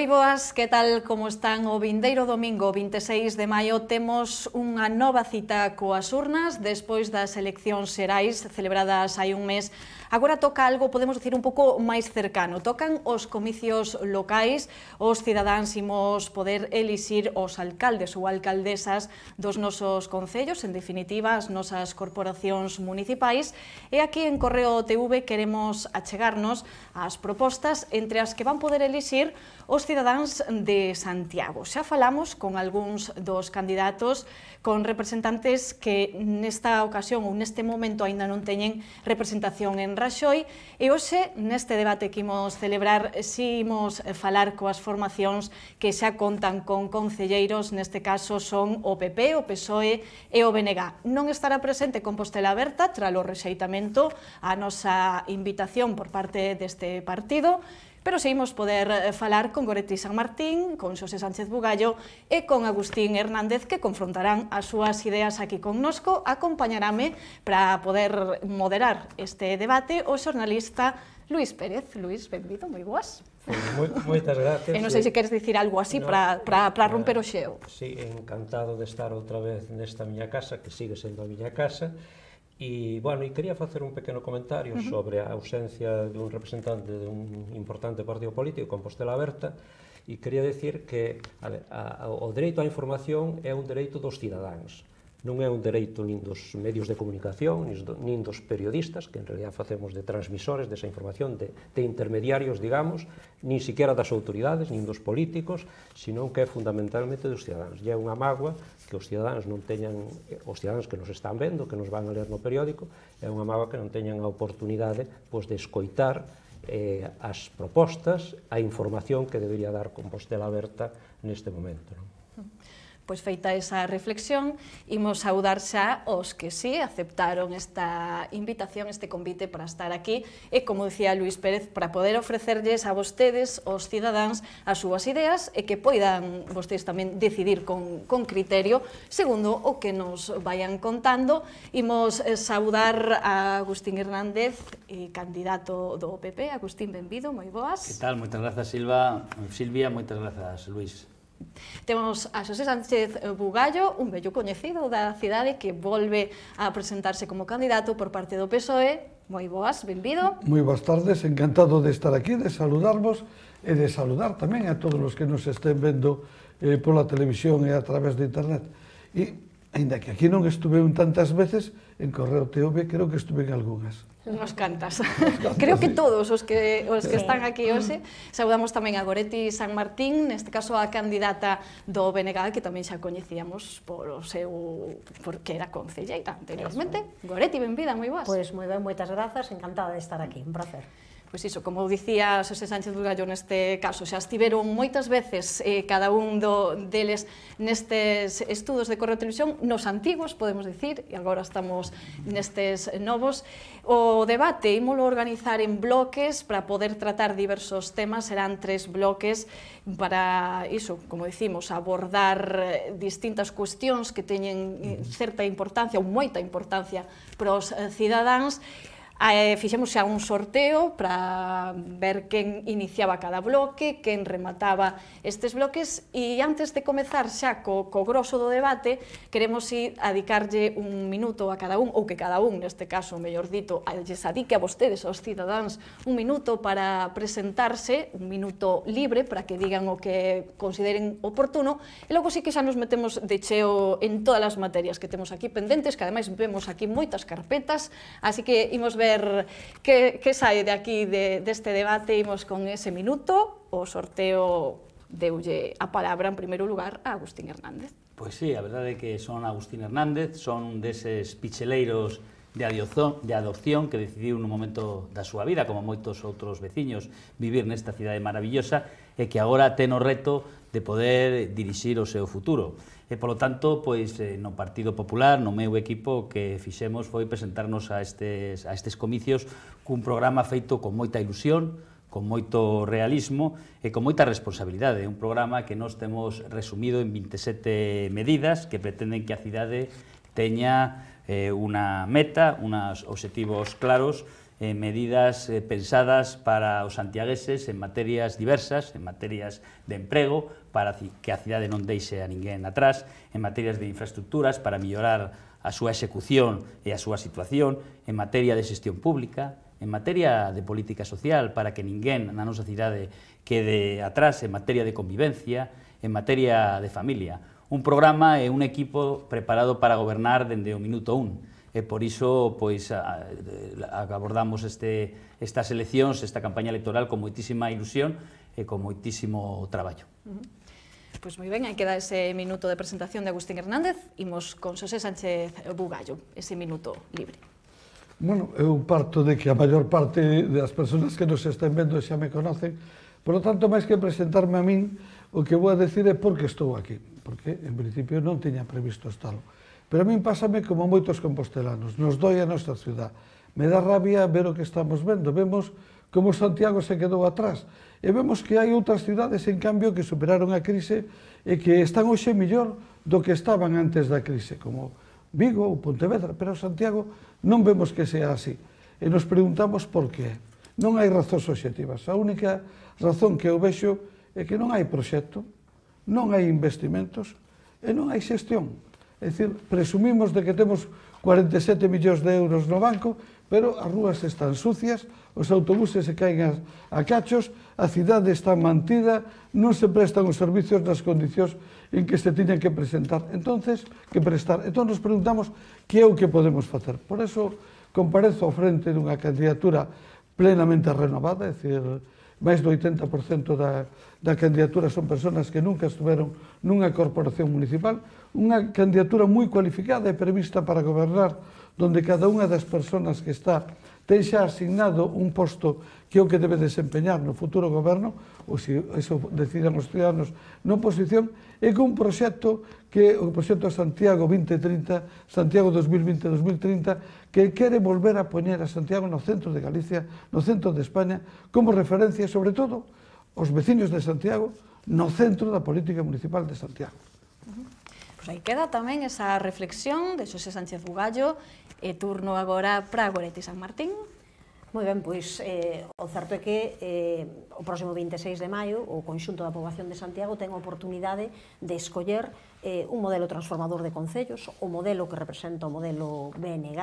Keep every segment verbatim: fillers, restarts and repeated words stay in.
Moi boas, que tal como están? O vindeiro domingo vinte e seis de maio temos unha nova cita coas urnas despois das eleccións xerais celebradas hai un mes. Agora toca algo, podemos dicir, un pouco máis cercano. Tocan os comicios locais, os cidadáns imos poder elixir os alcaldes ou alcaldesas dos nosos concellos, en definitiva, as nosas corporacións municipais, e aquí en Correo T V queremos achegarnos ás propostas entre as que van poder elixir os cidadáns de Santiago. Xa falamos con algúns dos candidatos, con representantes que nesta ocasión ou neste momento aínda non teñen representación en Raxoi, e hoxe, neste debate que imos celebrar, si imos falar coas formacións que xa contan con concelleiros, neste caso son o P P, o P S O E e o B N G. Non estará presente Compostela Aberta, tralo rexeitamento a nosa invitación por parte deste partido, pero seguimos poder falar con Goretti San Martín, con Xosé Sánchez Bugallo e con Agustín Hernández, que confrontarán as súas ideas aquí connosco. Acompañarame para poder moderar este debate o xornalista Luís Pérez. Luís, benvido, moi boas. Moitas gracias. E non sei se queres dicir algo así para romper o xeo. Sí, encantado de estar outra vez nesta miña casa, que sigue sendo a miña casa. E, bueno, e quería facer un pequeno comentario uh -huh. sobre a ausencia dun representante dun importante partido político, Compostela Aberta, e quería decir que a ver, a, a, o dereito á información é un dereito dos cidadáns, non é un dereito nin dos medios de comunicación, nin, do, nin dos periodistas, que en realidad facemos de transmisores desa información, de, de intermediarios, digamos, nin siquiera das autoridades, nin dos políticos, sino que é fundamentalmente dos cidadáns. E é unha mágoa que os cidadáns non teñan, os cidadáns que nos están vendo, que nos van a ler no periódico, é unha mágoa que non teñan a oportunidade pois, de escoitar eh, as propostas, a información que debería dar Compostela Aberta neste momento, non? Pois feita esa reflexión, imos saudar xa os que sí aceptaron esta invitación, este convite para estar aquí, e, como dicía Luís Pérez, para poder ofrecerlles a vostedes, os cidadáns, as súas ideas e que poidan vostedes tamén decidir con, con criterio, segundo o que nos vayan contando. Imos saudar a Agustín Hernández, candidato do P P. Agustín, benvido, moi boas. Que tal? Moitas grazas, Silva. Silvia, moitas grazas, Luís. Temos a Xosé Sánchez Bugallo, un vello coñecido da cidade que volve a presentarse como candidato por parte do P S O E. Moi boas, benvido. Moi boas tardes, encantado de estar aquí, de saludarvos e de saludar tamén a todos os que nos estén vendo eh, pola televisión e a través de internet. E, ainda que aquí non estuve un tantas veces, en Correo T V creo que estuve en algunhas. Nos cantas. Creo que todos os que os que están aquí hoxe. Saudamos tamén a Goretti San Martín, neste caso a candidata do B N G, que tamén xa coñecíamos por o seu, porque era concelleira anteriormente. Goretti, benvida, moi boas. Pois moi ben, moitas grazas, encantada de estar aquí, un placer. Pois iso, como dicía Xosé Sánchez Bugallo neste caso, xa estiveron moitas veces eh, cada un do, deles nestes estudos de Correo Televisión, nos antigos, podemos dicir, e agora estamos nestes novos. O debate ímolo organizar en bloques para poder tratar diversos temas, serán tres bloques para iso, como dicimos, abordar distintas cuestións que teñen certa importancia ou moita importancia para os cidadáns. Eh, fixemos xa un sorteo para ver quen iniciaba cada bloque, quen remataba estes bloques, e antes de comezar xa co, co grosso do debate, queremos ir a dedicarlle un minuto a cada un, ou que cada un, neste caso, mellor dito, lles adique a vostedes, aos cidadáns, un minuto para presentarse, un minuto libre, para que digan o que consideren oportuno, e logo sí que xa nos metemos de cheo en todas as materias que temos aquí pendentes, que ademais vemos aquí moitas carpetas, así que imos ver que, que sae de aquí de, deste debate. Imos con ese minuto. O sorteo deulle a palabra en primeiro lugar a Agustín Hernández. Pois sí, a verdade é que son Agustín Hernández, son deses picheleiros de adopción, de adopción que decidiu nun momento da súa vida, como moitos outros veciños, vivir nesta cidade maravillosa e que agora ten o reto de poder dirixir o seu futuro. E, polo tanto, pois, no Partido Popular, no meu equipo, que fixemos foi presentarnos a estes, a estes comicios cun programa feito con moita ilusión, con moito realismo e con moita responsabilidade. Un programa que nós temos resumido en vinte e sete medidas que pretenden que a cidade teña eh, unha meta, unos obxectivos claros eh, medidas eh, pensadas para os santiagueses en materias diversas, en materias de emprego, para que a cidade non deixe a ninguén atrás, en materias de infraestructuras, para mellorar a súa execución e a súa situación, en materia de xestión pública, en materia de política social, para que ninguén na nosa cidade quede atrás, en materia de convivencia, en materia de familia. Un programa e un equipo preparado para gobernar dende o minuto un. E por iso, pois, abordamos este, estas eleccións, esta campaña electoral con moitísima ilusión e con moitísimo traballo. Uh-huh. Pois moi ben, aí queda ese minuto de presentación de Agustín Hernández. Imos con Xosé Sánchez Bugallo, ese minuto libre. Bueno, eu parto de que a maior parte das persoas que nos estén vendo xa me conocen, por lo tanto, máis que presentarme a min, o que vou a decir é por que estou aquí, porque, en principio, non tiña previsto estalo. Pero a min pásame como moitos compostelanos, nos doi a nosa ciudad. Me dá rabia ver o que estamos vendo, vemos como Santiago se quedou atrás, e vemos que hai outras cidades, en cambio, que superaron a crise e que están hoxe mellor do que estaban antes da crise, como Vigo ou Pontevedra, pero Santiago non vemos que sea así. E nos preguntamos por qué. Non hai razóns obxectivas. A única razón que eu vexo é que non hai proxecto, non hai investimentos e non hai xestión. É dicir, presumimos de que temos cuarenta e sete millóns de euros no banco, pero as rúas están sucias, os autobuses se caen a cachos, a cidade está mantida, non se prestan os servicios nas condicións en que se tiñan que presentar. Entonces, que prestar. Entón nos preguntamos que é o que podemos facer. Por eso, comparezo ao frente dunha candidatura plenamente renovada, é dicir, máis do oitenta por cento da, da candidatura son persoas que nunca estuveron nunha corporación municipal, unha candidatura moi cualificada e prevista para gobernar, donde cada unha das persoas que está ten xa asignado un posto que é o que debe desempeñar no futuro goberno, ou se iso decidan os ciudadanos na oposición, e con un proxecto que o proxecto Santiago vinte trinta, Santiago dos mil vinte a dos mil trinta, que quere volver a poñer a Santiago no centro de Galicia, no centro de España, como referencia, sobre todo, os veciños de Santiago, no centro da política municipal de Santiago. Uh-huh. Pois aí queda tamén esa reflexión de Xosé Sánchez Bugallo, e turno agora para Goretti San Martín. Moi ben, pois eh, o certo é que eh, o próximo vinte e seis de maio o conxunto da poboación de Santiago ten a oportunidade de escoller eh, un modelo transformador de concellos, o modelo que representa o modelo B N G.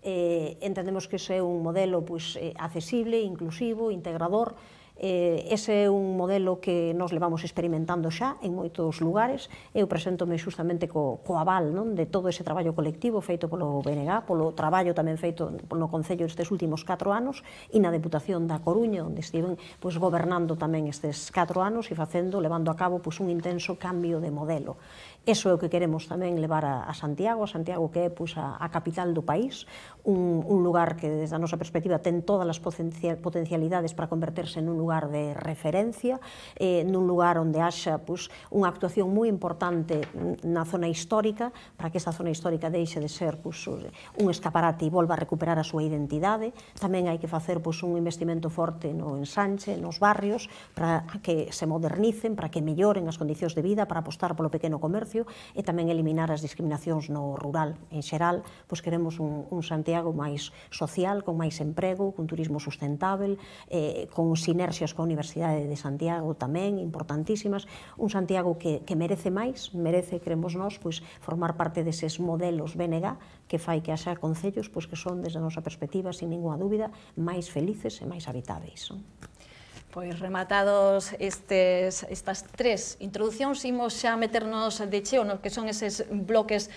Eh, entendemos que ese é un modelo pois, eh, accesible, inclusivo, integrador. Eh, ese é un modelo que nos levamos experimentando xa en moitos lugares. Eu preséntome xustamente co, co aval, non, de todo ese traballo colectivo feito polo B N G, polo traballo tamén feito no Concello estes últimos catro anos e na Deputación da Coruña, onde estiven pois, gobernando tamén estes catro anos e facendo, levando a cabo pois, un intenso cambio de modelo. Eso é o que queremos tamén levar a, a Santiago, a Santiago que é pois, a, a capital do país, un, un lugar que desde a nosa perspectiva ten todas as potencialidades para converterse nun lugar de referencia, eh, nun lugar onde haxa pois, unha actuación moi importante na zona histórica, para que esta zona histórica deixe de ser pois, un escaparate e volva a recuperar a súa identidade. Tamén hai que facer pois, un investimento forte no ensanche, nos barrios, para que se modernicen, para que melloren as condicións de vida, para apostar polo pequeno comercio, e tamén eliminar as discriminacións no rural. En xeral, pois queremos un, un Santiago máis social, con máis emprego, con turismo sustentável, eh, con sinerxias coa Universidade de Santiago tamén, importantísimas. Un Santiago que, que merece máis, merece, queremos nós, pois, formar parte deses modelos B N G que fai que haxa concellos pois, que son, desde a nosa perspectiva, sin ninguna dúbida, máis felices e máis habitáveis. Pois rematados estes, estas tres introducións, imos xa meternos de cheo no que son eses bloques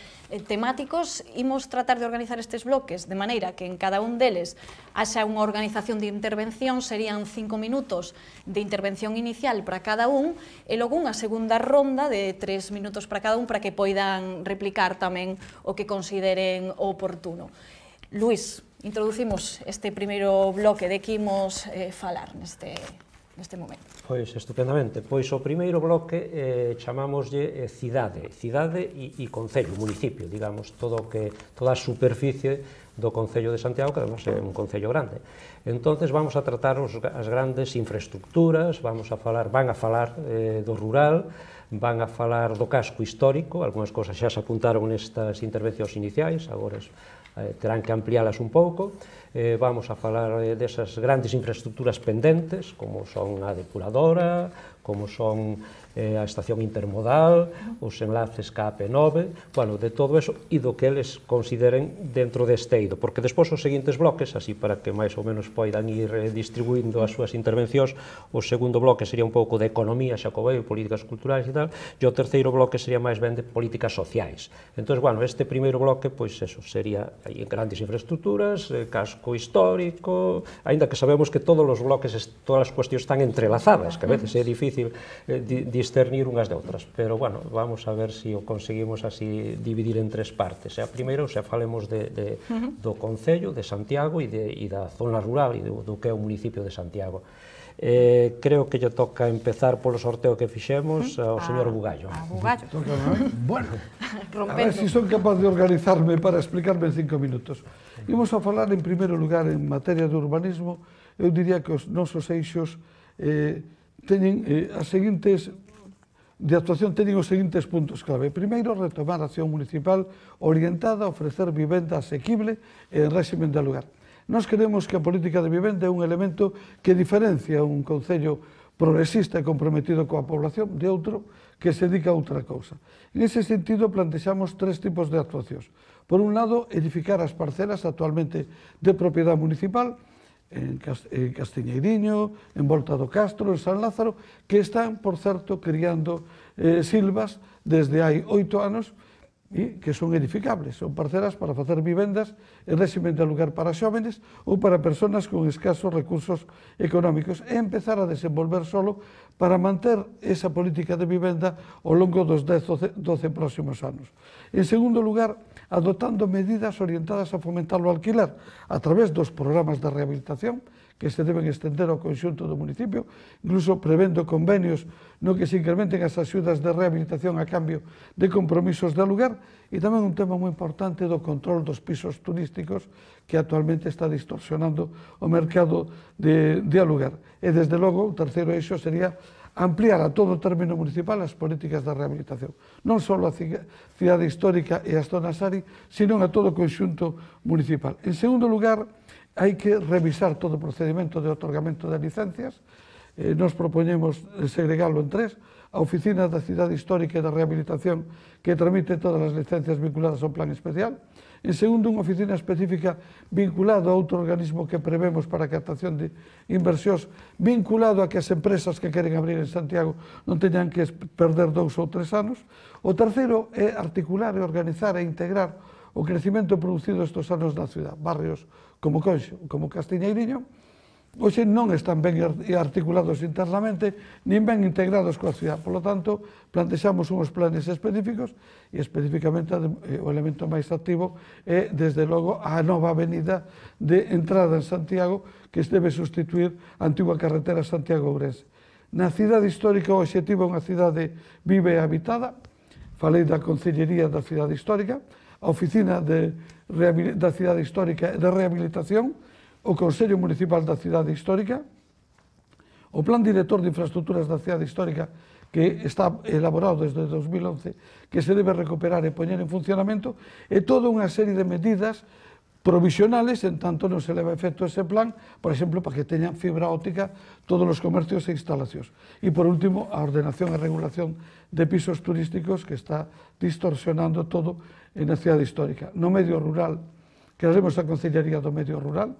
temáticos. Imos tratar de organizar estes bloques de maneira que en cada un deles haxa unha organización de intervención, serían cinco minutos de intervención inicial para cada un, e logo unha segunda ronda de tres minutos para cada un para que poidan replicar tamén o que consideren oportuno. Luís, introducimos este primeiro bloque de que imos eh, falar neste, neste momento. Pois, estupendamente. Pois o primeiro bloque eh, chamámoslle eh, cidade, cidade e, e concello, municipio, digamos, todo que, toda a superficie do Concello de Santiago, que además é un concello grande. Entonces vamos a tratar os, as grandes infraestructuras, vamos a falar, van a falar eh, do rural, van a falar do casco histórico, algunhas cosas xa se apuntaron nestas intervencións iniciais, agora eh, terán que ampliálas un pouco. Eh, vamos a falar eh, desas grandes infraestructuras pendentes, como son a depuradora, como son eh, a estación intermodal, os enlaces ca A P nove, bueno, de todo eso, e do que eles consideren dentro deste eido, porque despois os seguintes bloques, así para que máis ou menos poidan ir eh, distribuindo as súas intervencións, o segundo bloque sería un pouco de economía, xacobeo, políticas culturais e tal, e o terceiro bloque sería máis ben de políticas sociais. Entón, bueno, este primeiro bloque, pois eso, sería aí en grandes infraestructuras, eh, casco histórico, aínda que sabemos que todos os bloques, todas as cuestións están entrelazadas, que a veces é difícil eh, di, discernir unhas de outras, pero, bueno, vamos a ver se si o conseguimos así dividir en tres partes. A primeira, o sea, falemos de, de, do Concello de Santiago e, de, e da zona rural e do, do que é o municipio de Santiago. Eh, creo que lle toca empezar polo sorteo que fixemos ao señor Bugallo. A Bugallo. Toca, bueno, a ver se si son capaz de organizarme para explicarme en cinco minutos. Imos a falar, en primeiro lugar, en materia de urbanismo. Eu diría que os nosos eixos eh, teñen eh, as seguintes de actuación teñen os seguintes puntos clave. Primeiro, retomar a acción municipal orientada a ofrecer vivenda asequible en réximen de alugar. Nós queremos que a política de vivenda é un elemento que diferencia un concello progresista e comprometido coa población de outro que se dedica a outra cousa. En ese sentido, plantexamos tres tipos de actuacións. Por un lado, edificar as parcelas actualmente de propiedade municipal en Castiñeiriño, en Volta do Castro, en San Lázaro, que están, por certo, criando eh, silvas desde hai oito anos e que son edificables. Son parcelas para facer vivendas en réximen de alugar para xóvenes ou para persoas con escasos recursos económicos e empezar a desenvolver solo para manter esa política de vivenda ao longo dos dez, doce próximos anos. En segundo lugar, adoptando medidas orientadas a fomentar o alquiler a través dos programas de rehabilitación que se deben estender ao conxunto do municipio, incluso prevendo convenios no que se incrementen as axudas de rehabilitación a cambio de compromisos de alugar, e tamén un tema moi importante do control dos pisos turísticos que actualmente está distorsionando o mercado de, de alugar. E, desde logo, o terceiro eixo sería ampliar a todo o término municipal as políticas de rehabilitación. Non só a cidade histórica e as zonas A R I, sino a todo o conxunto municipal. En segundo lugar, hai que revisar todo o procedimento de otorgamento de licencias. Eh, nos propoñemos segregalo en tres: a Oficina da Cidade Histórica e da Rehabilitación, que tramite todas as licencias vinculadas ao plan especial. En segundo, unha oficina específica vinculada a outro organismo que prevemos para a captación de inversións, vinculado a que as empresas que queren abrir en Santiago non teñan que perder dous ou tres anos. O terceiro é articular e organizar e integrar o crecimento producido estes anos na cidade. Barrios como Conxo, como Castiñeiriño, hoxe non están ben articulados internamente, nin ben integrados coa cidade. Por lo tanto, plantexamos uns planes específicos e especificamente o elemento máis activo é, desde logo, a nova avenida de entrada en Santiago que debe sustituir a antigua carretera Santiago-Ourense. Na cidade histórica, o obxectivo é unha cidade viva e habitada. Falei da Concellería da Cidade Histórica, a Oficina de, da Cidade Histórica e de Rehabilitación, o Consello Municipal da Cidade Histórica, o Plan Director de Infraestructuras da Cidade Histórica, que está elaborado desde dos mil once, que se debe recuperar e poñer en funcionamento, e toda unha serie de medidas provisionales, en tanto non se leva a efecto ese plan, por exemplo, para que teñan fibra óptica todos os comercios e instalacións. E, por último, a ordenación e regulación de pisos turísticos que está distorsionando todo en a cidade histórica. No medio rural, crearemos a Concellería do Medio Rural,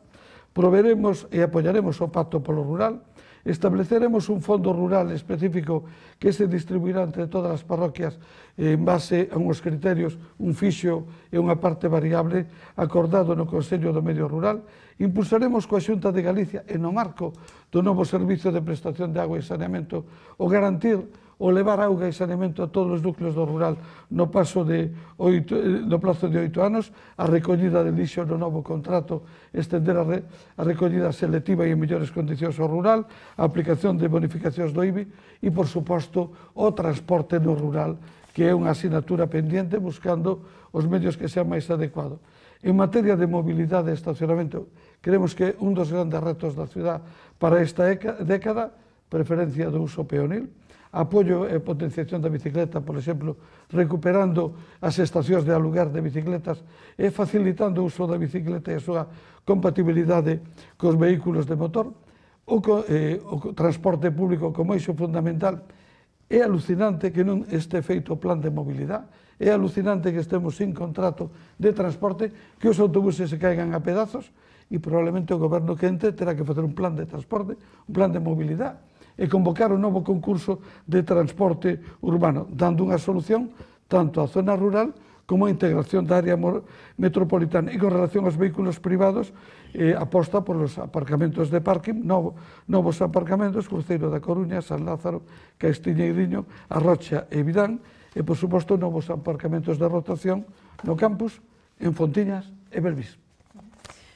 proveremos e apoiaremos o Pacto polo Rural, estableceremos un fondo rural específico que se distribuirá entre todas as parroquias en base a uns criterios, un fixo e unha parte variable acordado no Consello do Medio Rural. Impulsaremos coa Xunta de Galicia e no marco do novo Servicio de Prestación de Agua e Saneamento o garantir o levar auga e saneamento a todos os núcleos do rural no paso de oito, no plazo de oito anos, a recollida de lixo no novo contrato, estender a, re, a recollida selectiva e en mellores condicións ao rural, a aplicación de bonificacións do I B I e, por suposto, o transporte no rural, que é unha asignatura pendiente buscando os medios que sean máis adecuados. En materia de mobilidade e estacionamento, creemos que un dos grandes retos da ciudad para esta década, preferencia do uso peonil, apoio e potenciación da bicicleta, por exemplo, recuperando as estacións de aluguer de bicicletas e facilitando o uso da bicicleta e a súa compatibilidade cos vehículos de motor, o, eh, o transporte público como eixo fundamental. É alucinante que non este feito o plan de mobilidade, é alucinante que estemos sin contrato de transporte, que os autobuses se caigan a pedazos e probablemente o goberno que entre terá que facer un plan de transporte, un plan de mobilidade e convocar un novo concurso de transporte urbano, dando unha solución tanto á zona rural como a integración da área metropolitana. E con relación aos vehículos privados, eh, aposta por os aparcamentos de parking, novo, novos aparcamentos, Cruceiro da Coruña, San Lázaro, Castiñeiriño, A Rocha e Vidán, e, por suposto, novos aparcamentos de rotación no campus, en Fontiñas e Belvís.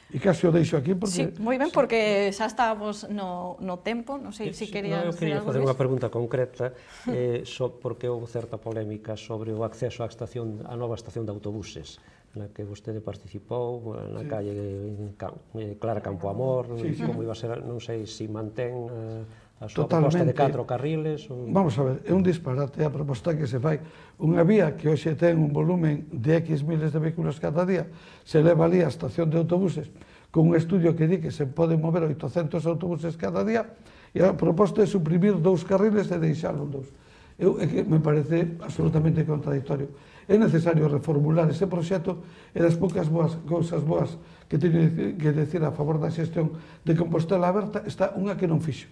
E case o deixo aquí porque... Sí, moi ben, porque xa estábamos no, no tempo, non sei se quería... No, eu quería facer unha pregunta concreta, eh, so, porque houve certa polémica sobre o acceso á estación, á nova estación de autobuses, na que vostede participou, na sí. calle eh, Clara Campoamor, sí, sí. como iba a ser, non sei se si mantén... Eh, a súa proposta de catro carriles? Ou... Vamos a ver, é un disparate a proposta que se fai. Unha vía que hoxe ten un volumen de X miles de vehículos cada día, se leva ali a estación de autobuses, con un estudio que di que se poden mover oitocentos autobuses cada día, e a proposta é suprimir dous carriles e deixarlo dous. Eu, é que me parece absolutamente contradictorio. É necesario reformular ese proxecto e das poucas boas cousas boas que teño que decir a favor da xestión de Compostela Aberta está unha que non fixo,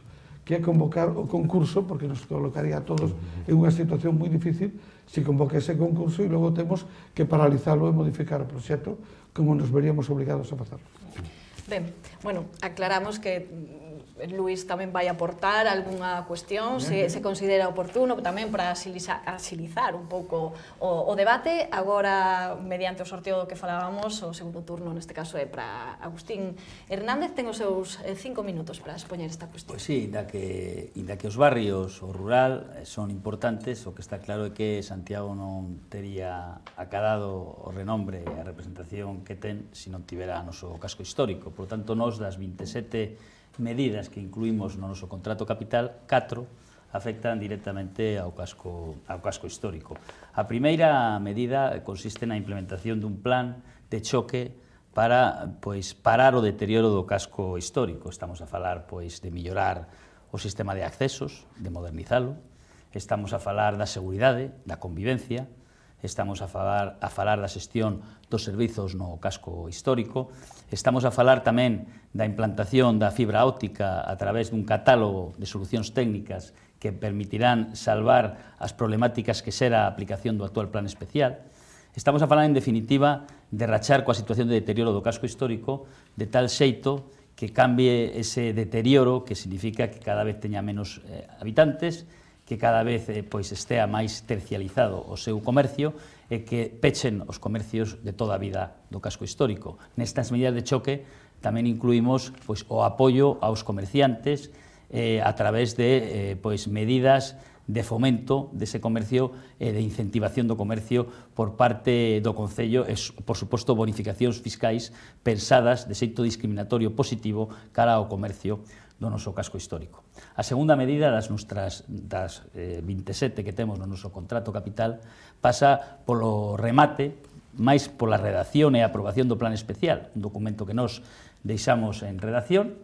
que é convocar o concurso, porque nos colocaría a todos en unha situación moi difícil se convoca ese concurso e logo temos que paralizalo e modificar o proxecto como nos veríamos obligados a facerlo. Ben, bueno, aclaramos que Luís tamén vai aportar algunha cuestión, se, se considera oportuno, tamén para agilizar, agilizar un pouco o, o debate. Agora, mediante o sorteo do que falábamos, o segundo turno, neste caso, é para Agustín Hernández. Ten os seus cinco minutos para expoñer esta cuestión. Pois sí, inda que, inda que os barrios, o rural, son importantes, o que está claro é que Santiago non tería acadado o renombre e a representación que ten se non tivera o noso casco histórico. Por tanto, nós das vinte e sete medidas que incluímos no noso contrato capital, catro afectan directamente ao casco, ao casco histórico. A primeira medida consiste na implementación dun plan de choque para pois, parar o deterioro do casco histórico. Estamos a falar pois, de mellorar o sistema de accesos, de modernizalo, estamos a falar da seguridade, da convivencia, estamos a falar, a falar da xestión dos servizos no casco histórico, estamos a falar tamén da implantación da fibra óptica a través dun catálogo de solucións técnicas que permitirán salvar as problemáticas que será a aplicación do actual plan especial. Estamos a falar, en definitiva, de rachar coa situación de deterioro do casco histórico de tal xeito que cambie ese deterioro, que significa que cada vez teña menos eh, habitantes, que cada vez eh, pois, estea máis tercializado o seu comercio e que pechen os comercios de toda a vida do casco histórico. Nestas medidas de choque tamén incluímos pois, o apoio aos comerciantes eh, a través de eh, pois, medidas de fomento dese comercio e de incentivación do comercio por parte do Concello e, por suposto, bonificacións fiscais pensadas de xeito discriminatorio positivo cara ao comercio do noso casco histórico. A segunda medida das nostras das eh, vinte e sete que temos no noso contrato capital pasa polo remate, máis pola redacción e aprobación do plan especial, un documento que nós deixamos en redacción,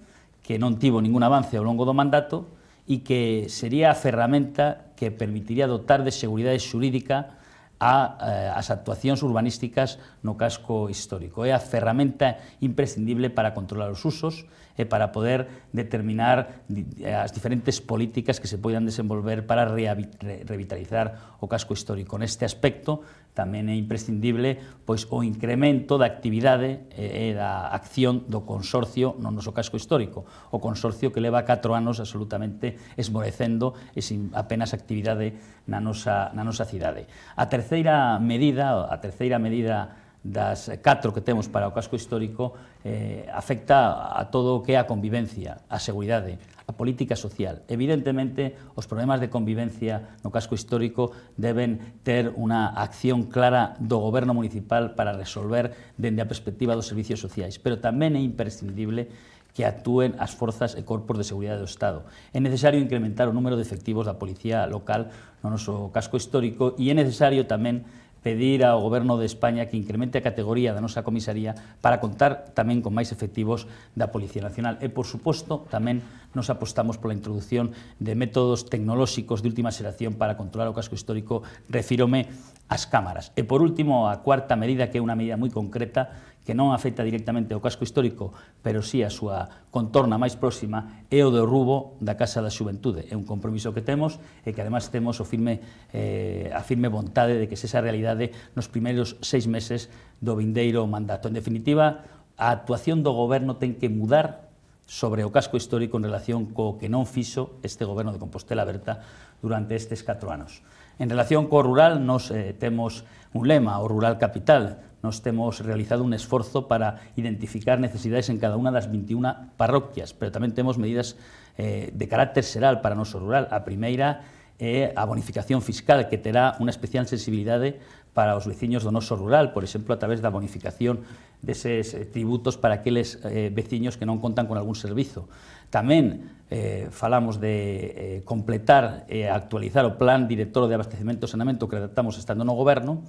que non tivo ningún avance ao longo do mandato e que sería a ferramenta que permitiría dotar de seguridade xurídica a, as actuacións urbanísticas no casco histórico. É a ferramenta imprescindible para controlar os usos e para poder determinar as diferentes políticas que se poidan desenvolver para revitalizar o casco histórico. Neste aspecto, tamén é imprescindible pois, o incremento da actividade e da acción do consorcio no noso casco histórico. O consorcio que leva catro anos absolutamente esmorecendo e sin apenas actividade na nosa, na nosa cidade. A terceira medida, a terceira medida das catro que temos para o casco histórico eh, afecta a todo o que é a convivencia, a seguridade, a política social. Evidentemente, os problemas de convivencia no casco histórico deben ter unha acción clara do goberno municipal para resolver dende a perspectiva dos servicios sociais, pero tamén é imprescindible que actúen as forzas e corpos de seguridade do Estado. É necesario incrementar o número de efectivos da policía local no noso casco histórico e é necesario tamén pedir ao Goberno de España que incremente a categoría da nosa comisaría para contar tamén con máis efectivos da Policía Nacional. E, por suposto, tamén nos apostamos pola introducción de métodos tecnolóxicos de última xeración para controlar o casco histórico, refírome ás cámaras. E, por último, a cuarta medida, que é unha medida moi concreta, que non afecta directamente ao casco histórico, pero sí a súa contorna máis próxima, é o derrubo da Casa da Xuventude. É un compromiso que temos e que además temos o firme, eh, a firme vontade de que se esa realidade nos primeiros seis meses do vindeiro mandato. En definitiva, a actuación do goberno ten que mudar sobre o casco histórico en relación co que non fixo este goberno de Compostela Berta durante estes catro anos. En relación co rural, nos eh, temos un lema, o rural capital. Nos temos realizado un esforzo para identificar necesidades en cada unha das veintiuna parroquias, pero tamén temos medidas eh, de carácter xeral para o noso rural. A primeira é a bonificación fiscal, que terá unha especial sensibilidade para os veciños do noso rural, por exemplo, a través da bonificación deses eh, tributos para aqueles eh, veciños que non contan con algún servizo. Tamén eh, falamos de eh, completar e eh, actualizar o plan director de abastecemento e saneamento que redactamos estando no goberno,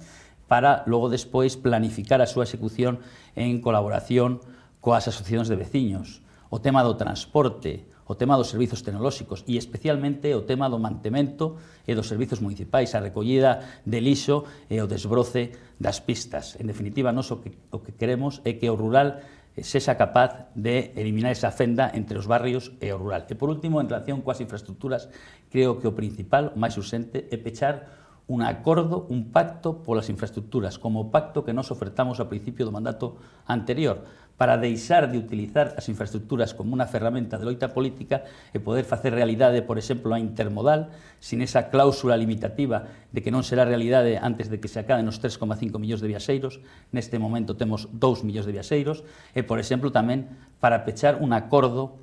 para logo despois planificar a súa execución en colaboración coas asociacións de veciños. O tema do transporte, o tema dos servizos tecnolóxicos e especialmente o tema do mantemento e dos servizos municipais, a recollida de lixo e o desbroce das pistas. En definitiva, nós o que, o que queremos é que o rural sexa capaz de eliminar esa fenda entre os barrios e o rural. E por último, en relación coas infraestructuras, creo que o principal, o máis urxente, é pechar un acordo, un pacto polas infraestructuras, como o pacto que nos ofertamos ao principio do mandato anterior, para deixar de utilizar as infraestructuras como unha ferramenta de loita política e poder facer realidade, por exemplo, a intermodal, sin esa cláusula limitativa de que non será realidade antes de que se acaben os tres coma cinco millóns de viaxeiros. Neste momento temos dous millóns de viaxeiros, e, por exemplo, tamén para pechar un acordo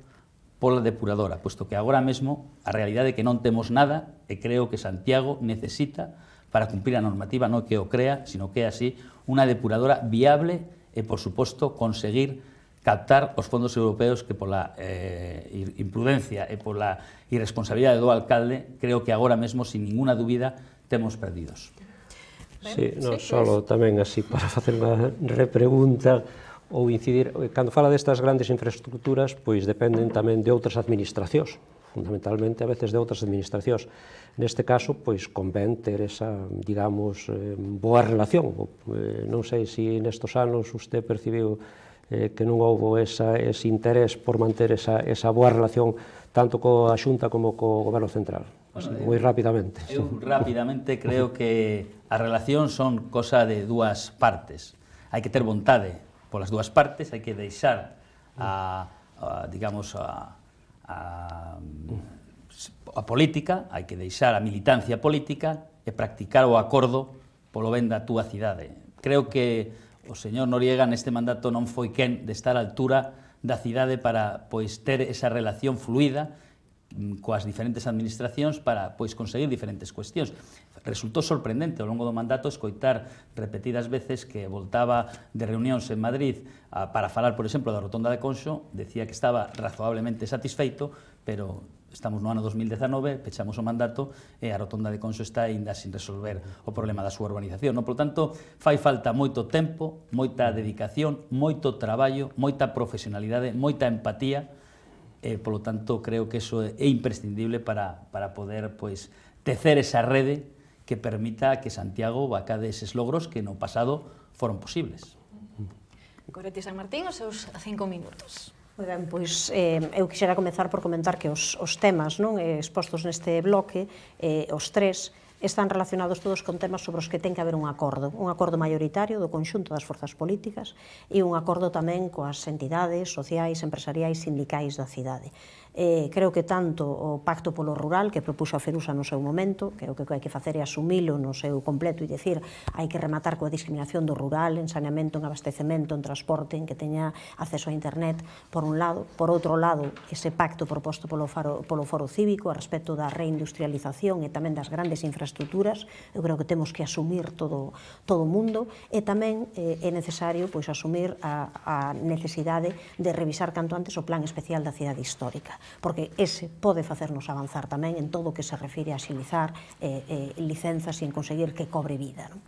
pola depuradora, puesto que agora mesmo a realidade é que non temos nada e creo que Santiago necesita, para cumprir a normativa, non que o crea, sino que é así, unha depuradora viable e, por suposto, conseguir captar os fondos europeos que pola eh, imprudencia e pola irresponsabilidade do alcalde, creo que agora mesmo, sin ninguna dúbida, temos perdidos. Sí, non só tamén así para facer unha repregunta ou incidir, cando fala destas grandes infraestructuras, pois dependen tamén de outras administracións, fundamentalmente a veces de outras administracións. Neste caso, pois convén ter esa, digamos, eh, boa relación. Eh, non sei se nestos anos usted percibiu eh, que non houve esa, ese interés por manter esa, esa boa relación tanto coa Xunta como co Goberno Central. Así, bueno, moi rapidamente. Eu rapidamente creo que as relacións son cosa de dúas partes. Hai que ter vontade polas dúas partes, hai que deixar a, a digamos, a, a, a política, hai que deixar a militancia política e practicar o acordo polo ben da túa cidade. Creo que o señor Noriega neste mandato non foi quen de estar á altura da cidade para pois ter esa relación fluida coas diferentes administracións para pois conseguir diferentes cuestións. Resultou sorprendente ao longo do mandato escoitar repetidas veces que voltaba de reunións en Madrid a, para falar, por exemplo, da rotonda de Conxo, decía que estaba razoablemente satisfeito, pero estamos no ano dos mil dezanove, pechamos o mandato e a rotonda de Conxo está aínda sin resolver o problema da súa urbanización. No? Por tanto, fai falta moito tempo, moita dedicación, moito traballo, moita profesionalidade, moita empatía. E, polo tanto, creo que eso é imprescindible para, para poder pois, tecer esa rede que permita que Santiago vacade eses logros que no pasado foron posibles. Goretti San Martín, os seus cinco minutos. Moi ben, pois eh, eu quixera comezar por comentar que os, os temas non eh, expostos neste bloque, eh, os tres, están relacionados todos con temas sobre os que ten que haber un acordo, un acordo maioritario do conxunto das forzas políticas e un acordo tamén coas entidades sociais, empresariais, sindicais da cidade. Eh, creo que tanto o Pacto polo Rural que propuxo a Ferusa no seu momento, que o que hai que facer é asumilo no seu completo e dicir hai que rematar coa discriminación do rural en saneamento, en abastecemento, en transporte, en que teña acceso a internet, por un lado. Por outro lado, ese pacto proposto polo, faro, polo Foro Cívico a respecto da reindustrialización e tamén das grandes infraestructuras, eu creo que temos que asumir todo todo o mundo e tamén eh, é necesario pois asumir a, a necesidade de revisar canto antes o Plan Especial da Cidade Histórica, porque ese pode facernos avanzar tamén en todo o que se refire a axilizar eh, eh, licenzas e en conseguir que cobre vida, non?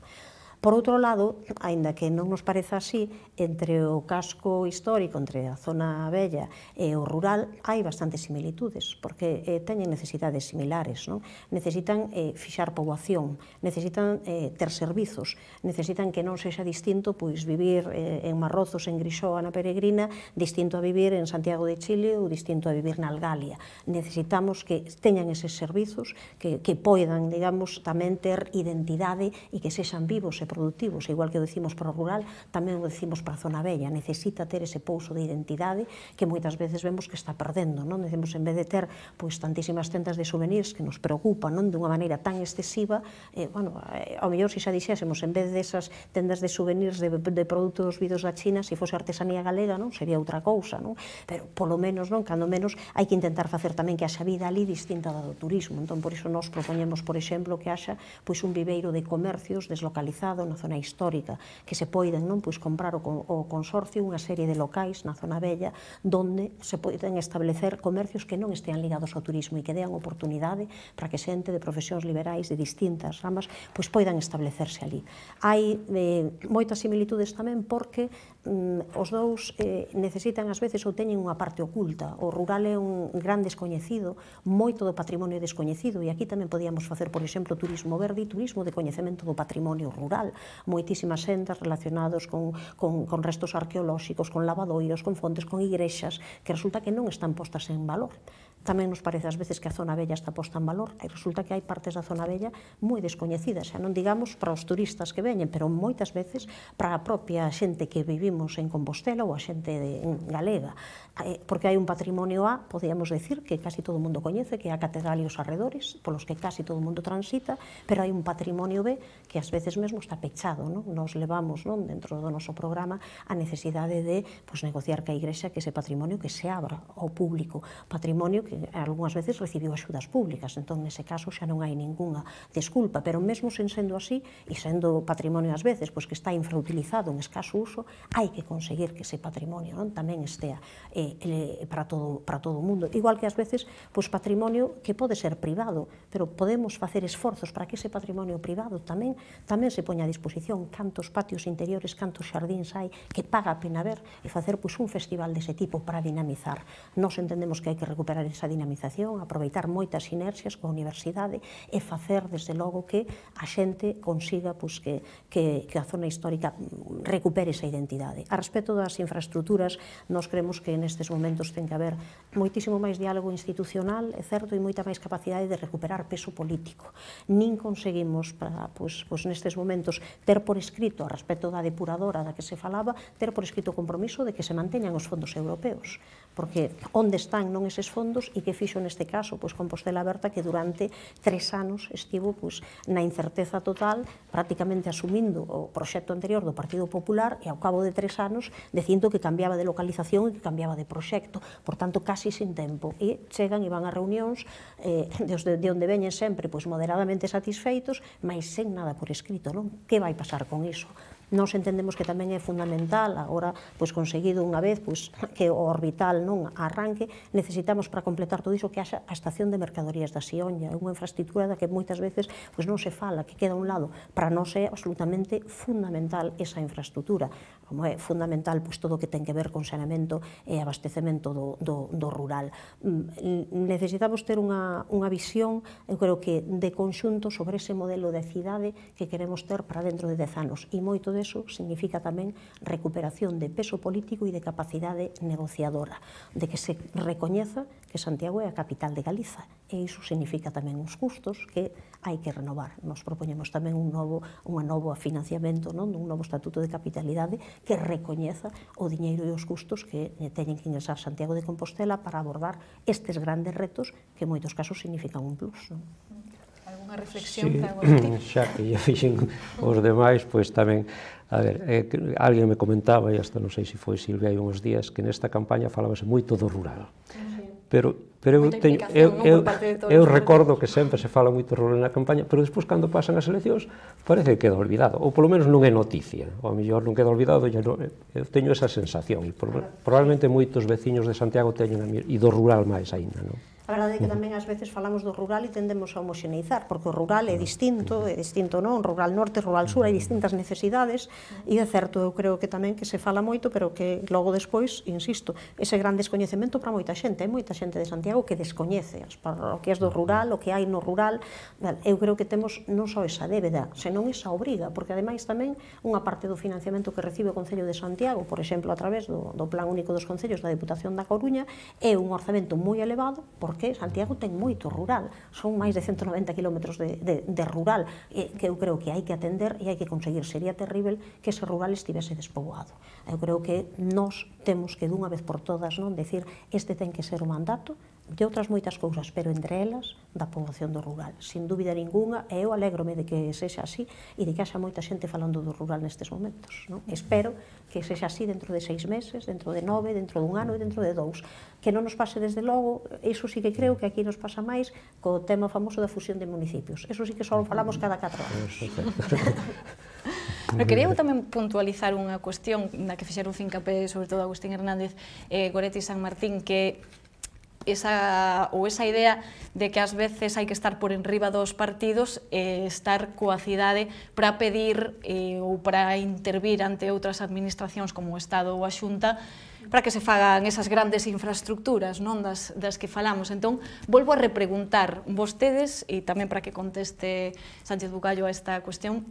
Por outro lado, aínda que non nos pareza así, entre o casco histórico, entre a zona vella e o rural, hai bastantes similitudes, porque eh, teñen necesidades similares, non? Necesitan eh, fixar poboación, necesitan eh, ter servizos, necesitan que non sexa distinto pois vivir eh, en Marrozos, en Grixoa, na Peregrina, distinto a vivir en Santiago de Chile ou distinto a vivir na Algalia. Necesitamos que teñan eses servizos, que, que poidan, digamos, tamén ter identidade e que sexan vivos e productivos, igual que o decimos para o rural, tamén o decimos para a zona bella, necesita ter ese pouso de identidade que moitas veces vemos que está perdendo, non? Decimos, en vez de ter pois tantísimas tendas de souvenirs que nos preocupan, non? Dunha maneira tan excesiva, eh, bueno, eh, ao mellor se xa dixésemos, en vez desas tendas de souvenirs de, de produtos vidos da China, se fose artesanía galega, non? Sería outra cousa, non? Pero polo menos, non? Cando menos, hai que intentar facer tamén que haxa vida ali distinta da do turismo, entón por iso nos propoñemos, por exemplo, que haxa pois un viveiro de comercios deslocalizado na zona histórica, que se poiden non pois comprar o, o consorcio unha serie de locais na zona bella donde se poden establecer comercios que non estean ligados ao turismo e que dean oportunidade para que xente de profesións liberais de distintas ramas pois poidan establecerse ali. Hai eh, moitas similitudes tamén porque mm, os dous eh, necesitan ás veces ou teñen unha parte oculta. O rural é un gran descoñecido, moito do patrimonio descoñecido, e aquí tamén podíamos facer, por exemplo, turismo verde e turismo de coñecemento do patrimonio rural. Moitísimas sendas relacionados con, con, con restos arqueolóxicos, con lavadoiros, con fontes, con igrexas, que resulta que non están postas en valor. Tamén nos parece ás veces que a zona bella está posta en valor e resulta que hai partes da zona bella moi descoñecidas, xa non digamos para os turistas que veñen, pero moitas veces para a propia xente que vivimos en Compostela ou a xente de, en galega, porque hai un patrimonio A, podíamos decir, que casi todo o mundo coñece, que é a catedral e os arredores, polos que casi todo o mundo transita, pero hai un patrimonio B que ás veces mesmo está pechado, non? Nos levamos, non, dentro do noso programa a necesidade de pues, negociar ca igrexa que ese patrimonio que se abra ao público, patrimonio que algunhas veces recibiu axudas públicas, entón nese caso xa non hai ningunha desculpa, pero mesmo sen sendo así e sendo patrimonio ás veces pois que está infrautilizado en escaso uso, hai que conseguir que ese patrimonio non tamén estea eh, para todo para todo o mundo, igual que ás veces pois patrimonio que pode ser privado, pero podemos facer esforzos para que ese patrimonio privado tamén tamén se poña a disposición, cantos patios interiores, cantos xardíns hai que paga a pena ver e facer pois un festival dese tipo para dinamizar. Nós entendemos que hai que recuperar esa dinamización, aproveitar moitas sinerxias coa universidade e facer, desde logo, que a xente consiga pois, que, que, que a zona histórica recupere esa identidade. A respecto das infraestructuras, nós creemos que nestes momentos ten que haber moitísimo máis diálogo institucional, é certo, e moita máis capacidade de recuperar peso político. Nin conseguimos, para, pois, pois nestes momentos, ter por escrito, a respecto da depuradora da que se falaba, ter por escrito o compromiso de que se manteñan os fondos europeos, porque onde están non eses fondos e que fixo neste caso pois Compostela Aberta, que durante tres anos estivo pois na incerteza total, prácticamente asumindo o proxecto anterior do Partido Popular e ao cabo de tres anos dicindo que cambiaba de localización e que cambiaba de proxecto, por tanto casi sin tempo, e chegan e van a reunións eh, de, de onde veñen sempre pois moderadamente satisfeitos, mas sen nada por escrito, non? Que vai pasar con iso? Nós entendemos que tamén é fundamental, agora, pois, conseguido unha vez, pois, que o orbital non arranque, necesitamos para completar todo iso que haxa a estación de mercadorías da Sioña, é unha infraestructura da que moitas veces pois, non se fala, que queda a un lado. Para nós é absolutamente fundamental esa infraestructura, como é fundamental pois, todo o que ten que ver con saneamento e abastecemento do, do, do rural. Necesitamos ter unha, unha visión, eu creo que de conxunto sobre ese modelo de cidade que queremos ter para dentro de dez anos, e moito deso significa tamén recuperación de peso político e de capacidade negociadora, de que se recoñeza que Santiago é a capital de Galiza, e iso significa tamén uns custos que hai que renovar. Nos propoñemos tamén un novo, un novo financiamento, non? Un novo estatuto de capitalidade que recoñeza o diñeiro e os custos que teñen que ingresar Santiago de Compostela para abordar estes grandes retos que en moitos casos significan un plus. Non? Alguna reflexión? Sí, xa que ya fixen os demais, pois tamén, a ver, eh, alguén me comentaba, e hasta non sei se foi Silvia hai uns días, que nesta campaña falábase moito do rural. Pero, pero eu, teño, eu, eu, eu recordo que sempre se fala moito rural na campaña, pero despois cando pasan as eleccións parece que queda olvidado, ou polo menos non é noticia, ou a mellor non queda olvidado, non, eu teño esa sensación, e probablemente moitos veciños de Santiago teñen, e do rural máis aínda, non? A verdade é que tamén ás veces falamos do rural e tendemos a homoxeneizar, porque o rural é distinto, é distinto non, rural norte, rural sur, hai distintas necesidades, e é certo, eu creo que tamén que se fala moito, pero que logo despois, insisto, ese gran descoñecemento para moita xente, hai moita xente de Santiago que descoñece as parroquias do rural, o que hai no rural. Eu creo que temos non só esa débeda, senón esa obriga, porque ademais tamén unha parte do financiamento que recibe o Concello de Santiago, por exemplo, a través do, do Plan Único dos Concellos da Deputación da Coruña, é un orzamento moi elevado, porque Santiago ten moito rural, son máis de ciento noventa kilómetros de, de, de rural, e, que eu creo que hai que atender e hai que conseguir. Sería terrible que ese rural estivese despoboado. Eu creo que nós temos que dunha vez por todas non decir este ten que ser o mandato de outras moitas cousas, pero entre elas da poboación do rural, sin dúbida ninguna, e eu alégrome de que sexa así e de que haxa moita xente falando do rural nestes momentos. Non? Espero que sexa así dentro de seis meses, dentro de nove, dentro dun ano e dentro de dous. Que non nos pase desde logo, iso sí que creo que aquí nos pasa máis co tema famoso da fusión de municipios. Eso sí que só falamos cada catro anos. Pero quería tamén puntualizar unha cuestión na que fixeron fincapé, sobre todo Agustín Hernández e Goretti San Martín, que esa, ou esa idea de que ás veces hai que estar por enriba dos partidos e estar coa cidade para pedir eh, ou para intervir ante outras administracións como o Estado ou a Xunta para que se fagan esas grandes infraestructuras, non, das, das que falamos. Entón, volvo a repreguntar vostedes, e tamén para que conteste Sánchez Bugallo a esta cuestión,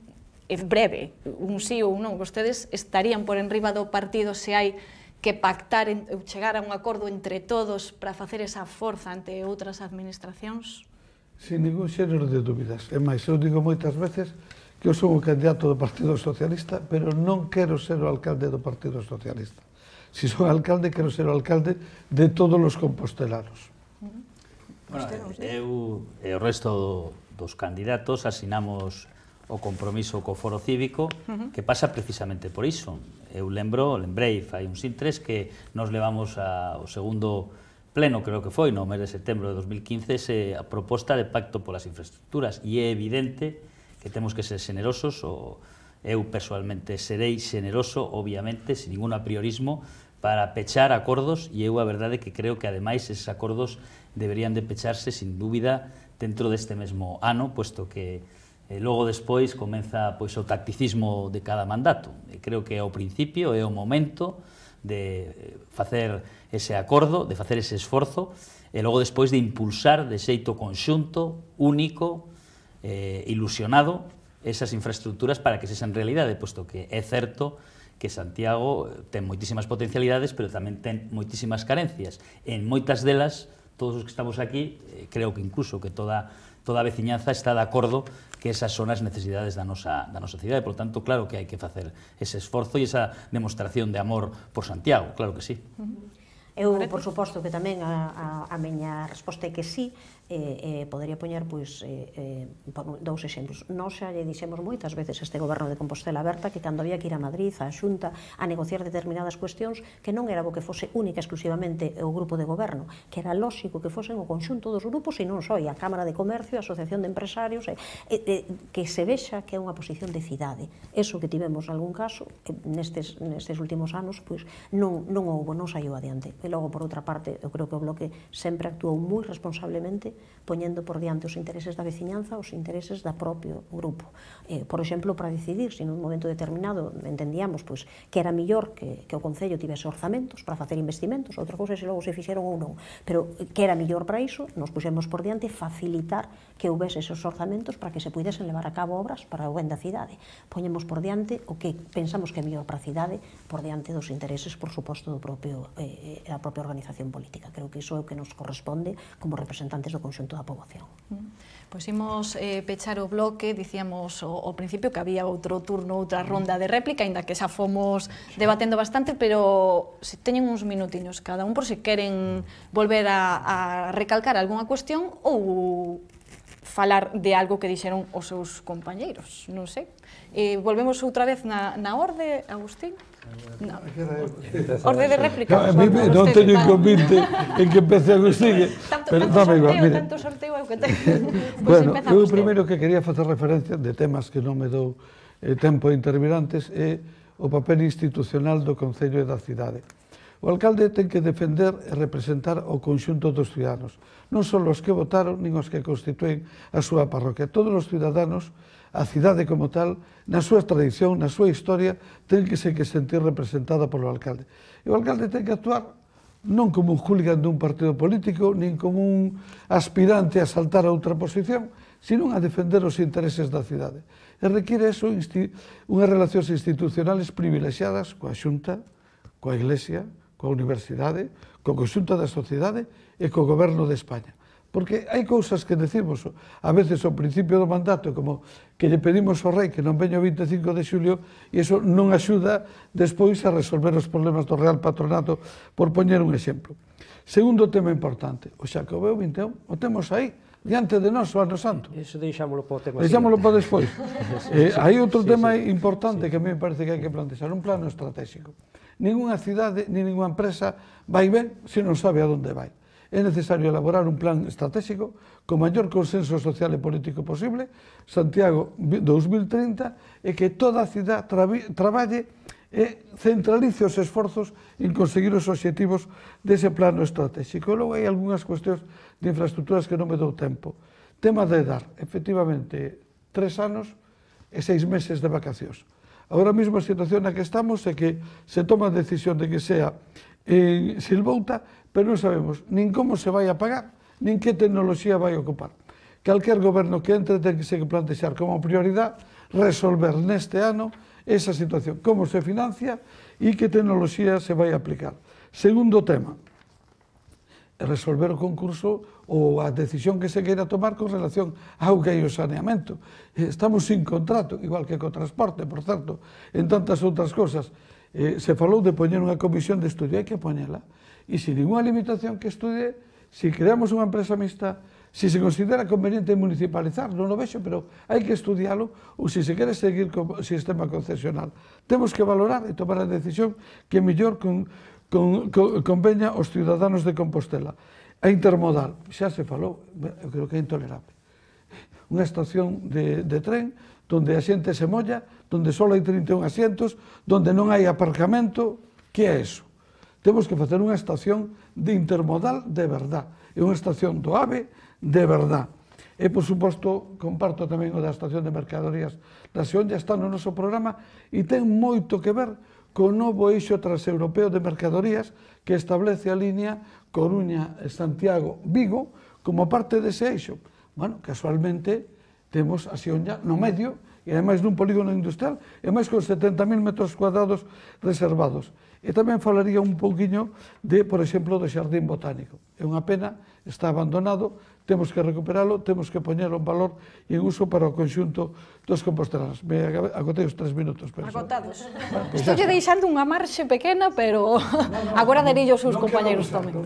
é breve, un sí ou un non, vostedes estarían por enriba do partido se hai que pactar, ou chegar a un acordo entre todos para facer esa forza ante outras administracións? Sin ningún xénero de dúbidas. É máis, eu digo moitas veces que eu son o candidato do Partido Socialista, pero non quero ser o alcalde do Partido Socialista. Se son alcalde, quero ser o alcalde de todos os compostelanos. Bueno, eu e o resto dos candidatos asinamos o compromiso co Foro Cívico, que pasa precisamente por iso. Eu lembro, lembrei fai uns intres que nos levamos ao segundo pleno, creo que foi, no mes de setembro de dos mil quince, a proposta de pacto polas infraestructuras, e é evidente que temos que ser generosos, o eu persoalmente serei generoso, obviamente, sin ningún apriorismo, para pechar acordos, e eu a verdade que creo que ademais eses acordos deberían de pecharse, sin dúbida, dentro deste mesmo ano, puesto que E logo despois comeza pois, o tacticismo de cada mandato. E creo que é o principio, é o momento de facer ese acordo, de facer ese esforzo, e logo despois de impulsar de xeito conxunto, único, eh, ilusionado, esas infraestructuras para que sexan realidade, posto que é certo que Santiago ten moitísimas potencialidades, pero tamén ten moitísimas carencias. En moitas delas, todos os que estamos aquí, eh, creo que incluso que toda toda a veciñanza está de acordo que esas son as necesidades da nosa, da nosa cidade. Por tanto, claro que hai que facer ese esforzo e esa demostración de amor por Santiago, claro que sí. Eu, por suposto, que tamén a, a, a miña resposta é que sí, Eh, eh, podería poñer pois, eh, eh, dous exemplos. Nós xa lle dixemos moitas veces este goberno de Compostela Aberta que cando había que ir a Madrid, a Xunta, a negociar determinadas cuestións, que non era bo que fose única exclusivamente o grupo de goberno, que era lóxico que fosen o conxunto dos grupos e non só a Cámara de Comercio, a Asociación de Empresarios, e, e, que se vexa que é unha posición de cidade. Eso que tivemos algún caso, nestes, nestes últimos anos, pois non, non houbo, non saiu adiante. E logo, por outra parte, eu creo que o Bloque sempre actuou moi responsablemente poñendo por diante os intereses da veciñanza, os intereses da propio grupo. Eh, por exemplo, para decidir se nun momento determinado entendíamos pois, que era millor que, que o Concello tivese orzamentos para facer investimentos, outra cousa se logo se fixeron ou non, pero que era millor para iso, nos puxemos por diante facilitar que houvese esos orzamentos para que se puidesen levar a cabo obras para o ben da cidade. Poñemos por diante o que pensamos que é mellor para a cidade por diante dos intereses, por suposto, do propio, eh, a propia organización política. Creo que iso é o que nos corresponde como representantes do conxunto da poboación. Pois imos eh, pechar o bloque, dicíamos ao principio que había outro turno, outra ronda de réplica, aínda que xa fomos debatendo bastante, pero se teñen uns minutiños cada un por se queren volver a, a recalcar algunha cuestión ou falar de algo que dixeron os seus compañeiros, non sei. Eh, volvemos outra vez na, na orde, Agustín? No. Orde de réplica. No, mí, non teño inconvinte en que empece Agustín. Tanto, tanto sorteo, igual, tanto sorteo é o que ten. Pues bueno, eu primeiro que quería facer referencia de temas que non me dou eh, tempo de intervir antes é o papel institucional do Concello e da cidade. O alcalde ten que defender e representar o conxunto dos ciudadanos, non só os que votaron, nin os que constituen a súa parroquia. Todos os ciudadanos, a cidade como tal, na súa tradición, na súa historia, ten que se que sentir representada polo alcalde. E o alcalde ten que actuar non como un hooligan dun partido político, nin como un aspirante a saltar a outra posición, sino a defender os intereses da cidade. E require eso unhas relacións institucionales privilexiadas coa Xunta, coa Iglesia, coa Universidade, co conxunto da sociedade e co Goberno de España. Porque hai cousas que decimos a veces ao principio do mandato, como que lle pedimos ao rei que non veña o vinte e cinco de xulio, e iso non axuda despois a resolver os problemas do Real Patronato, por poñer un exemplo. Segundo tema importante, o Xacobeo vinte e un, o temos aí, diante de nós, o Ano Santo. Iso deixámoslo para o tema Deixámoslo para despois. eh, hai outro sí, tema sí, importante sí. que a mí me parece que hai que plantexar, un plano estratégico. Ninguna cidade, ni ninguna empresa vai ben se non sabe a onde vai. É necesario elaborar un plan estratégico con maior consenso social e político posible, Santiago dos mil trinta, e que toda a cidade traballe e centralice os esforzos en conseguir os obxectivos dese plano estratégico. Logo hai algunhas cuestións de infraestructuras que non me dou tempo. Tema de dar, efectivamente, tres anos e seis meses de vacacións. Agora mesmo a situación na que estamos é que se toma a decisión de que sea en Silvouta, pero non sabemos nin como se vai a pagar, nin que tecnoloxía vai ocupar. Calquer goberno que entre ten que se plantexar como prioridade resolver neste ano esa situación, como se financia e que tecnoloxía se vai a aplicar. Segundo tema, resolver o concurso ou a decisión que se queira tomar con relación ao auga e o saneamento. Estamos sin contrato, igual que co transporte, por certo, en tantas outras cosas. Eh, se falou de poñer unha comisión de estudio, hai que poñela. E se ninguna limitación que estudie, se creamos unha empresa mixta, se se considera conveniente municipalizar, non o vexo, pero hai que estudialo, ou se se quere seguir co sistema concesional. Temos que valorar e tomar a decisión que mellor con, con, con, conveña aos ciudadanos de Compostela. A intermodal, xa se falou, eu creo que é intolerable. Unha estación de, de tren donde a xente se molla, donde só hai trinta e un asientos, donde non hai aparcamento, que é eso? Temos que facer unha estación de intermodal de verdad, e unha estación do AVE de verdad. E, por suposto, comparto tamén o da estación de mercadorías da Sion, já está no noso programa, e ten moito que ver co novo eixo transeuropeo de mercadorías que establece a línea Coruña-Santiago-Vigo como parte dese eixo. Bueno, casualmente, temos a Sion ya no medio, e ademais nun polígono industrial, e máis con setenta mil metros cuadrados reservados. E tamén falaría un pouquiño de, por exemplo, do Xardín Botánico. É unha pena, está abandonado, temos que recuperalo, temos que poñelo en valor e en uso para o conxunto dos compostelanos. Me agotei os tres minutos. Agotados. Estou lle deixando unha marxe pequena, pero agora derillo os seus compañeros tamén.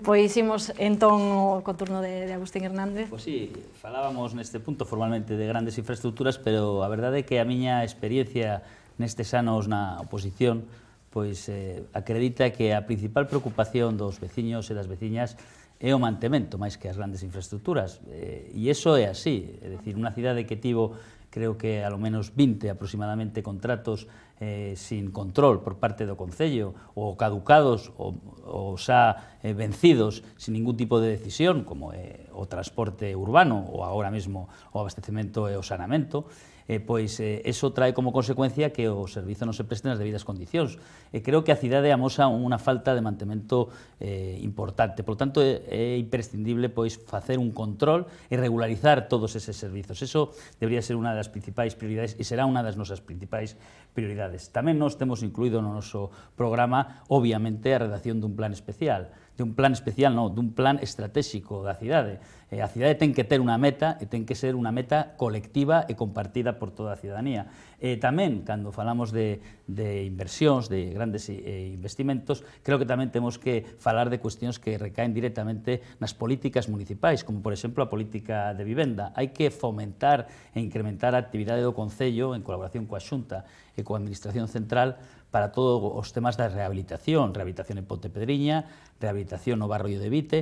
Pois imos entón co turno de Agustín Hernández. Pois sí, falábamos neste punto formalmente de grandes infraestructuras, pero a verdade é que a miña experiencia nestes anos na oposición pois eh, acredita que a principal preocupación dos veciños e das veciñas é o mantemento máis que as grandes infraestructuras, eh, e iso é así, é dicir, unha cidade que tivo creo que a lo menos vinte aproximadamente contratos eh, sin control por parte do Concello, ou caducados ou, ou xa eh, vencidos sin ningún tipo de decisión, como é o transporte urbano ou agora mesmo o abastecemento e o saneamento, eh, pois eh, eso trae como consecuencia que o servizo non se preste nas debidas condicións. E creo que a cidade amosa unha falta de mantemento eh, importante. Por lo tanto, é, é imprescindible pois facer un control e regularizar todos eses servizos. Eso debería ser unha das principais prioridades e será unha das nosas principais prioridades. Tamén nos temos incluído no noso programa, obviamente, a redacción dun plan especial. De un plan especial, non, dun plan estratégico da cidade. Eh, a cidade ten que ter unha meta e ten que ser unha meta colectiva e compartida por toda a cidadanía. E tamén, cando falamos de, de inversións, de grandes eh, investimentos, creo que tamén temos que falar de cuestións que recaen directamente nas políticas municipais, como, por exemplo, a política de vivenda. Hai que fomentar e incrementar a actividade do Concello en colaboración coa Xunta e coa Administración Central para todos os temas da rehabilitación, rehabilitación en Pontepedriña, rehabilitación no barrio de Vite.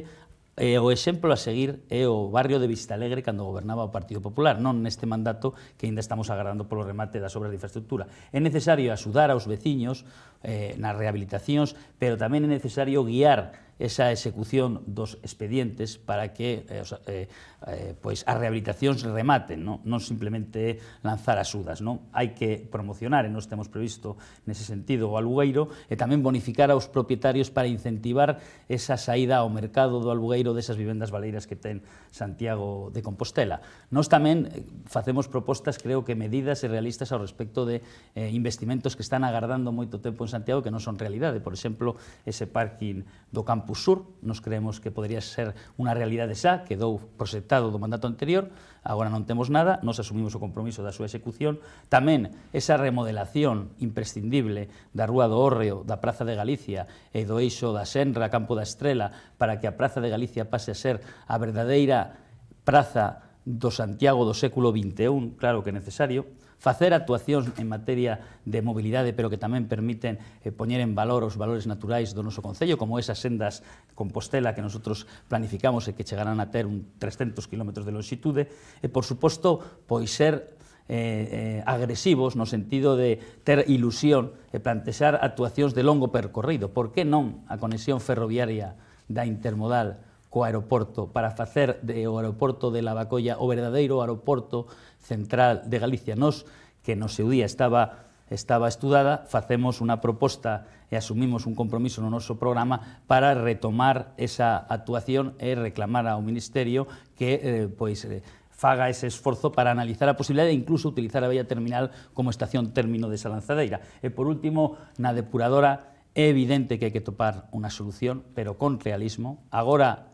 E o exemplo a seguir é o barrio de Vistalegre cando gobernaba o Partido Popular, non neste mandato que ainda estamos agardando polo remate das obras de infraestructura. É necesario axudar aos veciños eh, nas rehabilitacións, pero tamén é necesario guiar esa execución dos expedientes para que eh, eh, eh, pois as rehabilitacións rematen, non, non simplemente lanzar axudas. Non? Hai que promocionar, e nos temos previsto nese sentido o alugueiro, e tamén bonificar aos propietarios para incentivar esa saída ao mercado do alugueiro desas vivendas baleiras que ten Santiago de Compostela. Nos tamén facemos propostas, creo que medidas e realistas ao respecto de eh, investimentos que están agardando moito tempo en Santiago que non son realidade. Por exemplo, ese parking do Campus Sur, nos creemos que podría ser unha realidade xa, quedou proxectado do mandato anterior, agora non temos nada, nos asumimos o compromiso da súa execución. Tamén esa remodelación imprescindible da Rúa do Hórreo, da Praza de Galicia e do eixo da Senra, Campo da Estrela, para que a Praza de Galicia pase a ser a verdadeira praza do Santiago do século vinte e un, claro que é necesario. Facer actuacións en materia de mobilidade, pero que tamén permiten eh, poñer en valor os valores naturais do noso Concello, como esas sendas Compostela que nosotros planificamos e que chegarán a ter un trescentos kilómetros de longitude, e, por suposto, pois ser eh, eh, agresivos no sentido de ter ilusión e plantexar actuacións de longo percorrido. Por que non a conexión ferroviaria da intermodal co aeroporto para facer do aeroporto de Lavacolla o verdadeiro aeroporto central de Galicia? Nos, que no seu día estaba, estaba estudada, facemos unha proposta e asumimos un compromiso no noso programa para retomar esa actuación e reclamar ao Ministerio que eh, pois, eh, faga ese esforzo para analizar a posibilidade de incluso utilizar a vella terminal como estación término desa lanzadeira. E, por último, na depuradora é evidente que hai que topar unha solución, pero con realismo. Agora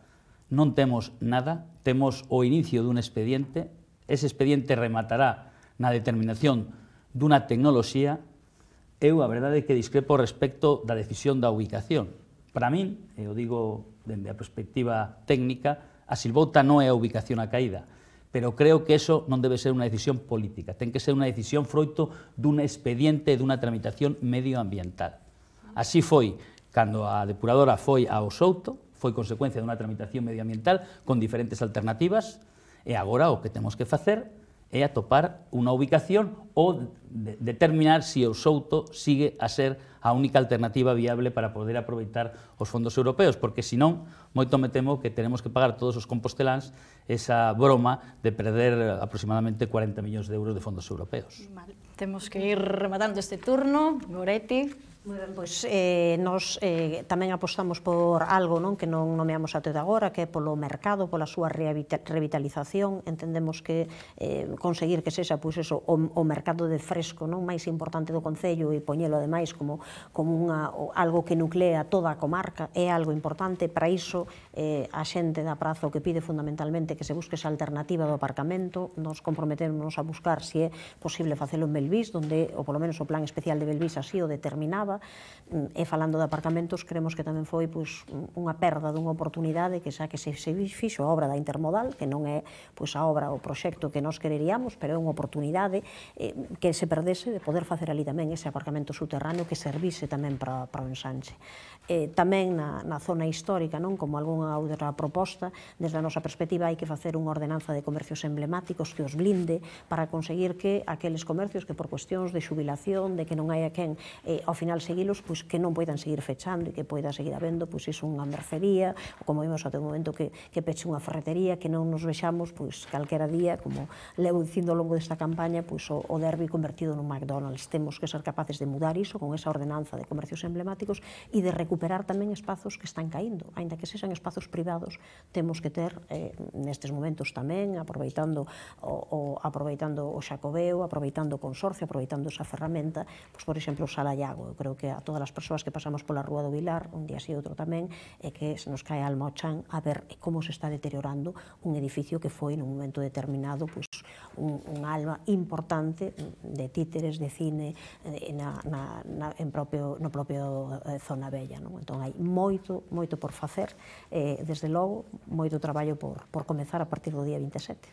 non temos nada, temos o inicio dun expediente, ese expediente rematará na determinación dunha tecnoloxía. Eu, a verdade, é que discrepo respecto da decisión da ubicación. Para min, e o digo dende a perspectiva técnica, a Silvouta non é a ubicación a caída, pero creo que eso non debe ser unha decisión política, ten que ser unha decisión froito dun expediente e dunha tramitación medioambiental. Así foi cando a depuradora foi ao Souto, foi consecuencia dunha tramitación medioambiental con diferentes alternativas, e agora o que temos que facer é atopar unha ubicación ou de determinar se o Souto sigue a ser a única alternativa viable para poder aproveitar os fondos europeos, porque senón, moito me temo que teremos que pagar todos os composteláns esa broma de perder aproximadamente cuarenta millóns de euros de fondos europeos. Vale. Temos que ir rematando este turno. Goretti. Moi ben, pois eh, nos eh, tamén apostamos por algo non que non nomeamos até de agora, que é polo mercado, pola súa revitalización. Entendemos que eh, conseguir que sexa pois eso, o, o mercado de fresco non máis importante do Concello e poñelo ademais como, como unha, algo que nuclea toda a comarca é algo importante. Para iso eh, a xente da praza o que pide fundamentalmente que se busque esa alternativa do aparcamento. Nos comprometemos a buscar se é posible facelo en Belvís, donde, ou polo menos o plan especial de Belvís así o determinaba. E falando de aparcamentos, creemos que tamén foi pois, unha perda dunha oportunidade que xa que se, se fixo a obra da Intermodal, que non é pois, a obra, o proxecto que nós quereríamos, pero é unha oportunidade eh, que se perdese de poder facer ali tamén ese aparcamento subterráneo que servise tamén para, para o ensanche. Eh, tamén na, na zona histórica, non como algunha outra proposta, desde a nosa perspectiva hai que facer unha ordenanza de comercios emblemáticos que os blinde para conseguir que aqueles comercios que por cuestións de xubilación, de que non hai a quen eh, ao final seguilos, pois que non poidan seguir fechando e que poida seguir habendo pois iso unha mercería, ou como vimos até o momento que, que peche unha ferretería, que non nos vexamos pois calquera día, como levo dicindo ao longo desta campaña, pois o, o derbi convertido nun McDonald's. Temos que ser capaces de mudar iso con esa ordenanza de comercios emblemáticos e de recuperar tamén espazos que están caíndo, aínda que sexan espazos privados, temos que ter eh, nestes momentos tamén, aproveitando o, o, aproveitando o Xacobeo, aproveitando o consorcio, aproveitando esa ferramenta, pois, por exemplo, o Salallago. Eu creo que a todas as persoas que pasamos pola Rúa do Vilar, un día así outro tamén, é que se nos cae a alma ao chan a ver como se está deteriorando un edificio que foi nun momento determinado pois, un, un alma importante de títeres, de cine na, na, na, en propio, no propio eh, Zona Bella. Non? Entón hai moito, moito por facer, eh, desde logo, moito traballo por, por comezar a partir do día vinte e sete.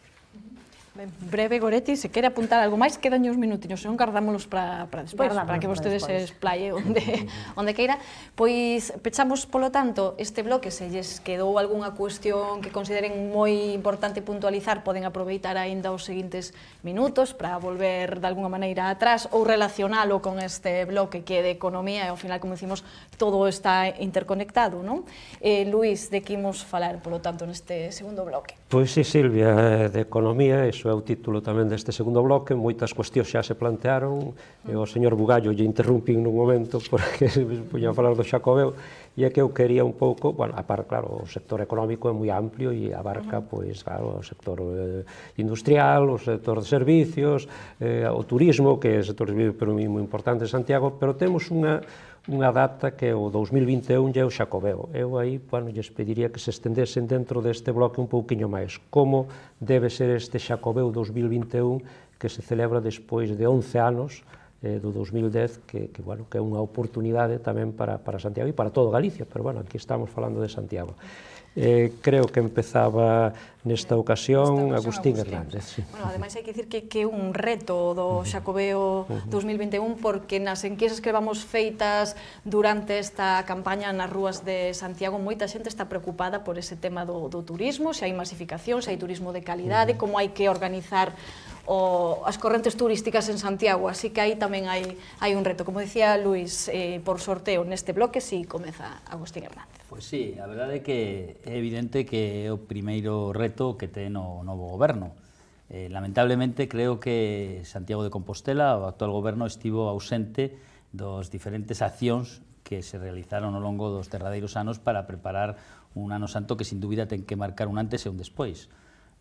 Ben, breve, Goretti, se quere apuntar algo máis, quedan uns minutiños, senón guardámolos para, para despois, Guardámonos para que vostedes para se esplaye onde, onde queira. Pois pechamos, polo tanto, este bloque. Se lles quedou algunha cuestión que consideren moi importante puntualizar, poden aproveitar aínda os seguintes minutos para volver de alguna maneira atrás ou relacionalo con este bloque que é de economía e ao final, como decimos, todo está interconectado, non? Eh, Luís, de que imos falar, polo tanto, neste segundo bloque? Pois sí, Silvia, de economía, iso é o título tamén deste segundo bloque, moitas cuestións xa se plantearon, e o señor Bugallo lle interrumpín nun momento porque se puña a falar do Xacobeo, e é que eu quería un pouco, bueno, a par, claro, o sector económico é moi amplio e abarca, pois, claro, o sector eh, industrial, o sector de servicios, eh, o turismo, que é o sector de servicios pero moi importante en Santiago, pero temos unha unha data que é o dous mil vinte e un e o Xacobeo. Eu aí, bueno, lles pediría que se estendesen dentro deste bloque un pouquiño máis. Como debe ser este Xacobeo dous mil vinte e un que se celebra despois de once anos eh, do dous mil dez, que, que, bueno, que é unha oportunidade tamén para, para Santiago e para todo Galicia, pero, bueno, aquí estamos falando de Santiago. Eh, creo que empezaba nesta ocasión, nesta ocasión Agustín, Agustín Hernández. Sí. Bueno, ademais hai que dicir que é un reto do Xacobeo dous mil vinte e un porque nas enquisas que vamos feitas durante esta campaña nas rúas de Santiago moita xente está preocupada por ese tema do, do turismo, se hai masificación, se hai turismo de calidade, como hai que organizar o, as correntes turísticas en Santiago, así que aí tamén hai, hai un reto. Como decía Luís, eh, por sorteo neste bloque, si comeza Agustín Hernández. Pois sí, a verdade é que é evidente que é o primeiro reto que ten o novo goberno. Eh, lamentablemente, creo que Santiago de Compostela, o actual goberno, estivo ausente dos diferentes accións que se realizaron ao longo dos derradeiros anos para preparar un ano santo que, sin dúbida, ten que marcar un antes e un despois.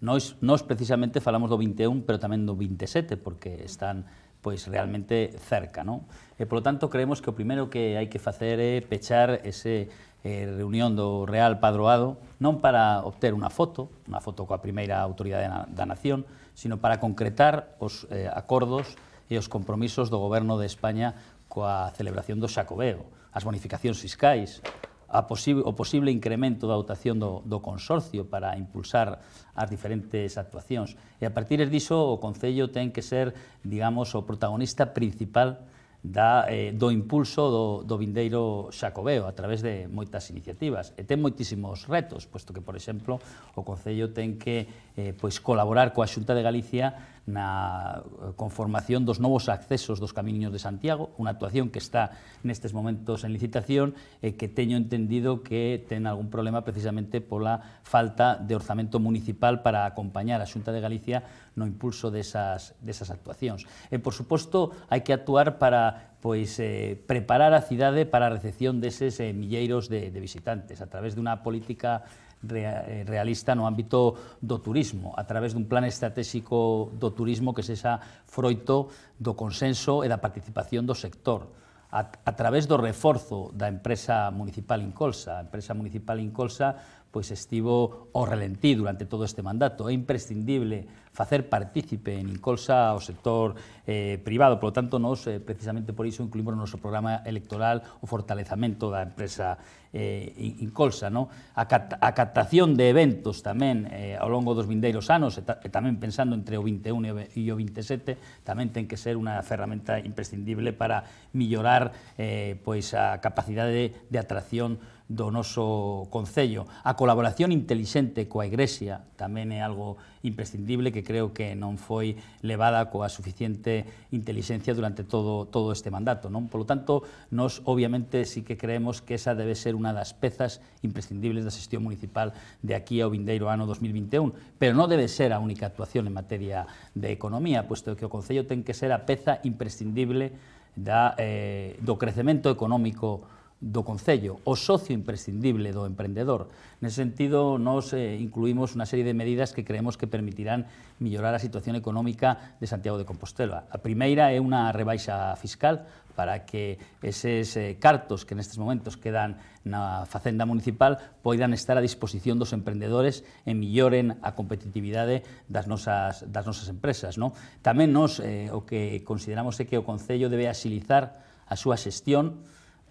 Nós, nós precisamente, falamos do vinte e un, pero tamén do vinte e sete, porque están pois realmente cerca, non? E, polo tanto, creemos que o primeiro que hai que facer é pechar ese eh, reunión do Real Padroado, non para obter unha foto, unha foto coa primeira autoridade na, da nación, sino para concretar os eh, acordos e os compromisos do Goberno de España coa celebración do Xacobeo, as bonificacións fiscais, a posible, o posible incremento da dotación do, do consorcio para impulsar as diferentes actuacións. E a partir diso, o Concello ten que ser, digamos, o protagonista principal da, eh, do impulso do, do vindeiro Xacobeo a través de moitas iniciativas. E ten moitísimos retos, posto que, por exemplo, o Concello ten que eh, pois, colaborar coa Xunta de Galicia na conformación dos novos accesos dos Camiños de Santiago, unha actuación que está nestes momentos en licitación e que teño entendido que ten algún problema precisamente pola falta de orzamento municipal para acompañar a Xunta de Galicia no impulso desas, desas actuacións. E, por suposto, hai que actuar para pois, eh, preparar a cidade para a recepción deses eh, milleiros de, de visitantes a través dunha política realista no ámbito do turismo, a través dun plan estratégico do turismo que sexa froito do consenso e da participación do sector, a, a través do reforzo da empresa municipal Incolsa. A empresa municipal Incolsa pois estivo ao relentí durante todo este mandato. É imprescindible facer partícipe en Incolsa ao sector eh, privado, por lo tanto, nós, eh, precisamente por iso, incluímos no noso programa electoral o fortalecamento da empresa eh, Incolsa, no? A, cat a captación de eventos tamén eh, ao longo dos vindeiros anos, e, ta e tamén pensando entre o vinte e un e o vinte e sete, tamén ten que ser unha ferramenta imprescindible para millorar eh, pois a capacidade de, de atracción do noso concello. A colaboración intelixente coa Igrexa tamén é algo imprescindible que creo que non foi levada coa suficiente intelixencia durante todo, todo este mandato, non? Por lo tanto, nós obviamente sí que creemos que esa debe ser unha das pezas imprescindibles da xestión municipal de aquí ao vindeiro ano dos mil vinte e un, pero non debe ser a única actuación en materia de economía, puesto que o Concello ten que ser a peza imprescindible da, eh, do crecemento económico do Concello, o socio imprescindible do emprendedor. Nese sentido, nos eh, incluímos unha serie de medidas que creemos que permitirán millorar a situación económica de Santiago de Compostela. A primeira é unha rebaixa fiscal para que eses eh, cartos que nestes momentos quedan na Facenda Municipal poidan estar a disposición dos emprendedores e milloren a competitividade das nosas, das nosas empresas, non? Tamén nos, eh, o que consideramos é que o Concello debe axilizar a súa xestión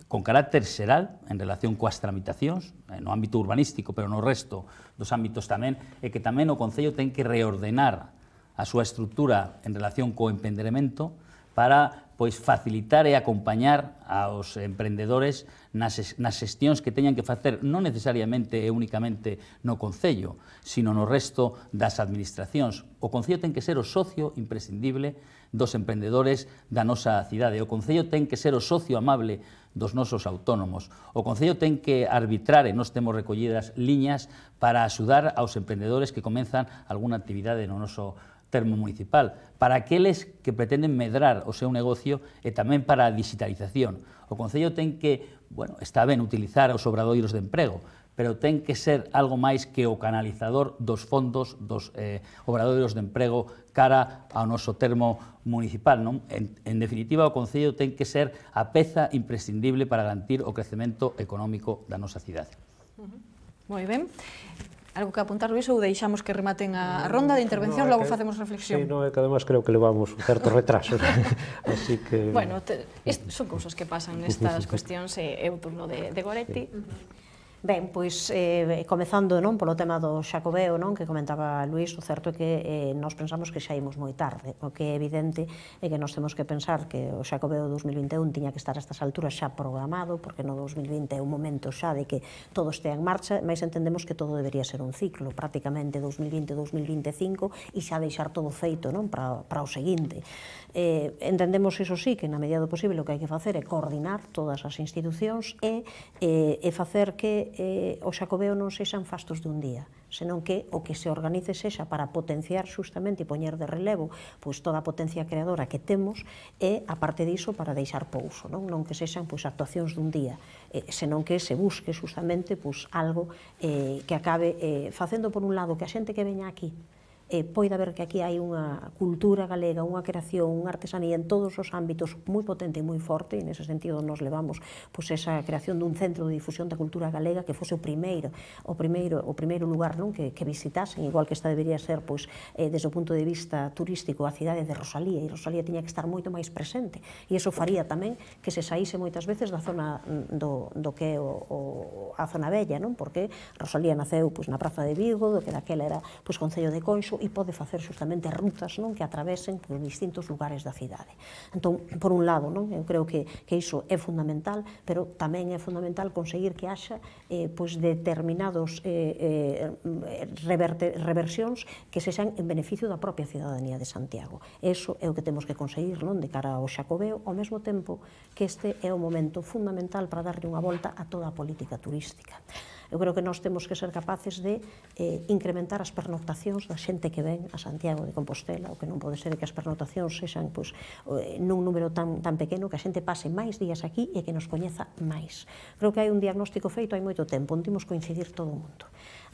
con carácter xeral en relación coas tramitacións, no ámbito urbanístico, pero no resto dos ámbitos tamén, e que tamén o Concello ten que reordenar a súa estrutura en relación co emprendemento para pois facilitar e acompañar aos emprendedores nas, nas xestións que teñan que facer non necesariamente e únicamente no Concello, sino no resto das administracións. O Concello ten que ser o socio imprescindible dos emprendedores da nosa cidade. O Concello ten que ser o socio amable dos nosos autónomos. O Concello ten que arbitrar, e nós temos recollidas liñas para axudar aos emprendedores que comenzan algunha actividade no noso termo municipal, para aqueles que pretenden medrar o seu negocio e tamén para a digitalización. O Concello ten que, bueno, está ben utilizar os obradoiros de emprego, pero ten que ser algo máis que o canalizador dos fondos dos eh, obradoiros de emprego cara ao noso termo municipal, non? En, en definitiva, o Concello ten que ser a peza imprescindible para garantir o crecemento económico da nosa cidade. Uh-huh. Moi ben. Algo que apuntar, Luís, ou deixamos que rematen a ronda de intervención, no, logo que, facemos reflexión? Sí, no, é que además creo que levamos un certo retraso, así que... Bueno, te, est, son cousas que pasan nestas cuestións, e é o turno de, de Goretti. Sí. Ben, pois, eh, comezando non, polo tema do Xacobeo, non, que comentaba Luís, o certo é que eh, nós pensamos que xa imos moi tarde. O que é evidente é que nós temos que pensar que o Xacobeo dos mil vinte e un tiña que estar a estas alturas xa programado, porque no dos mil vinte é un momento xa de que todo estea en marcha, mas entendemos que todo debería ser un ciclo, prácticamente dos mil vinte a dos mil vinte e cinco, e xa deixar todo feito, non, para, para o seguinte. Eh, entendemos, iso sí, que na medida do posible o que hai que facer é coordinar todas as institucións e, eh, e facer que eh, o Xacobeo non sexan fastos de un día, senón que o que se organice sexa para potenciar xustamente e poñer de relevo pois toda a potencia creadora que temos e, a parte diso, para deixar pouso, non, non que sexan pois actuacións dun día, eh, senón que se busque xustamente pois algo eh, que acabe eh, facendo por un lado que a xente que veña aquí eh, poida ver que aquí hai unha cultura galega, unha creación, unha artesanía en todos os ámbitos moi potente e moi forte, e nese sentido nos levamos pois, esa creación dun centro de difusión da cultura galega que fose o primeiro o primeiro, o primeiro lugar non que, que visitasen, igual que esta debería ser pois, eh, desde o punto de vista turístico a cidade de Rosalía, e Rosalía tiña que estar moito máis presente, e iso faría tamén que se saíse moitas veces da zona do, do que é o, o, a zona bella, non? Porque Rosalía naceu pois, na Praza de Vigo, do que daquela era pois, Concello de Conxo, e pode facer justamente rutas non que atravesen por distintos lugares da cidade. Entón, por un lado, non, eu creo que, que iso é fundamental, pero tamén é fundamental conseguir que haxa eh, pois determinados eh, eh, reverte, reversións que se xan en beneficio da propia cidadanía de Santiago. Eso é o que temos que conseguir non de cara ao Xacobeo, ao mesmo tempo que este é o momento fundamental para darlle unha volta a toda a política turística. Eu creo que nós temos que ser capaces de eh, incrementar as pernoctacións da xente que ven a Santiago de Compostela, o que non pode ser que as pernoctacións sexan pois, nun número tan, tan pequeno, que a xente pase máis días aquí e que nos coñeza máis. Creo que hai un diagnóstico feito hai moito tempo, onde imos coincidir todo o mundo.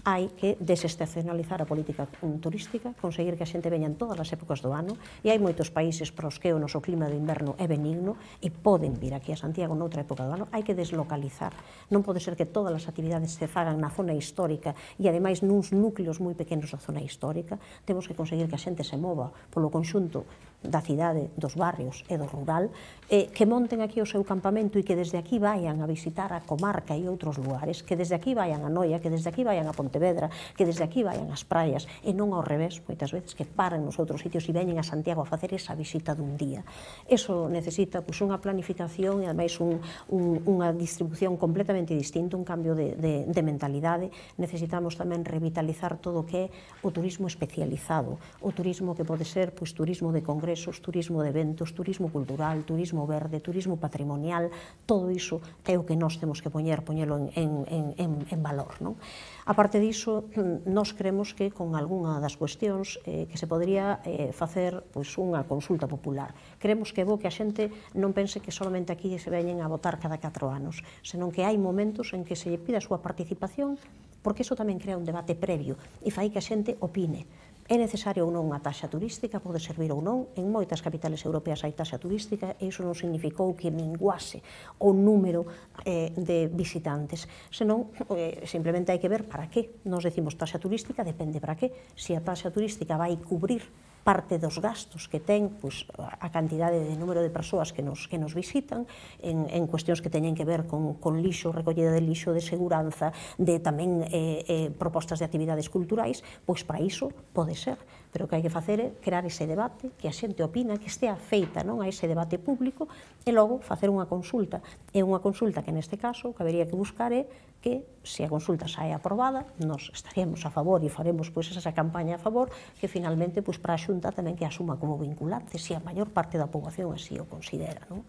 Hai que desestacionalizar a política turística, conseguir que a xente veña en todas as épocas do ano, e hai moitos países para os que o noso clima de inverno é benigno e poden vir aquí a Santiago noutra época do ano. Hai que deslocalizar. Non pode ser que todas as actividades se fagan na zona histórica e, ademais, nuns núcleos moi pequenos da zona histórica. Temos que conseguir que a xente se mova polo conxunto da cidade, dos barrios e do rural, eh, que monten aquí o seu campamento e que desde aquí vayan a visitar a comarca e outros lugares, que desde aquí vayan a Noia, que desde aquí vayan a Pontevedra, que desde aquí vayan ás praias, e non ao revés, moitas veces, que paren nos outros sitios e veñen a Santiago a facer esa visita dun día. Eso necesita pois, unha planificación e, ademais, un, un, unha distribución completamente distinta, un cambio de, de, de mentalidade. Necesitamos tamén revitalizar todo o que é o turismo especializado, o turismo que pode ser pois, turismo de congresos, turismo de eventos, turismo cultural, turismo verde, turismo patrimonial. Todo iso é o que nós temos que poñer, poñelo en, en, en, en valor, non? A parte diso, nós creemos que con algunha das cuestións eh, que se podría eh, facer pois, unha consulta popular. Creemos que é bo que a xente non pense que solamente aquí se veñen a votar cada catro anos, senón que hai momentos en que se lle pide a súa participación, porque iso tamén crea un debate previo e fai que a xente opine. É necesario ou non unha taxa turística, pode servir ou non. En moitas capitales europeas hai taxa turística e iso non significou que minguase o número eh, de visitantes. Senón, eh, simplemente hai que ver para que. Nos decimos taxa turística, depende para que. Se a taxa turística vai cubrir parte dos gastos que ten pois, a cantidade de número de persoas que nos, que nos visitan en, en cuestións que teñen que ver con, con lixo, recollida de lixo, de seguranza, de tamén eh, eh, propostas de actividades culturais, pois para iso pode ser. Pero o que hai que facer é crear ese debate, que a xente opina, que estea feita non a ese debate público e logo facer unha consulta. É unha consulta que neste caso o que habería que buscar é que se a consulta sae aprobada, nos estaríamos a favor e faremos pois, esa campaña a favor, que finalmente pois, para a Xunta tamén que asuma como vinculante, se a maior parte da poboación así o considera. Non?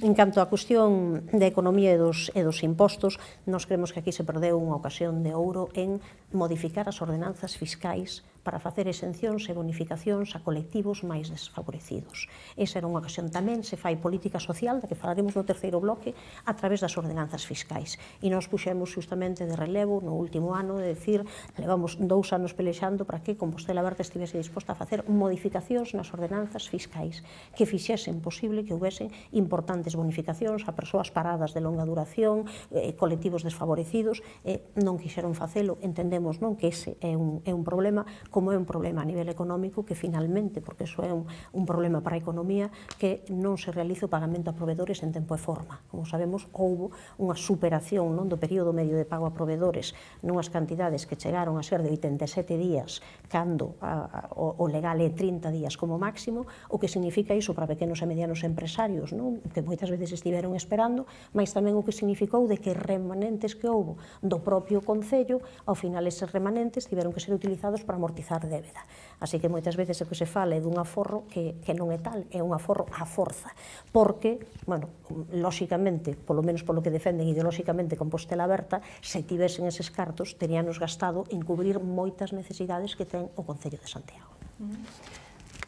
En canto á cuestión da economía e dos, e dos impostos, nos creemos que aquí se perdeu unha ocasión de ouro en modificar as ordenanzas fiscais para facer exencións e bonificacións a colectivos máis desfavorecidos. Esa era unha ocasión tamén, se fai política social, da que falaremos no terceiro bloque, a través das ordenanzas fiscais. E nos puxemos justamente de relevo no último ano de decir, levamos dous anos pelexando para que Compostela Aberta estivese disposta a facer modificacións nas ordenanzas fiscais que fixesen posible que houvesen importantes bonificacións a persoas paradas de longa duración, eh, colectivos desfavorecidos, e non quixeron facelo. Entendemos non que ese é un, é un problema, como é un problema a nivel económico, que finalmente, porque iso é un, un problema para a economía, que non se realiza o pagamento a provedores en tempo e forma. Como sabemos, houbo unha superación non do período medio de pago a provedores nunhas cantidades que chegaron a ser de oitenta e sete días, cando a, a, o, o legal é trinta días como máximo, o que significa iso para pequenos e medianos empresarios, non? Que moitas veces estiveron esperando, mas tamén o que significou de que remanentes que houbo do propio Concello, ao final eses remanentes tiveron que ser utilizados para amortizar débeda. Así que moitas veces o que se fala é dun aforro que, que non é tal, é un aforro a forza, porque, bueno, lóxicamente, polo menos polo que defenden ideolóxicamente Compostela Aberta, se tivesen eses cartos, teríanos gastado en cubrir moitas necesidades que ten o Concello de Santiago.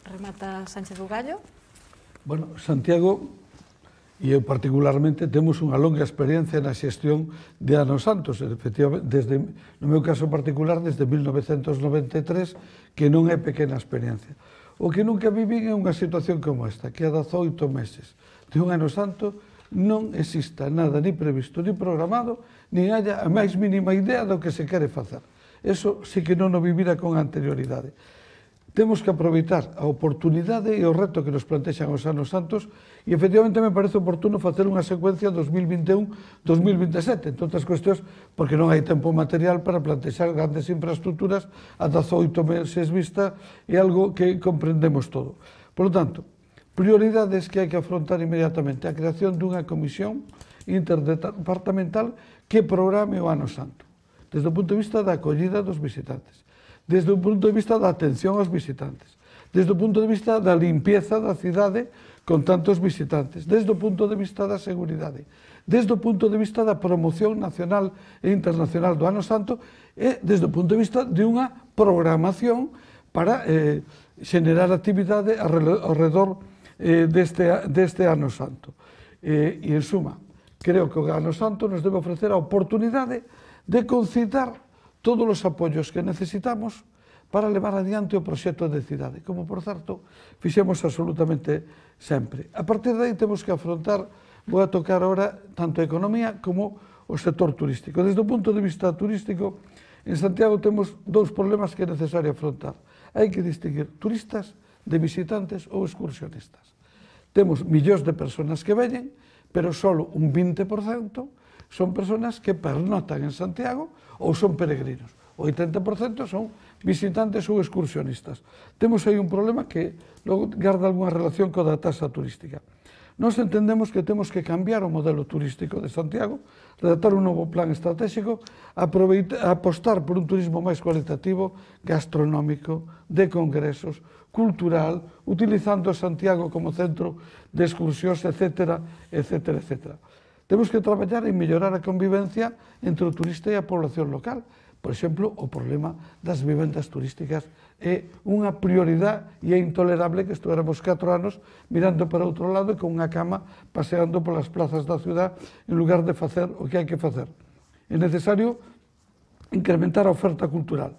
Remata Sánchez Bugallo. Bueno, Santiago e eu particularmente temos unha longa experiencia na xestión de Anos Santos, efectivamente, desde, no meu caso particular, desde mil novecentos noventa e tres, que non é pequena experiencia. O que nunca vivín é unha situación como esta, que a dezoito meses de un Ano Santo non exista nada ni previsto, ni programado, ni haya a máis mínima idea do que se quere facer. Eso sí que non o vivira con anterioridade. Temos que aproveitar a oportunidade e o reto que nos plantexan os Anos Santos e, efectivamente, me parece oportuno facer unha secuencia dos mil vinte e un a dos mil vinte e sete, entre outras cuestións, porque non hai tempo material para plantexar grandes infraestructuras a dezoito meses vista, é algo que comprendemos todo. Por lo tanto, prioridades que hai que afrontar inmediatamente: a creación dunha comisión interdepartamental que programe o Ano Santo, desde o punto de vista da acollida dos visitantes, desde o punto de vista da atención aos visitantes, desde o punto de vista da limpieza da cidade con tantos visitantes, desde o punto de vista da seguridade, desde o punto de vista da promoción nacional e internacional do Ano Santo e desde o punto de vista de unha programación para eh, xenerar actividade ao redor eh, deste, deste Ano Santo. Eh, e, en suma, creo que o Ano Santo nos debe ofrecer a oportunidade de concitar todos os apoios que necesitamos para levar adiante o proxecto de cidade, como, por certo, fixemos absolutamente sempre. A partir de aí temos que afrontar, vou a tocar ahora, tanto a economía como o sector turístico. Desde o punto de vista turístico, en Santiago temos dous problemas que é necesario afrontar. Hai que distinguir turistas de visitantes ou excursionistas. Temos millóns de persoas que veñen, pero só un vinte por cento son persoas que pernotan en Santiago ou son peregrinos. O oitenta por cento son visitantes ou excursionistas. Temos aí un problema que logo garda algunha relación coa da taxa turística. Nós entendemos que temos que cambiar o modelo turístico de Santiago, redactar un novo plan estratégico, apostar por un turismo máis cualitativo, gastronómico, de congresos, cultural, utilizando Santiago como centro de excursións, etcétera, etcétera, etcétera. Temos que traballar en mellorar a convivencia entre o turista e a población local. Por exemplo, o problema das vivendas turísticas é unha prioridade e é intolerable que estuéramos catro anos mirando para outro lado e con unha cama paseando polas plazas da ciudad en lugar de facer o que hai que facer. É necesario incrementar a oferta cultural.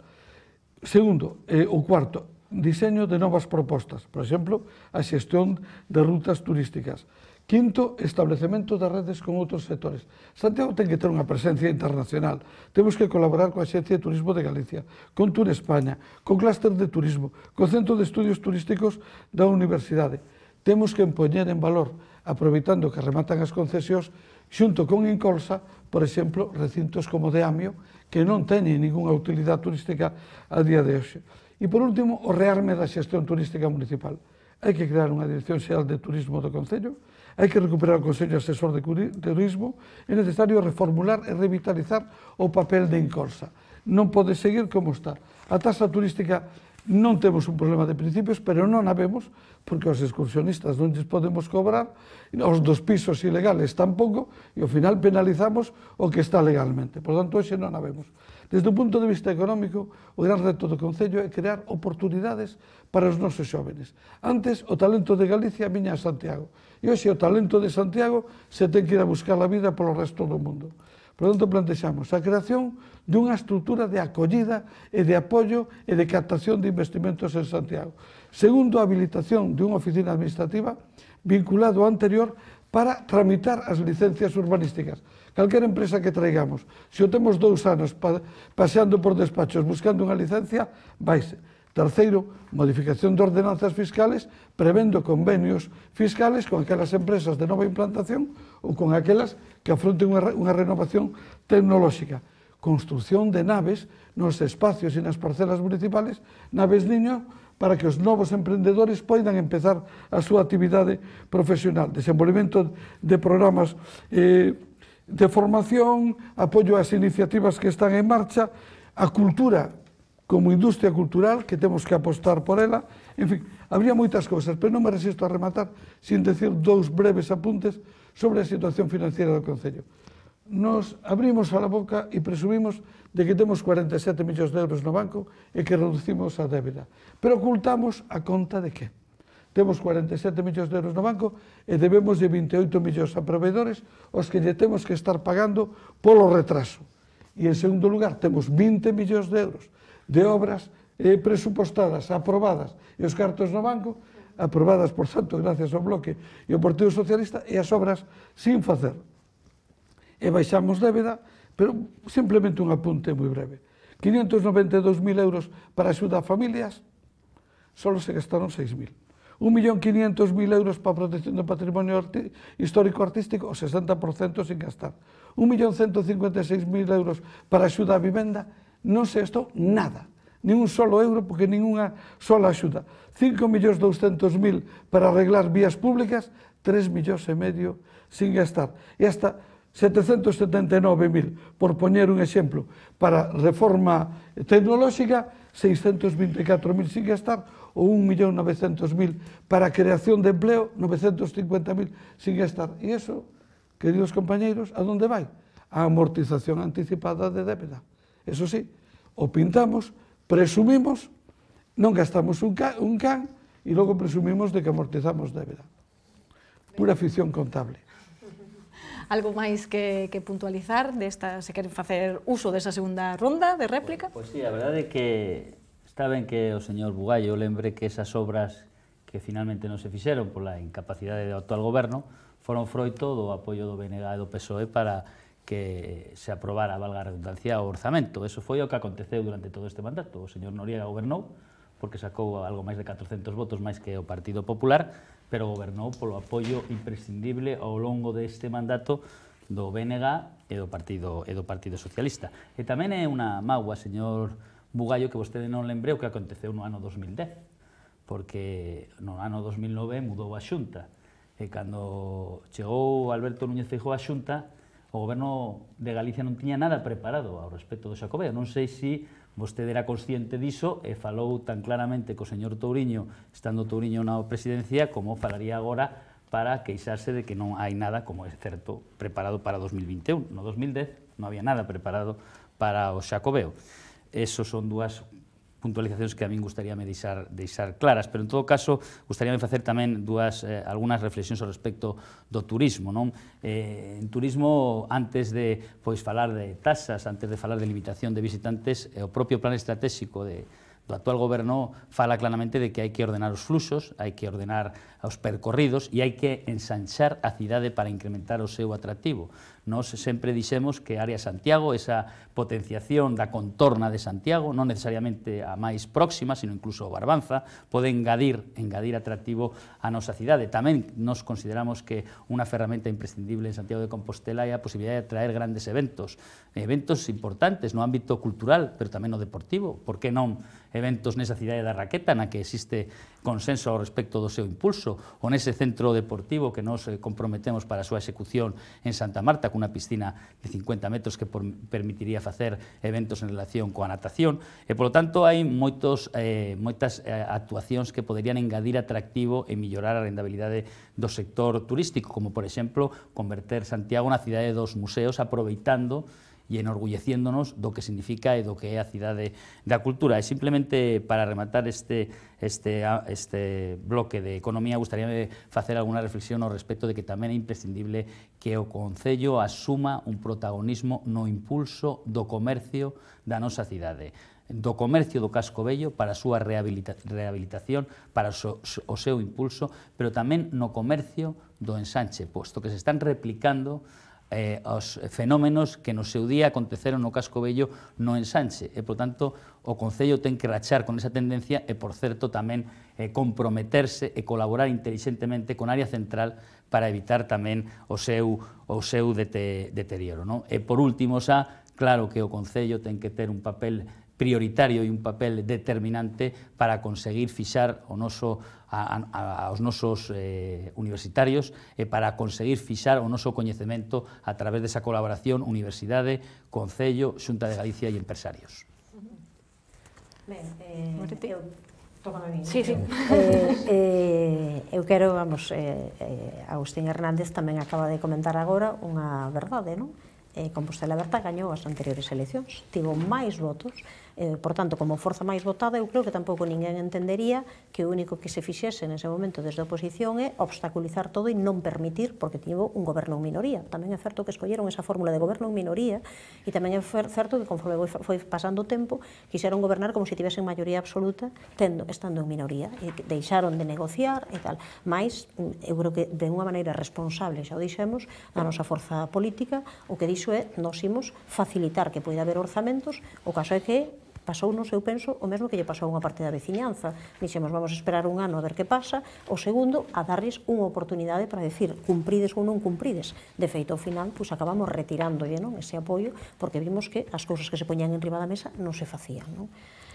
Segundo, eh, o cuarto, diseño de novas propostas, por exemplo, a xestión de rutas turísticas. Quinto, establecemento de redes con outros sectores. Santiago ten que ter unha presencia internacional. Temos que colaborar coa Axencia de Turismo de Galicia, con Tour España, con Clúster de Turismo, con Centro de Estudios Turísticos da Universidade. Temos que empoñer en valor, aproveitando que rematan as concesións, xunto con Incolsa, por exemplo, recintos como de Amio, que non teñen ninguna utilidade turística a día de hoxe. E, por último, o rearme da xestión turística municipal. Hai que crear unha Dirección Xeral de Turismo do Concello, hai que recuperar o Consello Asesor de Turismo, é necesario reformular e revitalizar o papel de Incolsa. Non pode seguir como está. A taxa turística non temos un problema de principios, pero non a vemos, porque os excursionistas non lles podemos cobrar, os dos pisos ilegales tampouco, e ao final penalizamos o que está legalmente. Por tanto, hoxe non a vemos. Desde o punto de vista económico, o gran reto do Concello é crear oportunidades para os nosos xóvenes. Antes, o talento de Galicia viña a Santiago. E hoxe o talento de Santiago se ten que ir a buscar a vida polo resto do mundo. Por tanto, plantexamos a creación dunha estrutura de acollida e de apoio e de captación de investimentos en Santiago. Segundo, a habilitación de unha oficina administrativa vinculado ao anterior para tramitar as licencias urbanísticas. Calquera empresa que traigamos, se o temos dous anos paseando por despachos buscando unha licencia, vaise. Terceiro, modificación de ordenanzas fiscales, prevendo convenios fiscales con aquelas empresas de nova implantación ou con aquelas que afronten unha renovación tecnolóxica. Construcción de naves nos espacios e nas parcelas municipales, naves niño, para que os novos emprendedores poidan empezar a súa actividade profesional. Desenvolvemento de programas eh, de formación, apoio ás iniciativas que están en marcha, a cultura como industria cultural, que temos que apostar por ela. En fin, habría moitas cousas, pero non me resisto a rematar sin decir dous breves apuntes sobre a situación financiera do Concello. Nos abrimos a la boca e presumimos de que temos cuarenta e sete millóns de euros no banco e que reducimos a débeda. Pero ocultamos a conta de que? Temos cuarenta e sete millóns de euros no banco e debemos de vinte e oito millóns a proveedores os que lle temos que estar pagando polo retraso. E, en segundo lugar, temos vinte millóns de euros de obras eh, presupostadas, aprobadas, e os cartos no banco, aprobadas, por tanto, gracias ao Bloque e ao Partido Socialista, e as obras sin facer. E baixamos débeda, pero simplemente un apunte moi breve. quinientos noventa e dous mil euros para axuda a familias, só se gastaron seis mil. un millón quinientos mil euros para a protección do patrimonio histórico-artístico, o sesenta por cento sin gastar. un millón ciento cincuenta e seis mil euros para axuda a vivenda, non se gastou nada, nin un solo euro, porque ninguna sola axuda. cinco millóns douscentos mil para arreglar vías públicas, tres millóns e medio sin gastar. E hasta setecentos setenta e nove mil, por poñer un exemplo, para reforma tecnolóxica, seiscentos vinte e catro mil sin gastar, ou un millón novecentos mil para a creación de empleo, novecentos cincuenta mil sin gastar. E iso, queridos compañeiros, a onde vai? A amortización anticipada de débeda. Eso sí, o pintamos, presumimos, non gastamos un can, un can e logo presumimos de que amortizamos débeda. Pura ficción contable. Algo máis que, que puntualizar desta, se queren facer uso desa segunda ronda de réplica? Pois sí, a verdade é que está ben que o señor Bugallo lembre que esas obras que finalmente non se fixeron pola incapacidade do actual goberno foron froito do apoio do B N G e do P S O E para que se aprobara, valga a redundancia, o orzamento. Eso foi o que aconteceu durante todo este mandato. O señor Noriega gobernou porque sacou algo máis de catrocentos votos máis que o Partido Popular, pero gobernou polo apoio imprescindible ao longo deste mandato do B N G e do Partido e do Partido Socialista. E tamén é unha mágoa, señor Bugallo, que vostede non lembre o que aconteceu no ano dos mil dez, porque no ano dos mil nove mudou a Xunta, e cando chegou Alberto Núñez Feijóo á Xunta, o goberno de Galicia non tiña nada preparado ao respecto do Xacobeo. Non sei se vostede era consciente diso e falou tan claramente co señor Touriño, estando Touriño na presidencia, como falaría agora para queixarse de que non hai nada, como é certo, preparado para dos mil vinte e un. No dos mil dez non había nada preparado para o Xacobeo. Esos son dúas puntualizacións que a min gustaríame deixar, deixar claras, pero en todo caso gustaríame facer tamén dúas, eh, algunhas reflexións ao respecto do turismo, non? Eh, en turismo, antes de pois, falar de tasas, antes de falar de limitación de visitantes, eh, o propio plan estratégico de, do actual goberno fala claramente de que hai que ordenar os fluxos, hai que ordenar os percorridos e hai que ensanchar a cidade para incrementar o seu atractivo. Nos sempre dixemos que a área Santiago, esa potenciación da contorna de Santiago, non necesariamente a máis próxima, sino incluso o Barbanza, pode engadir, engadir atractivo a nosa cidade. Tamén nos consideramos que unha ferramenta imprescindible en Santiago de Compostela é a posibilidade de traer grandes eventos, eventos importantes no ámbito cultural, pero tamén no deportivo. Por que non eventos nesa cidade da Raqueta, na que existe consenso ao respecto do seu impulso, ou nese centro deportivo que nos comprometemos para a súa execución en Santa Marta, cunha piscina de cincuenta metros que por, permitiría facer eventos en relación coa natación, e, polo tanto, hai moitos, eh, moitas eh, actuacións que poderían engadir atractivo e mellorar a rendabilidade do sector turístico, como, por exemplo, converter Santiago na cidade dos museos, aproveitando e enorgulleciéndonos do que significa e do que é a cidade da cultura. E simplemente para rematar este, este, este bloque de economía, gustaríame facer alguna reflexión ao respecto de que tamén é imprescindible que o Concello asuma un protagonismo no impulso do comercio da nosa cidade, do comercio do Casco Vello para a súa rehabilita rehabilitación, para o, so, o seu impulso, pero tamén no comercio do ensanche, posto que se están replicando Eh, os fenómenos que no seu día aconteceron no Casco Vello no ensanche, e, por tanto, o Concello ten que rachar con esa tendencia e, por certo, tamén eh, comprometerse e colaborar inteligentemente con área central para evitar tamén o seu, o seu dete, deterioro, non? E, por último, xa, claro que o Concello ten que ter un papel prioritario e un papel determinante para conseguir fixar o noso, a, a, aos nosos eh, universitarios e para conseguir fixar o noso coñecemento a través desa colaboración Universidade, Concello, Xunta de Galicia e empresarios. Ben, eh, eu tócame a mí. Sí, sí. Eh, eh, eu quero, vamos, eh, eh, Agustín Hernández tamén acaba de comentar agora unha verdade, non? Eh, Compostela Aberta gañou as anteriores eleccións, tivo máis votos, eh, por tanto, como forza máis votada, eu creo que tampouco ninguén entendería que o único que se fixese nese momento desde a oposición é obstaculizar todo e non permitir, porque tivo un goberno en minoría. Tamén é certo que escolleron esa fórmula de goberno en minoría, e tamén é certo que conforme foi pasando o tempo, quixeron gobernar como se tivesen maioría absoluta, tendo, estando en minoría, e deixaron de negociar e tal. Mais, eu creo que de unha maneira responsable, xa o dixemos, a nosa forza política, o que dixo é, nos imos facilitar que poida haber orzamentos, o caso é que pasounos, eu penso, o mesmo que lle pasou a unha parte da veciñanza. Dixemos, vamos a esperar un ano a ver que pasa. O segundo, a darles unha oportunidade para decir cumprides ou non cumprides. De feito, ao final, pois acabamos retirándolle, non, ese apoio, porque vimos que as cousas que se poñían en riba da mesa non se facían, non?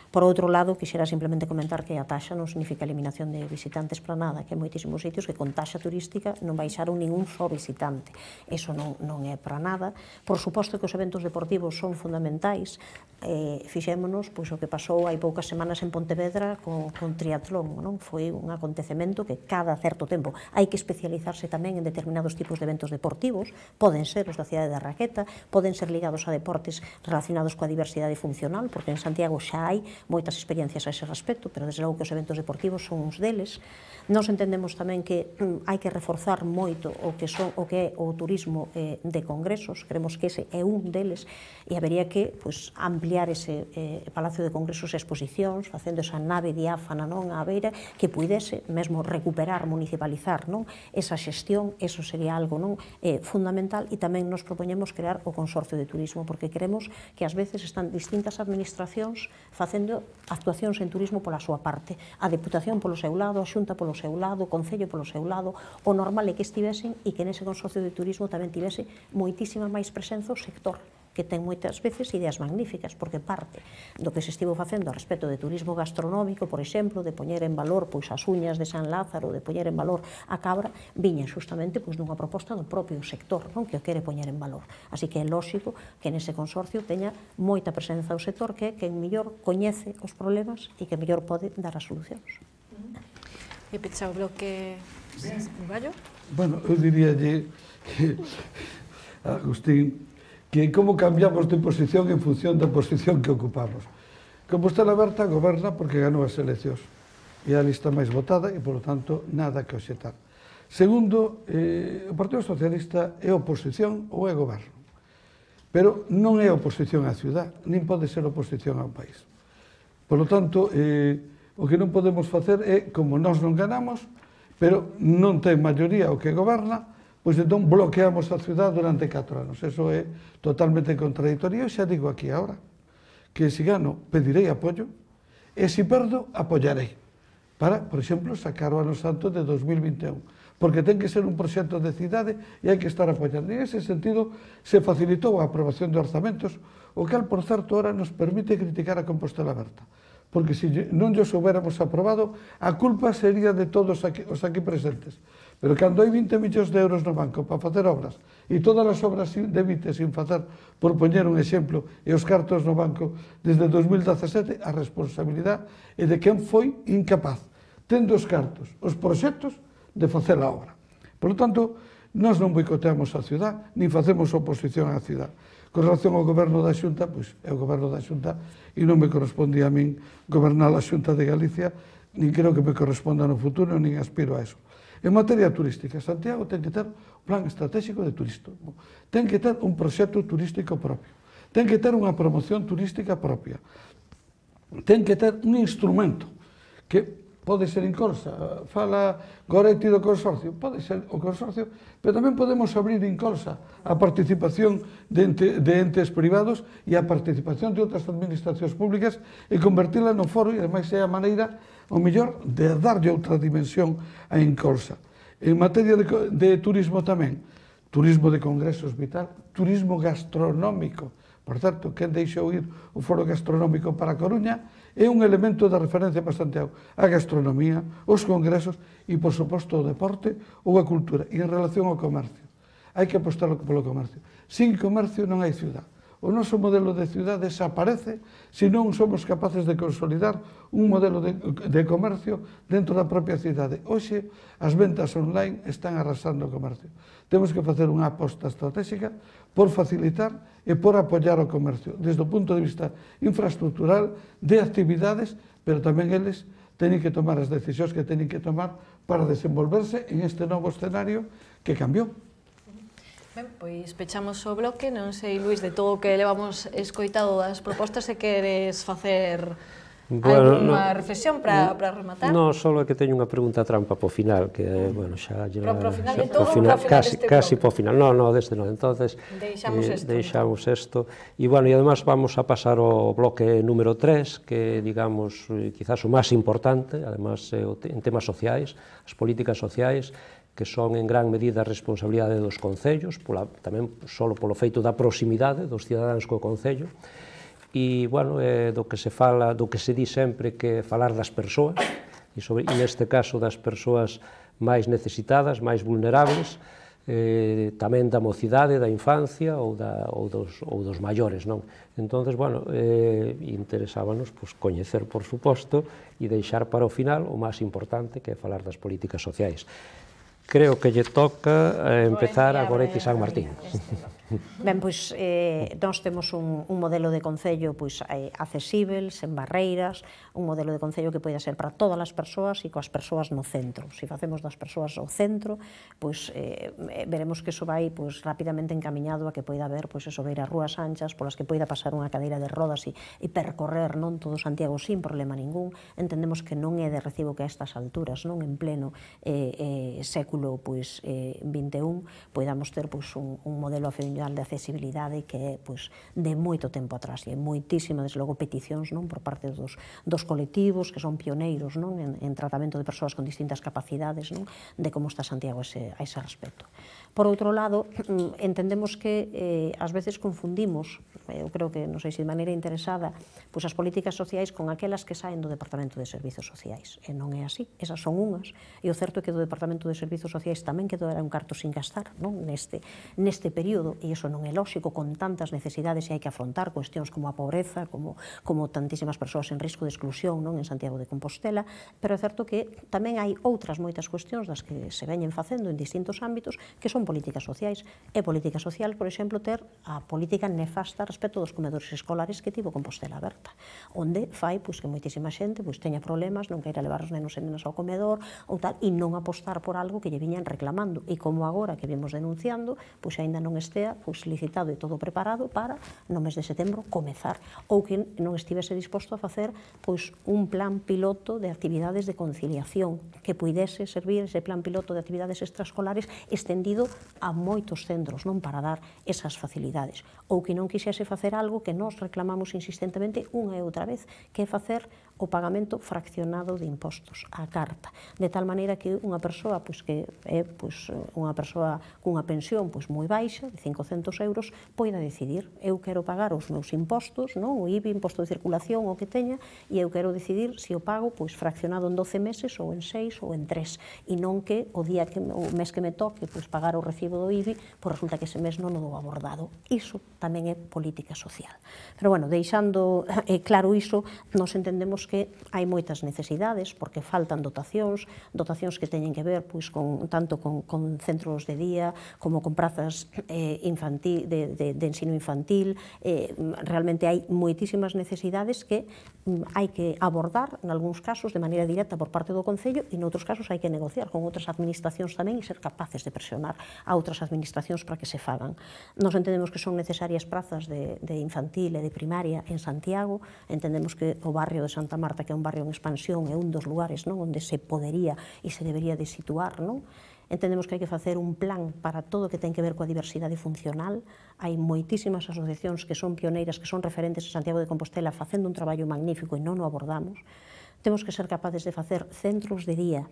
Por outro lado, quixera simplemente comentar que a taxa non significa eliminación de visitantes para nada, que hai moitísimos sitios que con taxa turística non baixaron ningún só visitante. Eso non, non é para nada. Por suposto que os eventos deportivos son fundamentais. Eh, fixémonos pois, o que pasou hai poucas semanas en Pontevedra con, con triatlón, non? Foi un acontecemento que cada certo tempo hai que especializarse tamén en determinados tipos de eventos deportivos, poden ser os da cidade da Raqueta, poden ser ligados a deportes relacionados coa diversidade funcional, porque en Santiago xa hai moitas experiencias a ese respecto, pero desde logo que os eventos deportivos son uns deles. Nos entendemos tamén que mm, hai que reforzar moito o que, son, o que é o turismo eh, de congresos, creemos que ese é un deles, e habería que pues, ampliar ese eh, Palacio de Congresos e Exposicións, facendo esa nave diáfana non, á beira, que puidese mesmo recuperar, municipalizar non, esa xestión, eso sería algo non, eh, fundamental, e tamén nos propoñemos crear o Consorcio de Turismo, porque queremos que ás veces están distintas administracións facendo actuacións en turismo pola súa parte, a Deputación polo seu lado, a Xunta polo seu lado, o Concello polo seu lado, o normal é que estivesen e que nese Consorcio de Turismo tamén tivese moitísima máis presenza o sector, que ten moitas veces ideas magníficas, porque parte do que se estivo facendo a respecto de turismo gastronómico, por exemplo, de poñer en valor pois, as uñas de San Lázaro, de poñer en valor a cabra, viña justamente pois, dunha proposta do propio sector, non, que o quere poñer en valor. Así que é lógico que nese consorcio teña moita presenza o sector, que é quen mellor coñece os problemas e que mellor pode dar as solucións. E pecha o bloque Gallo? Bueno, eu diríalle que, Agustín, que como cambiamos de posición en función da posición que ocupamos. Compostela Berta goberna porque ganou as eleccións e a lista máis votada e, polo tanto, nada que obxetar. Segundo, eh, o Partido Socialista é oposición ou é goberno, pero non é oposición á ciudad, nin pode ser oposición ao país. Por lo tanto, eh, o que non podemos facer é, como nós non ganamos, pero non ten maioría o que goberna, pois entón bloqueamos a ciudad durante catro anos. Eso é totalmente contradictorio. Eu xa digo aquí agora que se gano pedirei apoio e se perdo apoiarei para, por exemplo, sacar o ano santo de dos mil vinte e un, porque ten que ser un proxecto de cidade e hai que estar apoiando. En ese sentido se facilitou a aprobación de orzamentos, o cal, por certo, ahora nos permite criticar a Compostela Berta, porque se non os houbéramos aprobado, a culpa sería de todos aquí, os aquí presentes. Pero cando hai vinte millóns de euros no banco para facer obras e todas as obras de Vite sin facer, por poñer un exemplo, e os cartos no banco desde dos mil dezasete, a responsabilidade é de quen foi incapaz, tendo os cartos, os proxectos, de facer a obra. Por lo tanto, nós non boicoteamos a ciudad, nin facemos oposición á ciudad. Con relación ao goberno da Xunta, pois é o goberno da Xunta e non me corresponde a min gobernar a Xunta de Galicia, nin creo que me corresponda no futuro, nin aspiro a eso. En materia turística, Santiago ten que ter un plan estratégico de turismo, ten que ter un proxecto turístico propio, ten que ter unha promoción turística propia, ten que ter un instrumento que pode ser Incolsa, fala Goretti do consorcio, pode ser o consorcio, pero tamén podemos abrir Incolsa a participación de, ente, de entes privados e a participación de outras administracións públicas e convertila no foro, e ademais é a maneira o mellor de darlle outra dimensión a Incolsa. En materia de, de turismo tamén, turismo de congresos vital, turismo gastronómico. Por certo, quen deixou ir o foro gastronómico para a Coruña é un elemento de referencia para Santiago. A gastronomía, os congresos e, por suposto, o deporte ou a cultura. E en relación ao comercio, hai que apostar polo comercio. Sin comercio non hai ciudad. O noso modelo de ciudad desaparece se non somos capaces de consolidar un modelo de, de comercio dentro da propia cidade. Hoxe, as ventas online están arrasando o comercio. Temos que facer unha aposta estratégica por facilitar e por apoiar o comercio, desde o punto de vista infraestructural, de actividades, pero tamén eles teñen que tomar as decisións que teñen que tomar para desenvolverse en este novo escenario que cambiou. Ben, pois pechamos o bloque, non sei, Luís, de todo o que levamos escoitado das propostas, se queres facer bueno, alguna no, reflexión para rematar? Non, só que teño unha pregunta trampa po final, que, bueno, xa... Pero pro final de todo, final, final casi, casi po final, non, non, deste non, entonces... Deixamos eh, esto. Deixamos isto, e, bueno, e además vamos a pasar ao bloque número tres, que, digamos, quizás o máis importante, además, en temas sociais, as políticas sociais, que son en gran medida a responsabilidade dos concellos, pola, tamén só polo feito da proximidade dos cidadáns co concello, e, bueno, é do que se fala, do que se di sempre que falar das persoas, e, sobre, e neste caso das persoas máis necesitadas, máis vulnerables, eh, tamén da mocidade, da infancia ou, da, ou, dos, ou dos maiores, non? Entonces, bueno, eh, interesábanos pues, coñecer, por suposto, e deixar para o final o máis importante, que é falar das políticas sociais. Creo que lle toca eh, empezar a Goretti San Martín. Ben, pois, eh, nós temos un, un modelo de concello pois, eh, accesível, sen barreiras, un modelo de concello que poida ser para todas as persoas e coas persoas no centro. Se facemos das persoas ao centro, pois, eh, veremos que iso vai pois, rapidamente encamiñado a que poida haber pois, eso, ver as rúas anchas polas que poida pasar unha cadeira de rodas e, e percorrer non todo Santiago sin problema ningún. Entendemos que non é de recibo que a estas alturas, non en pleno eh, eh, século pois, eh, vinte e un, poidamos ter pois, un, un modelo afeminado de accesibilidade que é pois, de moito tempo atrás e moitísima, desde logo, peticións non, por parte dos, dos colectivos que son pioneiros non, en, en tratamento de persoas con distintas capacidades non, de como está Santiago ese, a ese respecto. Por outro lado, entendemos que eh, ás veces confundimos, eu creo que, non sei se de maneira interesada, pois as políticas sociais con aquelas que saen do Departamento de Servizos Sociais. E non é así, esas son unhas. E o certo é que do Departamento de Servizos Sociais tamén quedou un carto sin gastar non, neste, neste período, e iso non é lóxico con tantas necesidades e hai que afrontar cuestións como a pobreza, como, como tantísimas persoas en risco de exclusión non, en Santiago de Compostela, pero é certo que tamén hai outras moitas cuestións das que se veñen facendo en distintos ámbitos que son políticas sociais. É política social, por exemplo, ter a política nefasta respecto dos comedores escolares que tivo Compostela Aberta, onde fai pois, que moitísima xente pois, teña problemas, non queira levar os nenos e nenas ao comedor ou tal, e non apostar por algo que lle viñan reclamando, e como agora que vimos denunciando, pois aínda non estea pois, licitado e todo preparado para, no mes de setembro, comezar, ou que non estivese disposto a facer pois, un plan piloto de actividades de conciliación que puidese servir ese plan piloto de actividades extraescolares estendido a moitos centros, non, para dar esas facilidades, ou que non quixese facer algo que nós reclamamos insistentemente unha e outra vez, que é facer o pagamento fraccionado de impostos, a carta, de tal maneira que unha persoa pois, que é pois, unha persoa cunha pensión pois, moi baixa, de cincocentos euros, poida decidir, eu quero pagar os meus impostos, non? O I B I, imposto de circulación, o que teña, e eu quero decidir se o pago pois, fraccionado en doce meses, ou en seis, ou en tres, e non que o día que o mes que me toque pois, pagar o recibo do I B I, pois resulta que ese mes non o dou abordado. Iso tamén é política social. Pero, bueno, deixando eh, claro iso, nos entendemos que hai moitas necesidades, porque faltan dotacións, dotacións que teñen que ver pois, con, tanto con, con centros de día, como con prazas eh, infantil, de, de, de ensino infantil. Eh, realmente hai moitísimas necesidades que mm, hai que abordar, en algúns casos, de maneira directa por parte do Concello, e noutros casos hai que negociar con outras administracións tamén e ser capaces de presionar a outras administracións para que se fagan. Nos entendemos que son necesarias prazas de, de infantil e de primaria en Santiago, entendemos que o barrio de Santa Marta, que é un barrio en expansión, é un dos lugares non, onde se podería e se debería de situar, non? Entendemos que hai que facer un plan para todo o que ten que ver coa diversidade funcional. Hai moitísimas asociacións que son pioneiras, que son referentes en Santiago de Compostela facendo un traballo magnífico e non o abordamos. Temos que ser capaces de facer centros de día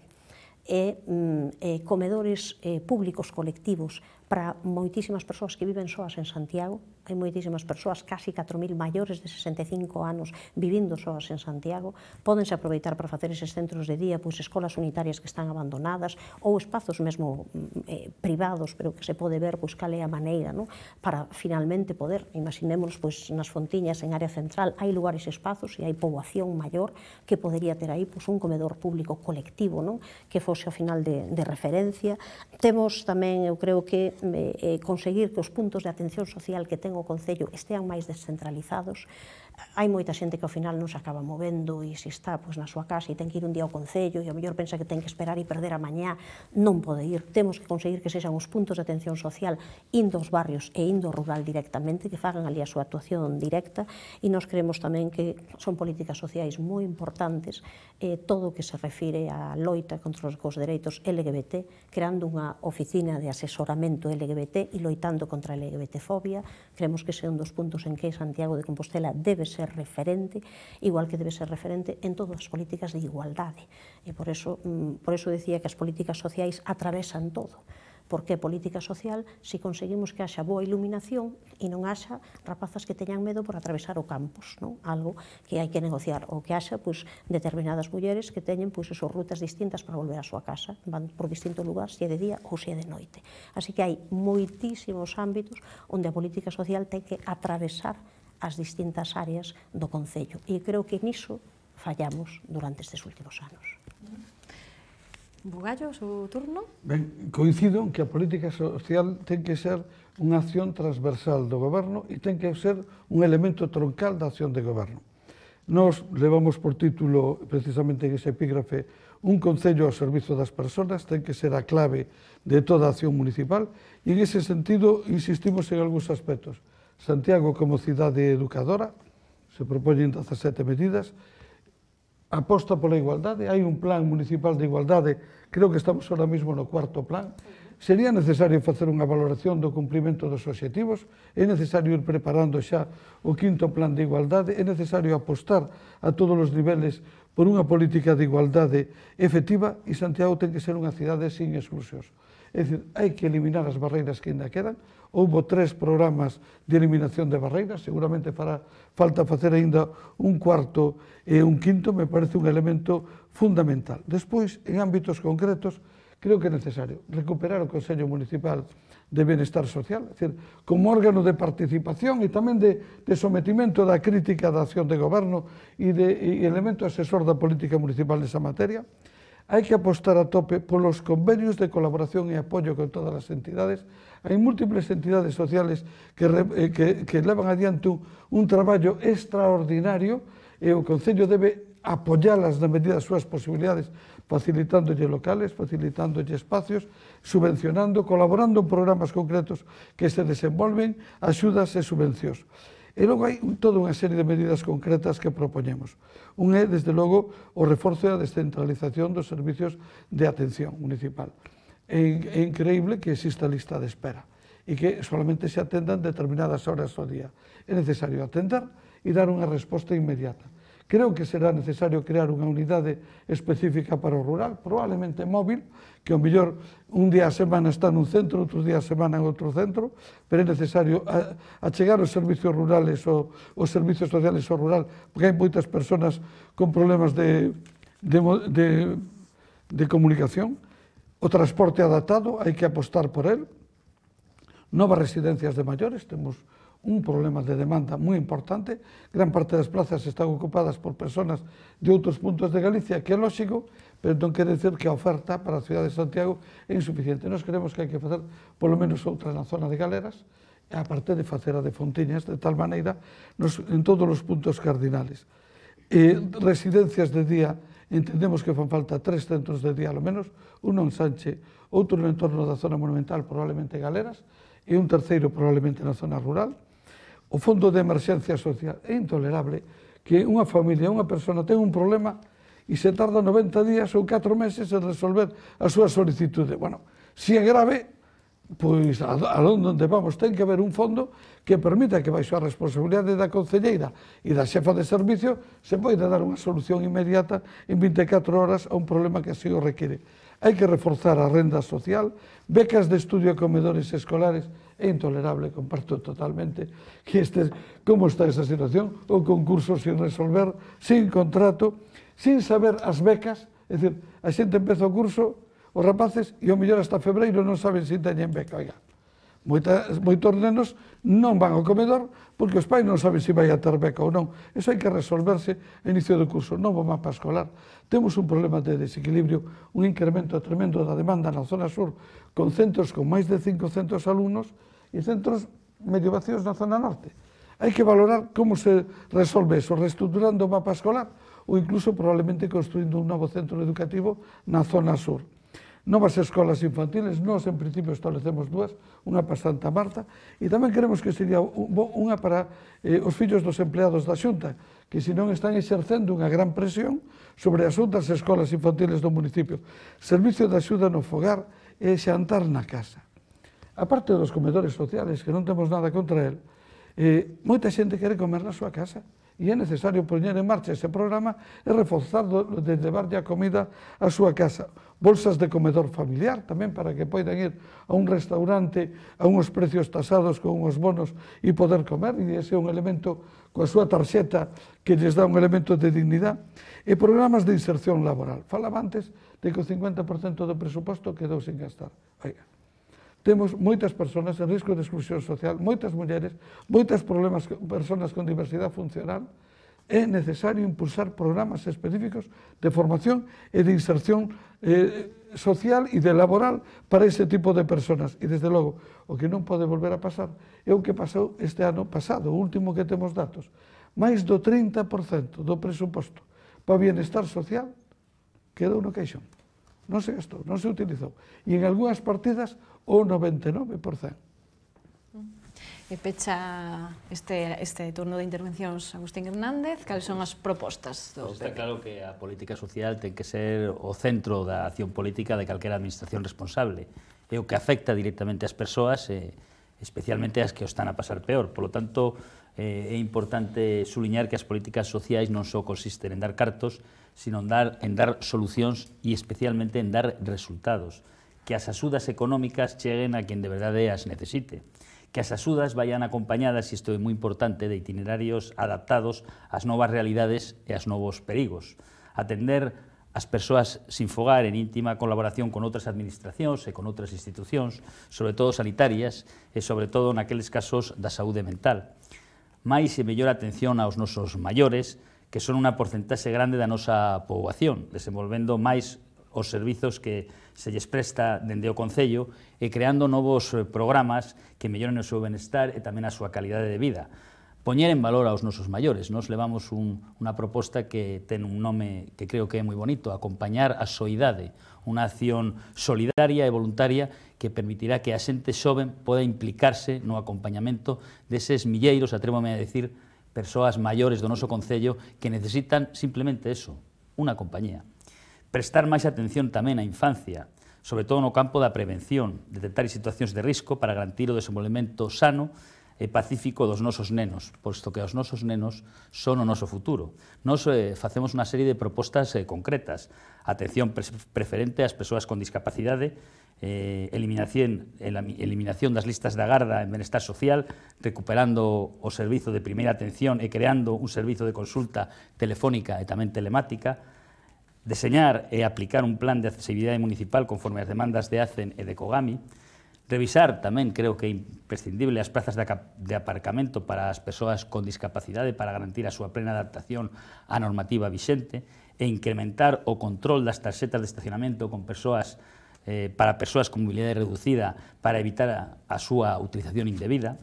e mm, eh, comedores eh, públicos colectivos para moitísimas persoas que viven soas en Santiago. Hai moitísimas persoas, casi catro mil maiores de sesenta e cinco anos, vivindo soas en Santiago. Pódense aproveitar para facer eses centros de día, pois escolas unitarias que están abandonadas, ou espazos mesmo eh, privados, pero que se pode ver pois, cal é a maneira, non? Para finalmente poder, imaginémonos, pois, nas Fontiñas, en área central, hai lugares e espazos e hai poboación maior que podería ter aí pois, un comedor público colectivo, non? Que fose ao final de, de referencia. Temos tamén, eu creo que, eh, conseguir que os puntos de atención social que ten o Concello estean máis descentralizados. Hai moita xente que ao final non se acaba movendo e se está pois, na súa casa e ten que ir un día ao Concello e ao mellor pensa que ten que esperar e perder a mañá, non pode ir. Temos que conseguir que sexan os puntos de atención social indo aos barrios e indo ao rural directamente, que fagan ali a súa actuación directa, e nos creemos tamén que son políticas sociais moi importantes eh, todo o que se refire á loita contra os, os dereitos L G B T, creando unha oficina de asesoramento L G B T e loitando contra a L G B T fobia. Creemos que ese é un dos puntos en que Santiago de Compostela debe ser referente, igual que debe ser referente en todas as políticas de igualdade. E por eso, por eso decía que as políticas sociais atravesan todo. Porque é política social se conseguimos que haxa boa iluminación e non haxa rapazas que teñan medo por atravesar o campus, non? Algo que hai que negociar, ou que haxa pois, determinadas mulleres que teñen pois, esas rutas distintas para volver á súa casa, van por distintos lugares, se é de día ou se é de noite. Así que hai moitísimos ámbitos onde a política social ten que atravesar as distintas áreas do Concello. E creo que niso fallamos durante estes últimos anos. Bugallo, o turno? Ben, coincido en que a política social ten que ser unha acción transversal do goberno e ten que ser un elemento troncal da acción de goberno. Nos levamos por título, precisamente en ese epígrafe, un concello ao servizo das persoas, ten que ser a clave de toda a acción municipal e en ese sentido insistimos en algúns aspectos. Santiago como cidade educadora, se propoñen dezasete medidas, aposta pola igualdade, hai un plan municipal de igualdade, creo que estamos ahora mismo no cuarto plan. Sería necesario facer unha valoración do cumprimento dos obxectivos, é necesario ir preparando xa o quinto plan de igualdade, é necesario apostar a todos os niveles por unha política de igualdade efectiva e Santiago ten que ser unha cidade sin exclusións. É dicir, hai que eliminar as barreiras que ainda quedan. Houbo tres programas de eliminación de barreiras, seguramente fará falta facer ainda un cuarto e un quinto, me parece un elemento fundamental. Despois, en ámbitos concretos, creo que é necesario recuperar o Consello Municipal de Benestar Social, é dicir, como órgano de participación e tamén de, de sometimento da crítica da acción de goberno e de e elemento asesor da política municipal nesa materia. Hai que apostar a tope polos convenios de colaboración e apoio con todas as entidades. Hai múltiples entidades sociales que, que, que levan adiante un, un traballo extraordinario e o Concello debe apoialas na medida das súas posibilidades, facilitándolle locales, facilitándolle espacios, subvencionando, colaborando en programas concretos que se desenvolven, axudas e subvencións. E logo hai toda unha serie de medidas concretas que propoñemos. Un é, desde logo, o reforzo e a descentralización dos servicios de atención municipal. É increíble que exista lista de espera e que solamente se atendan determinadas horas ao día. É necesario atender e dar unha resposta inmediata. Creo que será necesario crear unha unidade específica para o rural, probablemente móvil, que ao mellor un día a semana está nun centro, outros días a semana en outro centro, pero é necesario achegar os servicios rurales ou os servicios sociales ao rural, porque hai moitas persoas con problemas de, de, de, de comunicación. O transporte adaptado, hai que apostar por él. Novas residencias de maiores, temos un problema de demanda moi importante. Gran parte das plazas están ocupadas por persoas de outros puntos de Galicia, que é lógico, pero non quere dizer que a oferta para a cidade de Santiago é insuficiente. Nós creemos que hai que facer polo menos outra na zona de Galeras, a parte de facer a de Fontiñas, de tal maneira, nos, en todos os puntos cardinales. E residencias de día, entendemos que fan falta tres centros de día, ao menos, un en Sanche, outro no entorno da zona monumental, probablemente Galeras, e un terceiro probablemente na zona rural. O Fondo de Emerxencia Social é intolerable que unha familia, unha persona ten un problema e se tarda noventa días ou catro meses en resolver a súa solicitude. Bueno, se é grave, pois a, a onde vamos ten que haber un fondo que permita que baixo a responsabilidade da concelleira e da xefa de servicio se poida dar unha solución inmediata en vinte e catro horas a un problema que así o require. Hai que reforzar a renda social, becas de estudio e comedores escolares. É intolerable, comparto totalmente que este, como está esa situación, o concurso sin resolver, sin contrato, sin saber as becas, é dicir, a xente empeza o curso, os rapaces, e ao mellor hasta febreiro non saben se teñen beca. Oiga, moitas, moitos nenos non van ao comedor porque os pais non saben se vai a ter beca ou non. Eso hai que resolverse a inicio do curso, novo mapa escolar. Temos un problema de desequilibrio, un incremento tremendo da demanda na zona sur, con centros con máis de cincocentos alumnos e centros medio vacíos na zona norte. Hai que valorar como se resolve eso, reestructurando o mapa escolar ou incluso probablemente construindo un novo centro educativo na zona sur. Novas escolas infantiles, nós en principio establecemos dúas, unha para Santa Marta, e tamén queremos que sería unha para eh, os fillos dos empleados da Xunta, que senón están exercendo unha gran presión sobre as outras escolas infantiles do municipio. Servicio de axuda no fogar e xantar na casa. A parte dos comedores sociales, que non temos nada contra el, eh, moita xente quere comer na súa casa, E é necesario poñer en marcha ese programa e reforzar de levarlle a comida a súa casa. Bolsas de comedor familiar tamén para que poidan ir a un restaurante a uns precios tasados con uns bonos e poder comer, e ese é un elemento coa súa tarxeta que lles dá un elemento de dignidade. E programas de inserción laboral. Falaba antes de que o cincuenta por cento do presuposto quedou sin gastar. Oiga, temos moitas persoas en risco de exclusión social, moitas mulleres, moitas problemas, persoas con diversidade funcional. É necesario impulsar programas específicos de formación e de inserción eh, social e de laboral para ese tipo de persoas. E, desde logo, o que non pode volver a pasar é o que pasou este ano pasado, o último que temos datos. Mais do trinta por cento do presuposto para o bienestar social quedou no caixón. Non se gastou, non se utilizou. E en algunhas partidas o noventa e nove por cento. E pecha este, este turno de intervencións Agustín Hernández, cales son as propostas do Pues está claro que a política social ten que ser o centro da acción política de calquera administración responsable. É o que afecta directamente ás persoas, e especialmente as que o están a pasar peor. Por lo tanto, eh, é importante suliñar que as políticas sociais non só consisten en dar cartos, sino en dar, en dar solucións e especialmente en dar resultados. Que as axudas económicas cheguen a quen de verdade as necesite. Que as axudas vayan acompañadas, e isto é moi importante, de itinerarios adaptados ás novas realidades e aos novos perigos. Atender as persoas sin fogar en íntima colaboración con outras administracións e con outras institucións, sobre todo sanitarias e sobre todo naqueles casos da saúde mental. Mais e mellor atención aos nosos maiores, que son unha porcentaxe grande da nosa poboación, desenvolvendo máis os servizos que se lles presta dende o Concello e creando novos programas que melloren o seu benestar e tamén a súa calidade de vida. Poñer en valor aos nosos maiores. Nos levamos un, unha proposta que ten un nome que creo que é moi bonito, acompañar a soidade, unha acción solidaria e voluntaria que permitirá que a xente xoven poda implicarse no acompañamento deses milleiros, atrévome a decir, persoas maiores do noso Concello que necesitan simplemente eso, unha compañía. Prestar máis atención tamén á infancia, sobre todo no campo da prevención, detectar situacións de risco para garantir o desenvolvemento sano e pacífico dos nosos nenos, posto que os nosos nenos son o noso futuro. Nos eh, facemos unha serie de propostas eh, concretas, atención pre preferente ás persoas con discapacidade, eh, eliminación, eliminación das listas de agarda en benestar social, recuperando o servizo de primeira atención e creando un servizo de consulta telefónica e tamén telemática, deseñar e aplicar un plan de accesibilidade municipal conforme as demandas de ACEN e de COGAMI, revisar tamén, creo que é imprescindible, as plazas de aparcamento para as persoas con discapacidade para garantir a súa plena adaptación á normativa vixente e incrementar o control das tarxetas de estacionamento con persoas, eh, para persoas con mobilidade reducida para evitar a, a súa utilización indebida,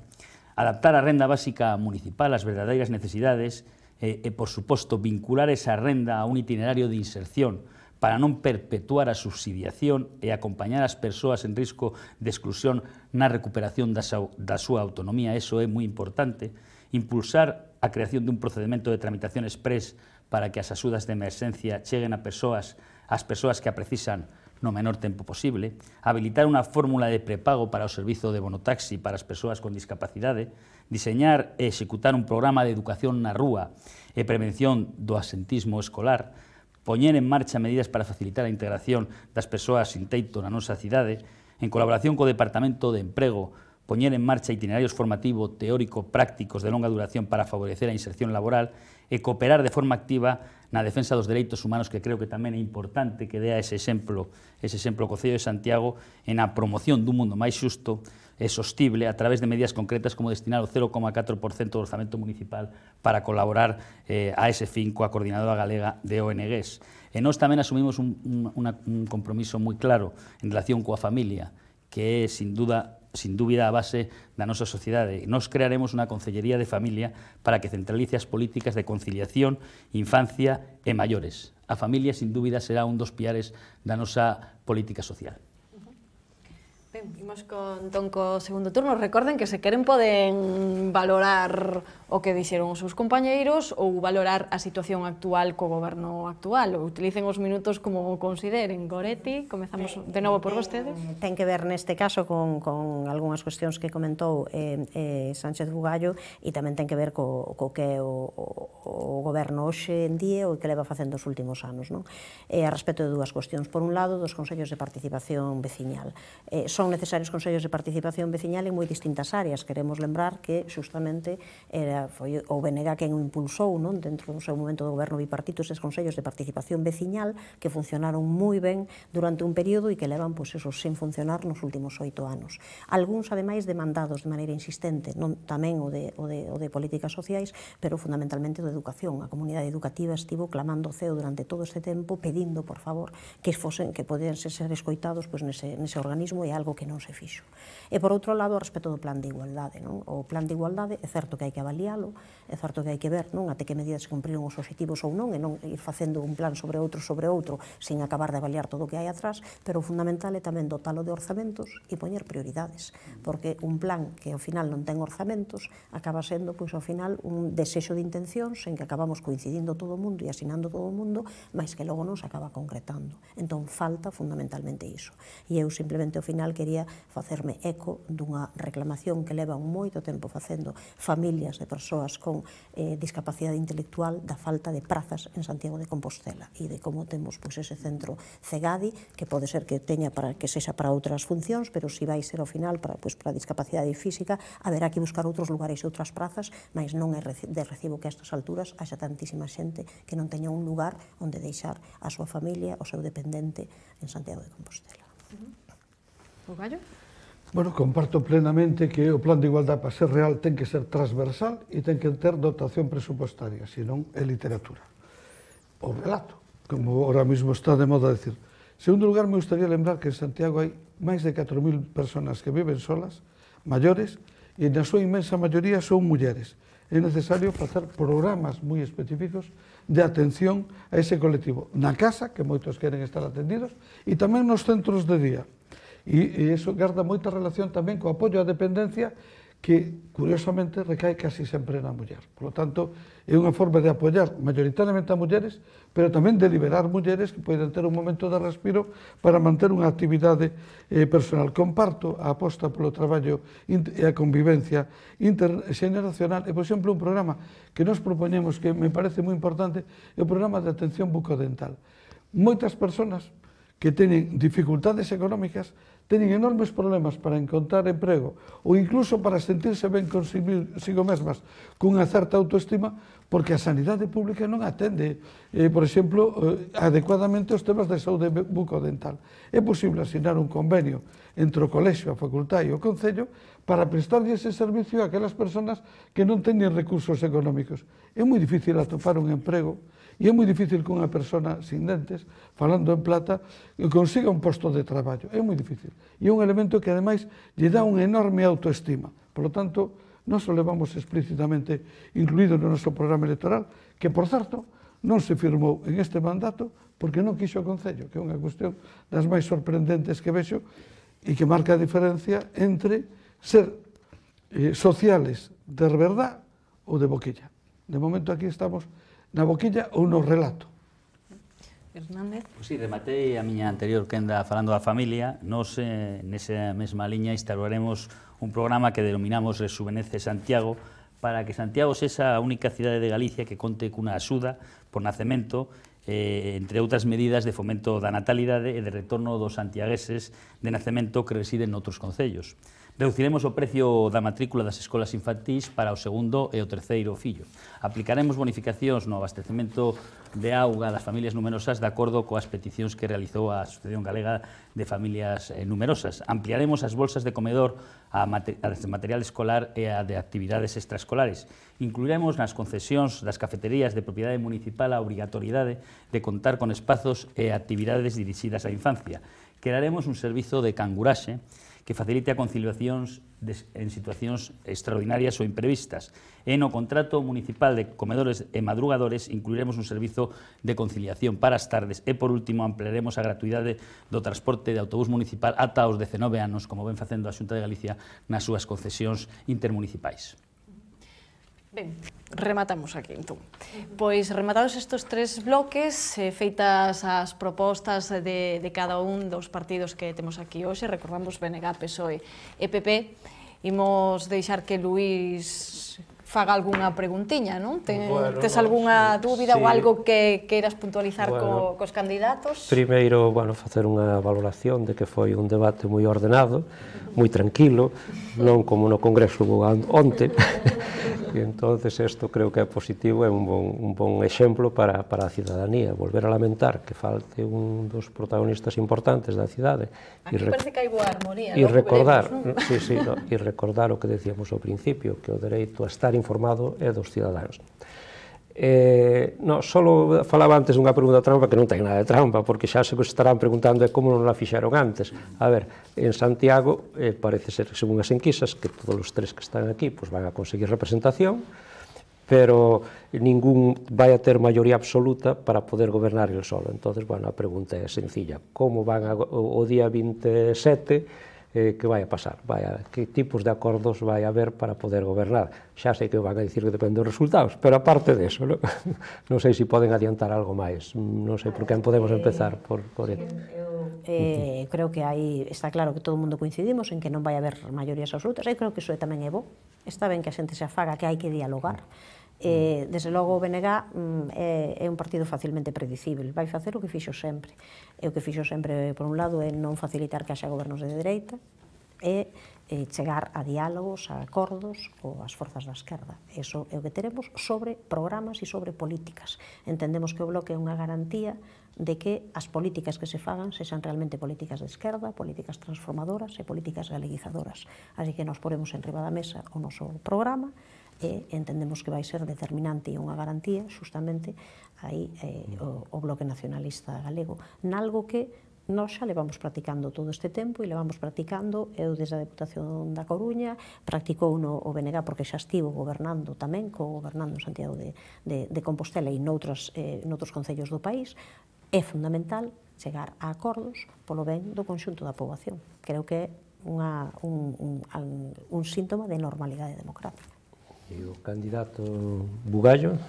adaptar a renda básica municipal ás verdadeiras necesidades e, e, por suposto, vincular esa renda a un itinerario de inserción para non perpetuar a subsidiación e acompañar as persoas en risco de exclusión na recuperación da, da súa autonomía. Eso é moi importante. Impulsar a creación dun procedimento de tramitación express para que as axudas de emerxencia cheguen a persoas, as persoas que a precisan no menor tempo posible. Habilitar unha fórmula de prepago para o servizo de bonotaxi para as persoas con discapacidade. Diseñar e executar un programa de educación na rúa e prevención do absentismo escolar. Poñer en marcha medidas para facilitar a integración das persoas sin teito na nosa cidade, en colaboración co Departamento de Emprego, poñer en marcha itinerarios formativo teórico prácticos de longa duración para favorecer a inserción laboral e cooperar de forma activa na defensa dos dereitos humanos, que creo que tamén é importante que dea ese exemplo, ese exemplo o Concello de Santiago en a promoción dun mundo máis xusto e sostible a través de medidas concretas como destinar o cero coma catro por cento do orzamento municipal para colaborar eh, a ese fin coa Coordinadora Galega de O N Gs. E nós tamén asumimos un, un, una, un compromiso moi claro en relación coa familia, que é, sin duda, sin dúbida, a base da nosa sociedade. Nos crearemos unha Concellería de Familia para que centralice as políticas de conciliación, infancia e maiores. A familia, sin dúbida, será un dos piares da nosa política social. Ben, imos con, entón, co segundo turno. Recorden que se queren poden valorar o que dixeron os seus compañeiros ou valorar a situación actual co goberno actual. Utilicen os minutos como consideren. Goretti, comezamos de novo por vostedes. Ten que ver neste caso con, con algunhas cuestións que comentou eh, eh, Sánchez Bugallo e tamén ten que ver co, co que é o, o, o goberno hoxe en día o que leva facendo os últimos anos. Non? E a respecto de dúas cuestións. Por un lado, dos consellos de participación veciñal. Eh, son necesarios consellos de participación veciñal en moi distintas áreas. Queremos lembrar que justamente era, foi o B N G quen o impulsou, non? Dentro do seu momento do goberno bipartito, eses consellos de participación veciñal que funcionaron moi ben durante un período e que levan, pois, esos sen funcionar nos últimos oito anos. Algúns, ademais, demandados de maneira insistente, non tamén o de, o de, o de políticas sociais, pero fundamentalmente o de educación. A comunidade educativa estivo clamando o ceo durante todo este tempo, pedindo, por favor, que fosen, que podían ser escoitados pois, nese, nese organismo, e algo que non se fixo. E, por outro lado, respecto do plan de igualdade, non? O plan de igualdade é certo que hai que avaliálo, é certo que hai que ver, non? Até que medidas se cumpriron os obxectivos ou non, e non ir facendo un plan sobre outro sobre outro, sin acabar de avaliar todo o que hai atrás, pero o fundamental é tamén dotalo de orzamentos e poñer prioridades, porque un plan que ao final non ten orzamentos acaba sendo, pois, ao final, un desexo de intencións en que acabamos coincidindo todo o mundo e asinando todo o mundo, mas que logo non se acaba concretando. Entón, falta fundamentalmente iso. E eu simplemente ao final quería facerme eco dunha reclamación que leva un moito tempo facendo familias de persoas con eh, discapacidade intelectual da falta de prazas en Santiago de Compostela e de como temos, pois, ese centro CEGADI, que pode ser que teña para que sexa para outras funcións, pero se vai ser ao final para, pois, para a discapacidade física, haberá que buscar outros lugares e outras prazas, mas non é de recibo que a estas alturas haxa tantísima xente que non teña un lugar onde deixar a súa familia, o seu dependente en Santiago de Compostela. O Gallo? Bueno, comparto plenamente que o plan de igualdade para ser real ten que ser transversal e ten que ter dotación presupostaria, senón é literatura. O relato, como ahora mismo está de moda decir. En segundo lugar, me gustaría lembrar que en Santiago hai máis de catro mil personas que viven solas, maiores, e na súa inmensa maioría son mulleres. É necesario facer programas moi específicos de atención a ese colectivo, na casa, que moitos queren estar atendidos, e tamén nos centros de día. E iso garda moita relación tamén co apoio á dependencia, que, curiosamente, recae casi sempre na muller. Por lo tanto, é unha forma de apoiar maioritariamente a mulleres, pero tamén de liberar mulleres que poden ter un momento de respiro para manter unha actividade eh, personal. Comparto a aposta polo traballo e a convivencia interxeneracional. E, por exemplo, un programa que nos propoñemos, que me parece moi importante, é o programa de atención bucodental. Moitas persoas que teñen dificultades económicas teñen enormes problemas para encontrar emprego ou incluso para sentirse ben consigo mesmas cunha certa autoestima, porque a sanidade pública non atende, eh, por exemplo, eh, adecuadamente os temas de saúde bucodental. É posible asinar un convenio entre o colexio, a facultade e o concello para prestarlle ese servicio a aquelas persoas que non teñen recursos económicos. É moi difícil atopar un emprego e é moi difícil que unha persona sin dentes, falando en plata, consiga un posto de traballo. É moi difícil. E é un elemento que, ademais, lle dá unha enorme autoestima. Por lo tanto, nós o levamos explícitamente incluído no noso programa electoral, que, por certo, non se firmou en este mandato porque non quixo o Concello, que é unha cuestión das máis sorprendentes que vexo e que marca a diferencia entre ser eh, sociales de verdad ou de boquilla. De momento aquí estamos na boquilla ou no relato. Hernández. Pois si, rematei a miña anterior quenda falando da familia. Nos, eh, nesa mesma liña, instauraremos un programa que denominamos Rejuvenece Santiago, para que Santiago sexa a única cidade de Galicia que conte cunha axuda por nacemento, eh, entre outras medidas de fomento da natalidade e de retorno dos santiagueses de nacemento que residen noutros concellos. Reduciremos o precio da matrícula das escolas infantís para o segundo e o terceiro fillo. Aplicaremos bonificacións no abastecemento de auga das familias numerosas de acordo coas peticións que realizou a Asociación Galega de Familias Numerosas. Ampliaremos as bolsas de comedor a material escolar e a de actividades extraescolares. Incluiremos nas concesións das cafeterías de propiedade municipal a obrigatoriedade de contar con espazos e actividades dirixidas á infancia. Crearemos un servizo de canguraxe que facilite a conciliacións en situacións extraordinarias ou imprevistas. E no contrato municipal de comedores e madrugadores incluiremos un servizo de conciliación para as tardes e, por último, ampliaremos a gratuidade do transporte de autobús municipal ata os dezenove anos, como ven facendo a Xunta de Galicia nas súas concesións intermunicipais. Ben, rematamos aquí, entón. Pois, rematados estes tres bloques, eh, feitas as propostas de, de cada un dos partidos que temos aquí hoxe, recordamos B N G, P S O E e P P, imos deixar que Luís faga algunha preguntiña, non? Ten, bueno, tes no, algunha sí, dúbida sí. ou algo que queiras puntualizar Bueno, co, cos candidatos? Primeiro, bueno, facer unha valoración de que foi un debate moi ordenado, moi tranquilo, non como no Congreso onte, e entonces isto creo que é positivo, é un bon, un bon exemplo para, para a cidadanía. Volver a lamentar que falte un dos protagonistas importantes da cidade. Aquí parece que hai boa armonía, e non? recordar, Veremos, non? sí, sí, no, e recordar o que decíamos ao principio, que o dereito a estar informado é dos cidadáns. Eh, no, solo falaba antes dunha pregunta trampa que non ten nada de trampa, porque xa se estarán preguntando é como non la fixeron antes. A ver, en Santiago eh, parece ser, según as enquisas, que todos os tres que están aquí pues, van a conseguir representación, pero ningún vai a ter maioría absoluta para poder gobernar el solo. Entonces, bueno, a pregunta é sencilla. Como van a, o, o día vinte e sete eh, que vai a pasar, vai a, que tipos de acordos vai a haber para poder gobernar. Xa sei que van a dicir que depende dos resultados, pero aparte de eso, non, non sei se poden adiantar algo máis, non sei por quen podemos empezar por, por ele. Eh, creo que aí está claro que todo o mundo coincidimos en que non vai haber maiorías absolutas, e creo que iso tamén é bo, está ben que a xente se afaga, que hai que dialogar. Eh, desde logo o B N G mm, é, é un partido facilmente predicible, vai facer o que fixo sempre, e o que fixo sempre, por un lado, é non facilitar que haxa gobernos de dereita, e eh, chegar a diálogos, a acordos coas forzas da esquerda. Eso é o que teremos sobre programas e sobre políticas. Entendemos que o Bloque é unha garantía de que as políticas que se fagan sexan realmente políticas de esquerda, políticas transformadoras e políticas galeguizadoras. Así que nos poremos en riba da mesa o noso programa e entendemos que vai ser determinante e unha garantía xustamente aí eh, o, o Bloque Nacionalista Galego, nalgo que nós xa levamos practicando todo este tempo e levamos practicando, eu desde a Deputación da Coruña, practicou no o B N G porque xa estivo gobernando tamén, co-gobernando en Santiago de, de, de Compostela e noutros, eh, noutros concellos do país. É fundamental chegar a acordos polo ben do conxunto da poboación. Creo que é unha, un, un, un síntoma de normalidade democrática. E o candidato Bugallo?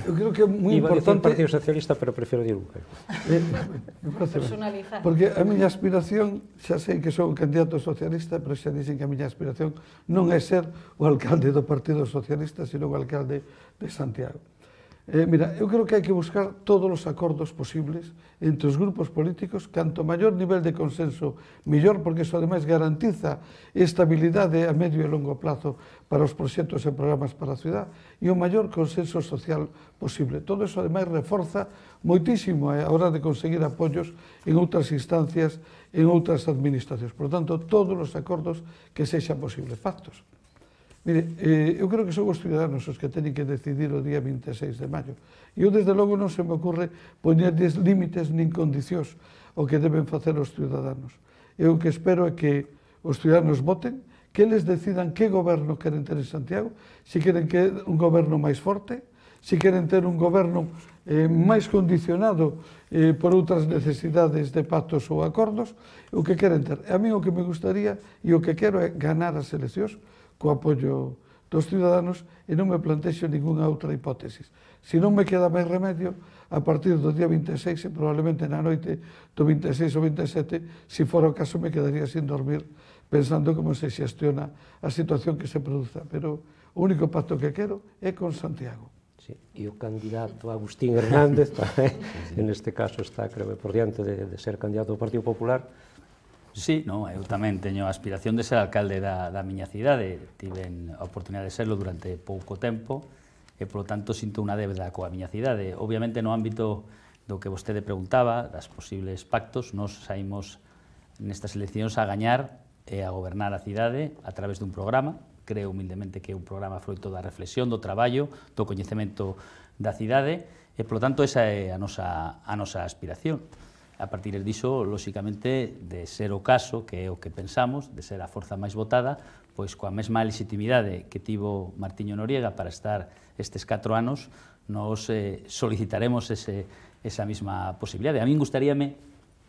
Eu creo que é moi Iba importante... a dicir Partido Socialista, pero prefiro dir Bugallo. Eh, me parece ben. Personalizar. Porque a miña aspiración, xa sei que sou un candidato socialista, pero xa dicen que a miña aspiración non é ser o alcalde do Partido Socialista, sino o alcalde de Santiago. Eh, mira, eu creo que hai que buscar todos os acordos posibles entre os grupos políticos, canto maior nivel de consenso, mellor, porque iso ademais garantiza estabilidade a medio e longo plazo para os proxectos e programas para a ciudad, e o maior consenso social posible. Todo iso ademais reforza moitísimo a hora de conseguir apoios en outras instancias, en outras administracións. Por tanto, todos os acordos que sexan posibles, pactos. Mire, eh, eu creo que son os ciudadanos os que teñen que decidir o día vinte e seis de maio. E eu, desde logo, non se me ocurre poñerles límites nin condicións o que deben facer os ciudadanos. Eu o que espero é que os ciudadanos voten, que eles decidan que goberno queren ter en Santiago, se queren que un goberno máis forte, se queren ter un goberno eh, máis condicionado eh, por outras necesidades de pactos ou acordos, o que queren ter. A mí o que me gustaría e o que quero é ganar as eleccións co apoio dos ciudadanos e non me plantexo ninguna outra hipótesis. Se non me queda máis remedio, a partir do día vinte e seis, e probablemente na noite do vinte e seis ou vinte e sete, se fora o caso, me quedaría sin dormir pensando como se xestiona a situación que se produza. Pero o único pacto que quero é con Santiago. Sí, e o candidato Agustín Hernández, en este caso está, creo, por diante de, de ser candidato do Partido Popular. Sí, no, eu tamén teño a aspiración de ser alcalde da, da miña cidade. Tiven a oportunidade de serlo durante pouco tempo e, polo tanto, sinto unha débeda coa miña cidade. Obviamente, no ámbito do que vostede preguntaba, das posibles pactos, nos saímos nestas eleccións a gañar e a gobernar a cidade a través dun programa. Creo humildemente que é un programa froito da reflexión, do traballo, do coñecemento da cidade e, polo tanto, esa é a nosa, a nosa aspiración. A partir diso, lóxicamente, de ser o caso, que é o que pensamos, de ser a forza máis votada, pois coa mesma legitimidade que tivo Martiño Noriega para estar estes catro anos, nos eh, solicitaremos ese, esa mesma posibilidade. A min gustaríame,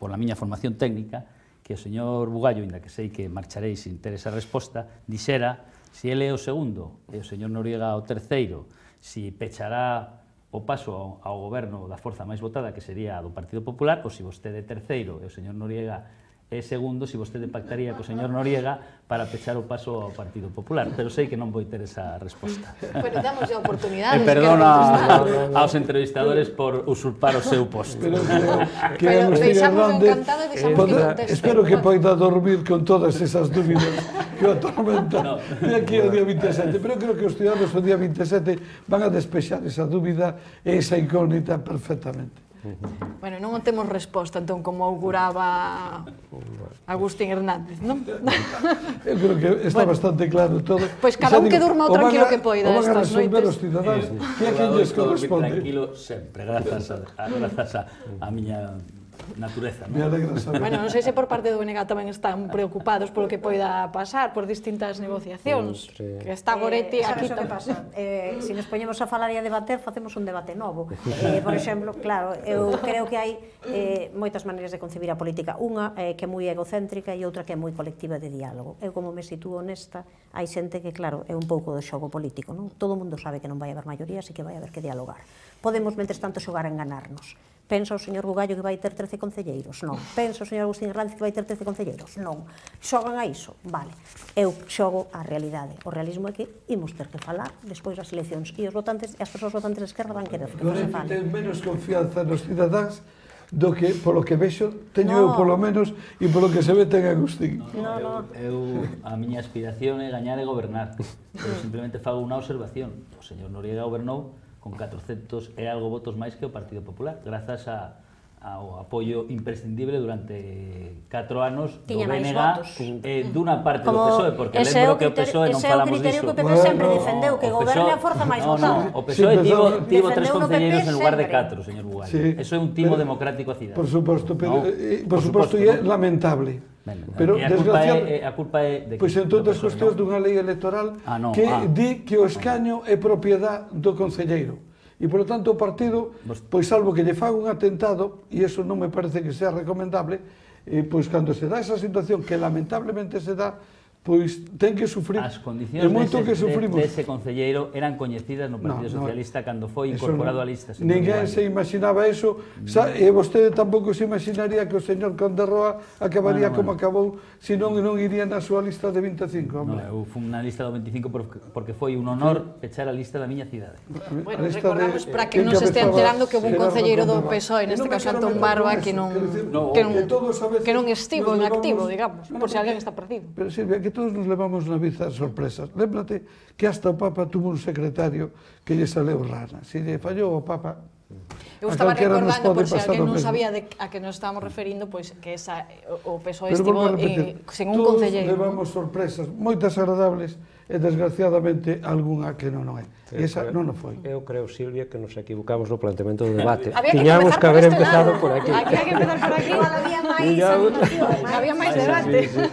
por la miña formación técnica, que o señor Bugallo, inda que sei que marcharéis sin ter esa resposta, dixera Si ele é o segundo e o señor Noriega o terceiro, si pechará o paso ao goberno da forza máis votada, que sería a do Partido Popular, ou se vostede é terceiro e o señor Noriega é segundo, se vostede pactaría co señor Noriega para pechar o paso ao Partido Popular, pero sei que non vou ter esa resposta. Pero damos a oportunidade. E perdona aos entrevistadores por usurpar o seu posto. Pero que, que Pero Agustín deixamos Hernández encantado e deixamos poda, que conteste. espero que poida dormir con todas esas dúbidas que o atormentan No. de aquí ao día vinte e sete. Pero creo que os ciudadanos o día vinte e sete van a despexar esa dúbida e esa incógnita perfectamente. Bueno, non temos resposta, entón, como auguraba Agustín Hernández, non? Eu creo que está bueno, bastante claro todo. Pois cada un que durma o tranquilo que poida estas estas noites. os cidadáns que a quen lles corresponde. Tranquilo sempre, grazas a, a, grazas a, a miña natureza, Me non? alegra saber. Bueno, non sei se por parte do B N G tamén están preocupados polo que poida pasar por distintas negociacións. Entre- Que está Goretti eh, aquí. sabes o que pasa? Eh, se nos poñemos a falar e a debater, facemos un debate novo. Eh, por exemplo, claro, eu creo que hai eh, moitas maneiras de concebir a política. Unha eh, que é moi egocéntrica e outra que é moi colectiva de diálogo. Eu, como me sitúo nesta, hai xente que, claro, é un pouco do xogo político, non? Todo o mundo sabe que non vai haber maiorías e que vai haber que dialogar. Podemos, mentres tanto, xogar a enganarnos. Pensa o señor Bugallo que vai ter trece concelleiros? Non. Pensa o señor Agustín Hernández que vai ter trece concelleiros? Non. Xogan a iso? Vale. Eu xogo a realidade. O realismo é que imos ter que falar despois das eleccións e os votantes e as persoas votantes de esquerda van querer que non se Goretti fale. ten menos confianza nos cidadáns do que, polo que vexo, teño eu No. polo menos e polo que se ve ten Agustín. No, no. Eu, a miña aspiración é gañar e gobernar, pero simplemente fago unha observación. O señor Noriega gobernou con catrocentos e algo votos máis que o Partido Popular, grazas a, ao apoio imprescindible durante catro anos do Tiña B máis N G votos. eh, dunha parte do Como P S O E, porque ese é lembro o que o P S O E non criterio- ese é o falamos criterio diso. que o P P Bueno, sempre no, defendeu, que O goberne P S O E a forza máis no, votada. No, o P S O E Sí, tivo, empezou- tivo tres Defendeu no P P concelleiros en lugar de sempre. catro, señor Bugallo. Sí, Eso é un timo pero- democrático a cidade. Por suposto, pero, No, eh, por por suposto, suposto, é no. lamentable. Ben, Pero, e a culpa é, desgraciadamente, a culpa é de pois que- en todas as do P S O E, cuestións non? dunha lei electoral Ah, no, que ah. di que o escaño é propiedade do concelleiro. E, polo tanto, o partido, Vos- pois salvo que lle faga un atentado, e iso non me parece que sea recomendable, eh, pois cando se dá esa situación que lamentablemente se dá, pois ten que sufrir. As E condicións moito dese, que sufrimos. de, dese concelleiro eran coñecidas no Partido No, no, Socialista cando foi Eso incorporado non- á lista. señor Ninguén Bugallo. se imaginaba eso, sa, e vostede tampouco se imaginaría que o señor Conde Roa acabaría Bueno, como bueno. acabou, se non non iría na súa lista de vinte e cinco. No, Hombre. eu fui na lista do veinticinco porque, porque foi un honor pechar a lista da miña cidade. Bueno, A lista de- recordamos para que que non se este encabezaba enterando que houve un Gerardo concelleiro do Conde Roa. P S O E, E neste non me caso quero Antón meter Barba, con que eso, non quero dicir, No, que non que todos a veces que non estivo nos en levamos- activo, digamos, No, no, por si porque- alguén está perdido. Pero Silvia, que todos nos levamos na vida sorpresas. Lémbrate que hasta o Papa tuvo un secretario que lle saleu rana. Se lle fallou o Papa, Eu a estaba calquera nos recordando, pode por si pasar alguén o non mesmo. sabía de a que nos estábamos referindo, pois que esa, o o P S O E Pero estivo volvo a repetir, eh, sen un todos concelleiro. levamos sorpresas moitas agradables e desgraciadamente algunha que non o é. E esa creo- non o foi. Eu creo, Silvia, que nos equivocamos no planteamento do debate. Había que Tiñamos comezar que por haber este empezado lado. por aquí. Aquí hai que empezar por aquí. Igual había máis Ya- animación, máis- Había máis Sí, debate. sí, sí.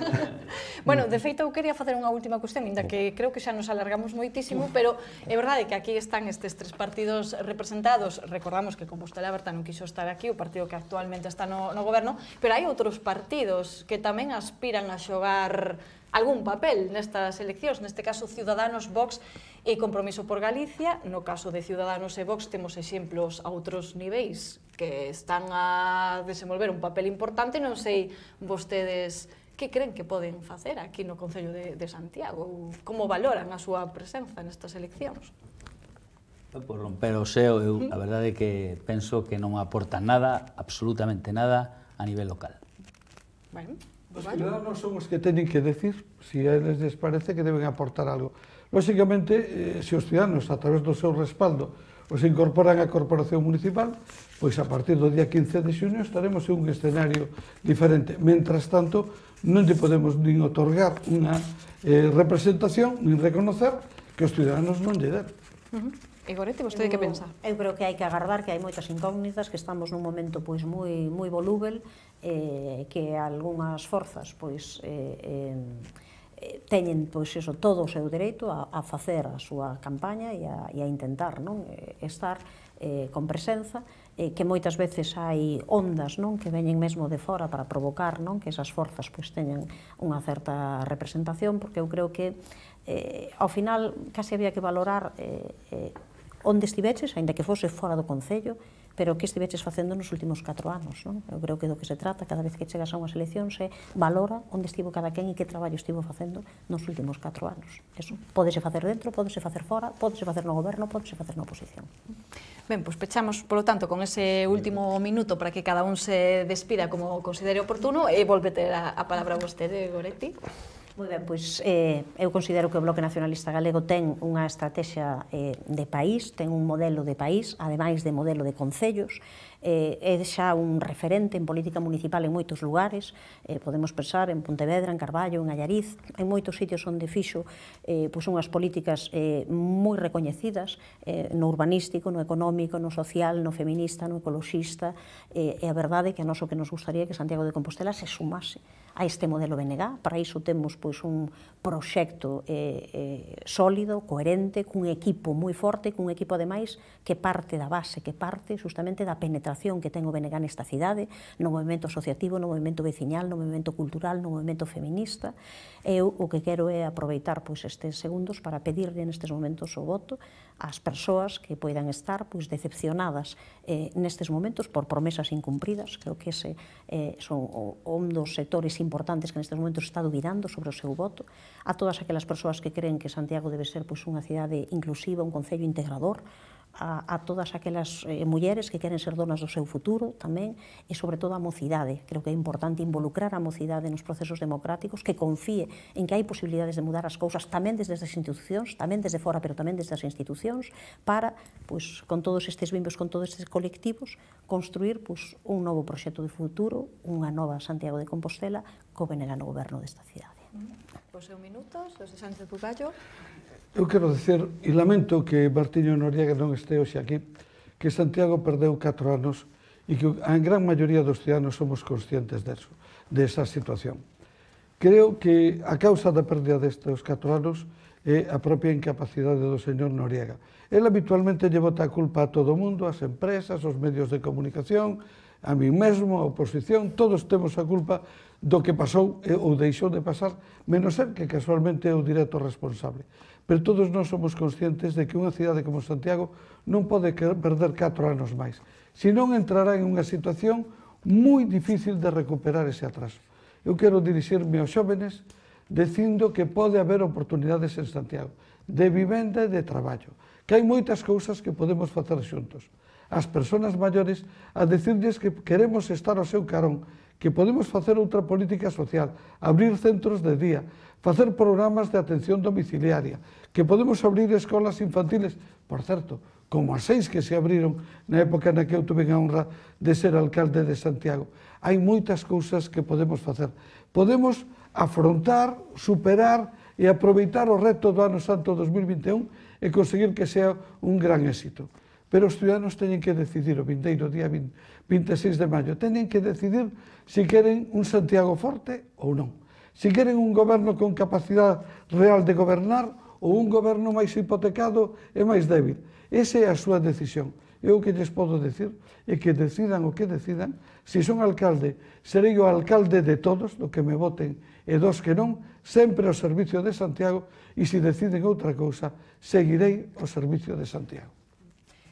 Bueno, de feito, eu quería facer unha última cuestión, inda que creo que xa nos alargamos moitísimo, pero é verdade que aquí están estes tres partidos representados. Recordamos que Compostela Aberta non quixo estar aquí, o partido que actualmente está no, no goberno, pero hai outros partidos que tamén aspiran a xogar algún papel nestas eleccións, neste caso Ciudadanos, Vox e Compromiso por Galicia. No caso de Ciudadanos e Vox temos exemplos a outros niveis que están a desenvolver un papel importante. Non sei vostedes que creen que poden facer aquí no Concello de, de Santiago, ou como valoran a súa presenza nestas eleccións. Por romper o seo, eu a verdade é que penso que non aporta nada, absolutamente nada, a nivel local. Bueno, Os pues vale. ciudadanos son os que teñen que decir se a eles les parece que deben aportar algo. Lóxicamente, eh, se os ciudadanos, a través do seu respaldo, os incorporan á Corporación Municipal, pois a partir do día quince de xuño estaremos en un escenario diferente. Mentras tanto, non lle podemos nin otorgar unha eh, representación, nin reconocer que os ciudadanos non lle den. Uh -huh. E Goretti, vostede que pensa? Eu creo que hai que agardar, que hai moitas incógnitas, que estamos nun momento pois moi moi volúvel, eh, que algunhas forzas pois eh, eh, teñen pois eso, todo o seu dereito a, a facer a súa campaña e a, e a intentar non estar eh, con presenza, eh, que moitas veces hai ondas non que veñen mesmo de fora para provocar non que esas forzas pois teñan unha certa representación, porque eu creo que eh, ao final case había que valorar eh, eh, onde estiveches, aínda que fose fora do Concello, pero que estiveches facendo nos últimos catro anos, non? Eu creo que do que se trata cada vez que chegas a unhas eleccións é valora onde estivo cada quen e que traballo estivo facendo nos últimos catro anos. Eso, pódese facer dentro, pódese facer fora, pódese facer no goberno, pódese facer na oposición. Ben, pois pechamos, polo tanto, con ese último minuto para que cada un se despida como considere oportuno e volve ter a, a palabra vostede, Goretti. Moi ben, pois eh, eu considero que o Bloque Nacionalista Galego ten unha estrategia eh, de país, ten un modelo de país, ademais de modelo de concellos, eh, é xa un referente en política municipal en moitos lugares, eh, podemos pensar en Pontevedra, en Carballo, en Allariz, en moitos sitios onde fixo eh, pois unhas políticas eh, moi recoñecidas eh, no urbanístico, no económico, no social, no feminista, no ecoloxista, eh, e a verdade é que a nós o que nos gustaría que Santiago de Compostela se sumase a este modelo B N G. Para iso temos pois un proxecto eh, eh, sólido, coherente, cun equipo moi forte, cun equipo ademais que parte da base, que parte justamente da penetración que ten o B N G nesta cidade, no movimento asociativo, no movimento veciñal, no movimento cultural, no movimento feminista. Eu o que quero é aproveitar pois estes segundos para pedirle nestes momentos o voto ás persoas que poidan estar pois decepcionadas eh, nestes momentos por promesas incumpridas. Creo que ese eh, son o, un dos sectores importantes que nestes momentos está dubidando sobre o seu voto, a todas aquelas persoas que creen que Santiago debe ser pois unha cidade inclusiva, un concello integrador, a, a todas aquelas eh, mulleres que queren ser donas do seu futuro tamén, e sobre todo a mocidade. Creo que é importante involucrar a mocidade nos procesos democráticos, que confíe en que hai posibilidades de mudar as cousas tamén desde as institucións, tamén desde fora, pero tamén desde as institucións, para, pois, con todos estes bimbos, con todos estes colectivos, construir pois, un novo proxecto de futuro, unha nova Santiago de Compostela, co B N G no goberno desta cidade. Os seus minutos, José Sánchez Bugallo. Eu quero dicer, e lamento que Martiño Noriega non este hoxe aquí, que Santiago perdeu catro anos e que a gran maioría dos ciudadanos somos conscientes deso, desa situación. Creo que a causa da pérdida destes catro anos é a propia incapacidade do señor Noriega. El habitualmente lle bota a culpa a todo o mundo, as empresas, os medios de comunicación, a mí mesmo, a oposición, todos temos a culpa do que pasou ou deixou de pasar, menos ser que casualmente é o directo responsable. Pero todos nós somos conscientes de que unha cidade como Santiago non pode perder catro anos máis. Se non entrará en unha situación moi difícil de recuperar ese atraso. Eu quero dirixirme aos xóvenes dicindo que pode haber oportunidades en Santiago, de vivenda e de traballo, que hai moitas cousas que podemos facer xuntos. As persoas maiores a decirles que queremos estar ao seu carón, que podemos facer outra política social, abrir centros de día, facer programas de atención domiciliaria, que podemos abrir escolas infantiles, por certo, como as seis que se abriron na época na que eu tuve a honra de ser alcalde de Santiago. Hai moitas cousas que podemos facer. Podemos afrontar, superar e aproveitar o reto do ano santo dos mil vinte e un e conseguir que sea un gran éxito. Pero os ciudadanos teñen que decidir o vindeiro día vinte e seis de maio, teñen que decidir se queren un Santiago forte ou non, se queren un goberno con capacidade real de gobernar ou un goberno máis hipotecado e máis débil. Esa é a súa decisión. Eu o que lles podo decir é que decidan o que decidan. Se son alcalde, serei o alcalde de todos, do que me voten e dos que non, sempre ao servicio de Santiago, e se deciden outra cousa, seguirei ao servicio de Santiago.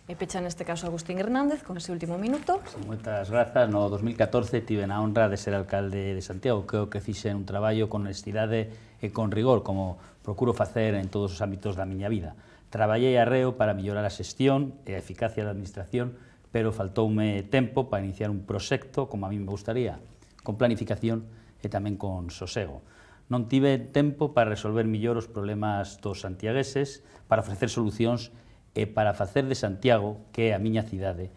E pecha neste caso Agustín Hernández, con ese último minuto. Moitas grazas. No dos mil catorce tive a honra de ser alcalde de Santiago. Creo que fixen un traballo con honestidade e con rigor, como procuro facer en todos os ámbitos da miña vida. Traballei arreo para mellorar a xestión e a eficacia da administración, pero faltoume tempo para iniciar un proxecto como a mí me gustaría, con planificación e tamén con sosego. Non tive tempo para resolver millor os problemas dos santiagueses, para ofrecer solucións e para facer de Santiago, que é a miña cidade,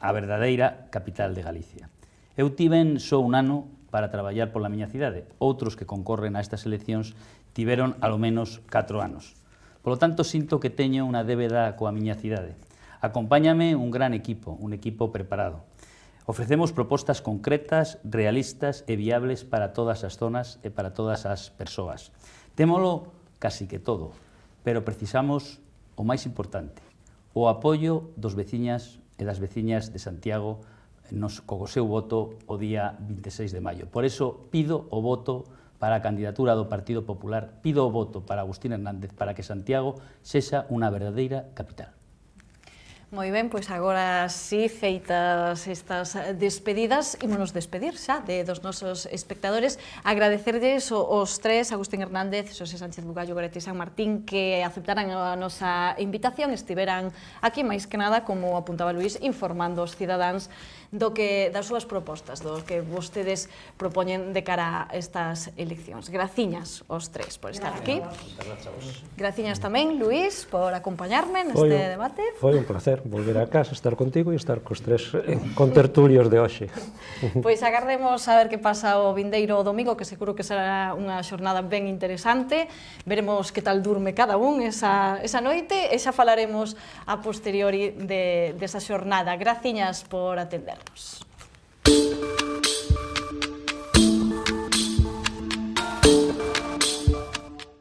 a verdadeira capital de Galicia. Eu tiven só un ano para traballar pola miña cidade. Outros que concorren a estas eleccións tiveron alo menos catro anos. Polo tanto, sinto que teño unha débeda coa miña cidade. Acompáñame un gran equipo, un equipo preparado. Ofrecemos propostas concretas, realistas e viables para todas as zonas e para todas as persoas. Témolo casi que todo, pero precisamos o máis importante, o apoio dos veciñas e das veciñas de Santiago nos, co seu voto o día vinte e seis de maio. Por eso pido o voto para a candidatura do Partido Popular, pido o voto para Agustín Hernández para que Santiago sexa unha verdadeira capital. Moi ben, pois agora sí, feitas estas despedidas, ímonos despedir xa de dos nosos espectadores, agradecerlles os tres, Agustín Hernández, Xosé Sánchez Bugallo, Goretti San Martín, que aceptaran a nosa invitación, estiveran aquí máis que nada, como apuntaba Luís, informando os cidadáns do que das súas propostas, do que vostedes propoñen de cara a estas eleccións. Graciñas os tres por estar aquí. Graciñas tamén, Luís, por acompañarme neste debate. Foi un placer volver a casa, estar contigo e estar cos tres contertulios de hoxe. Pois agardemos a ver que pasa o vindeiro domingo, que seguro que será unha xornada ben interesante. Veremos que tal durme cada un esa, esa noite e xa falaremos a posteriori de, desa xornada. Graciñas por atendernos.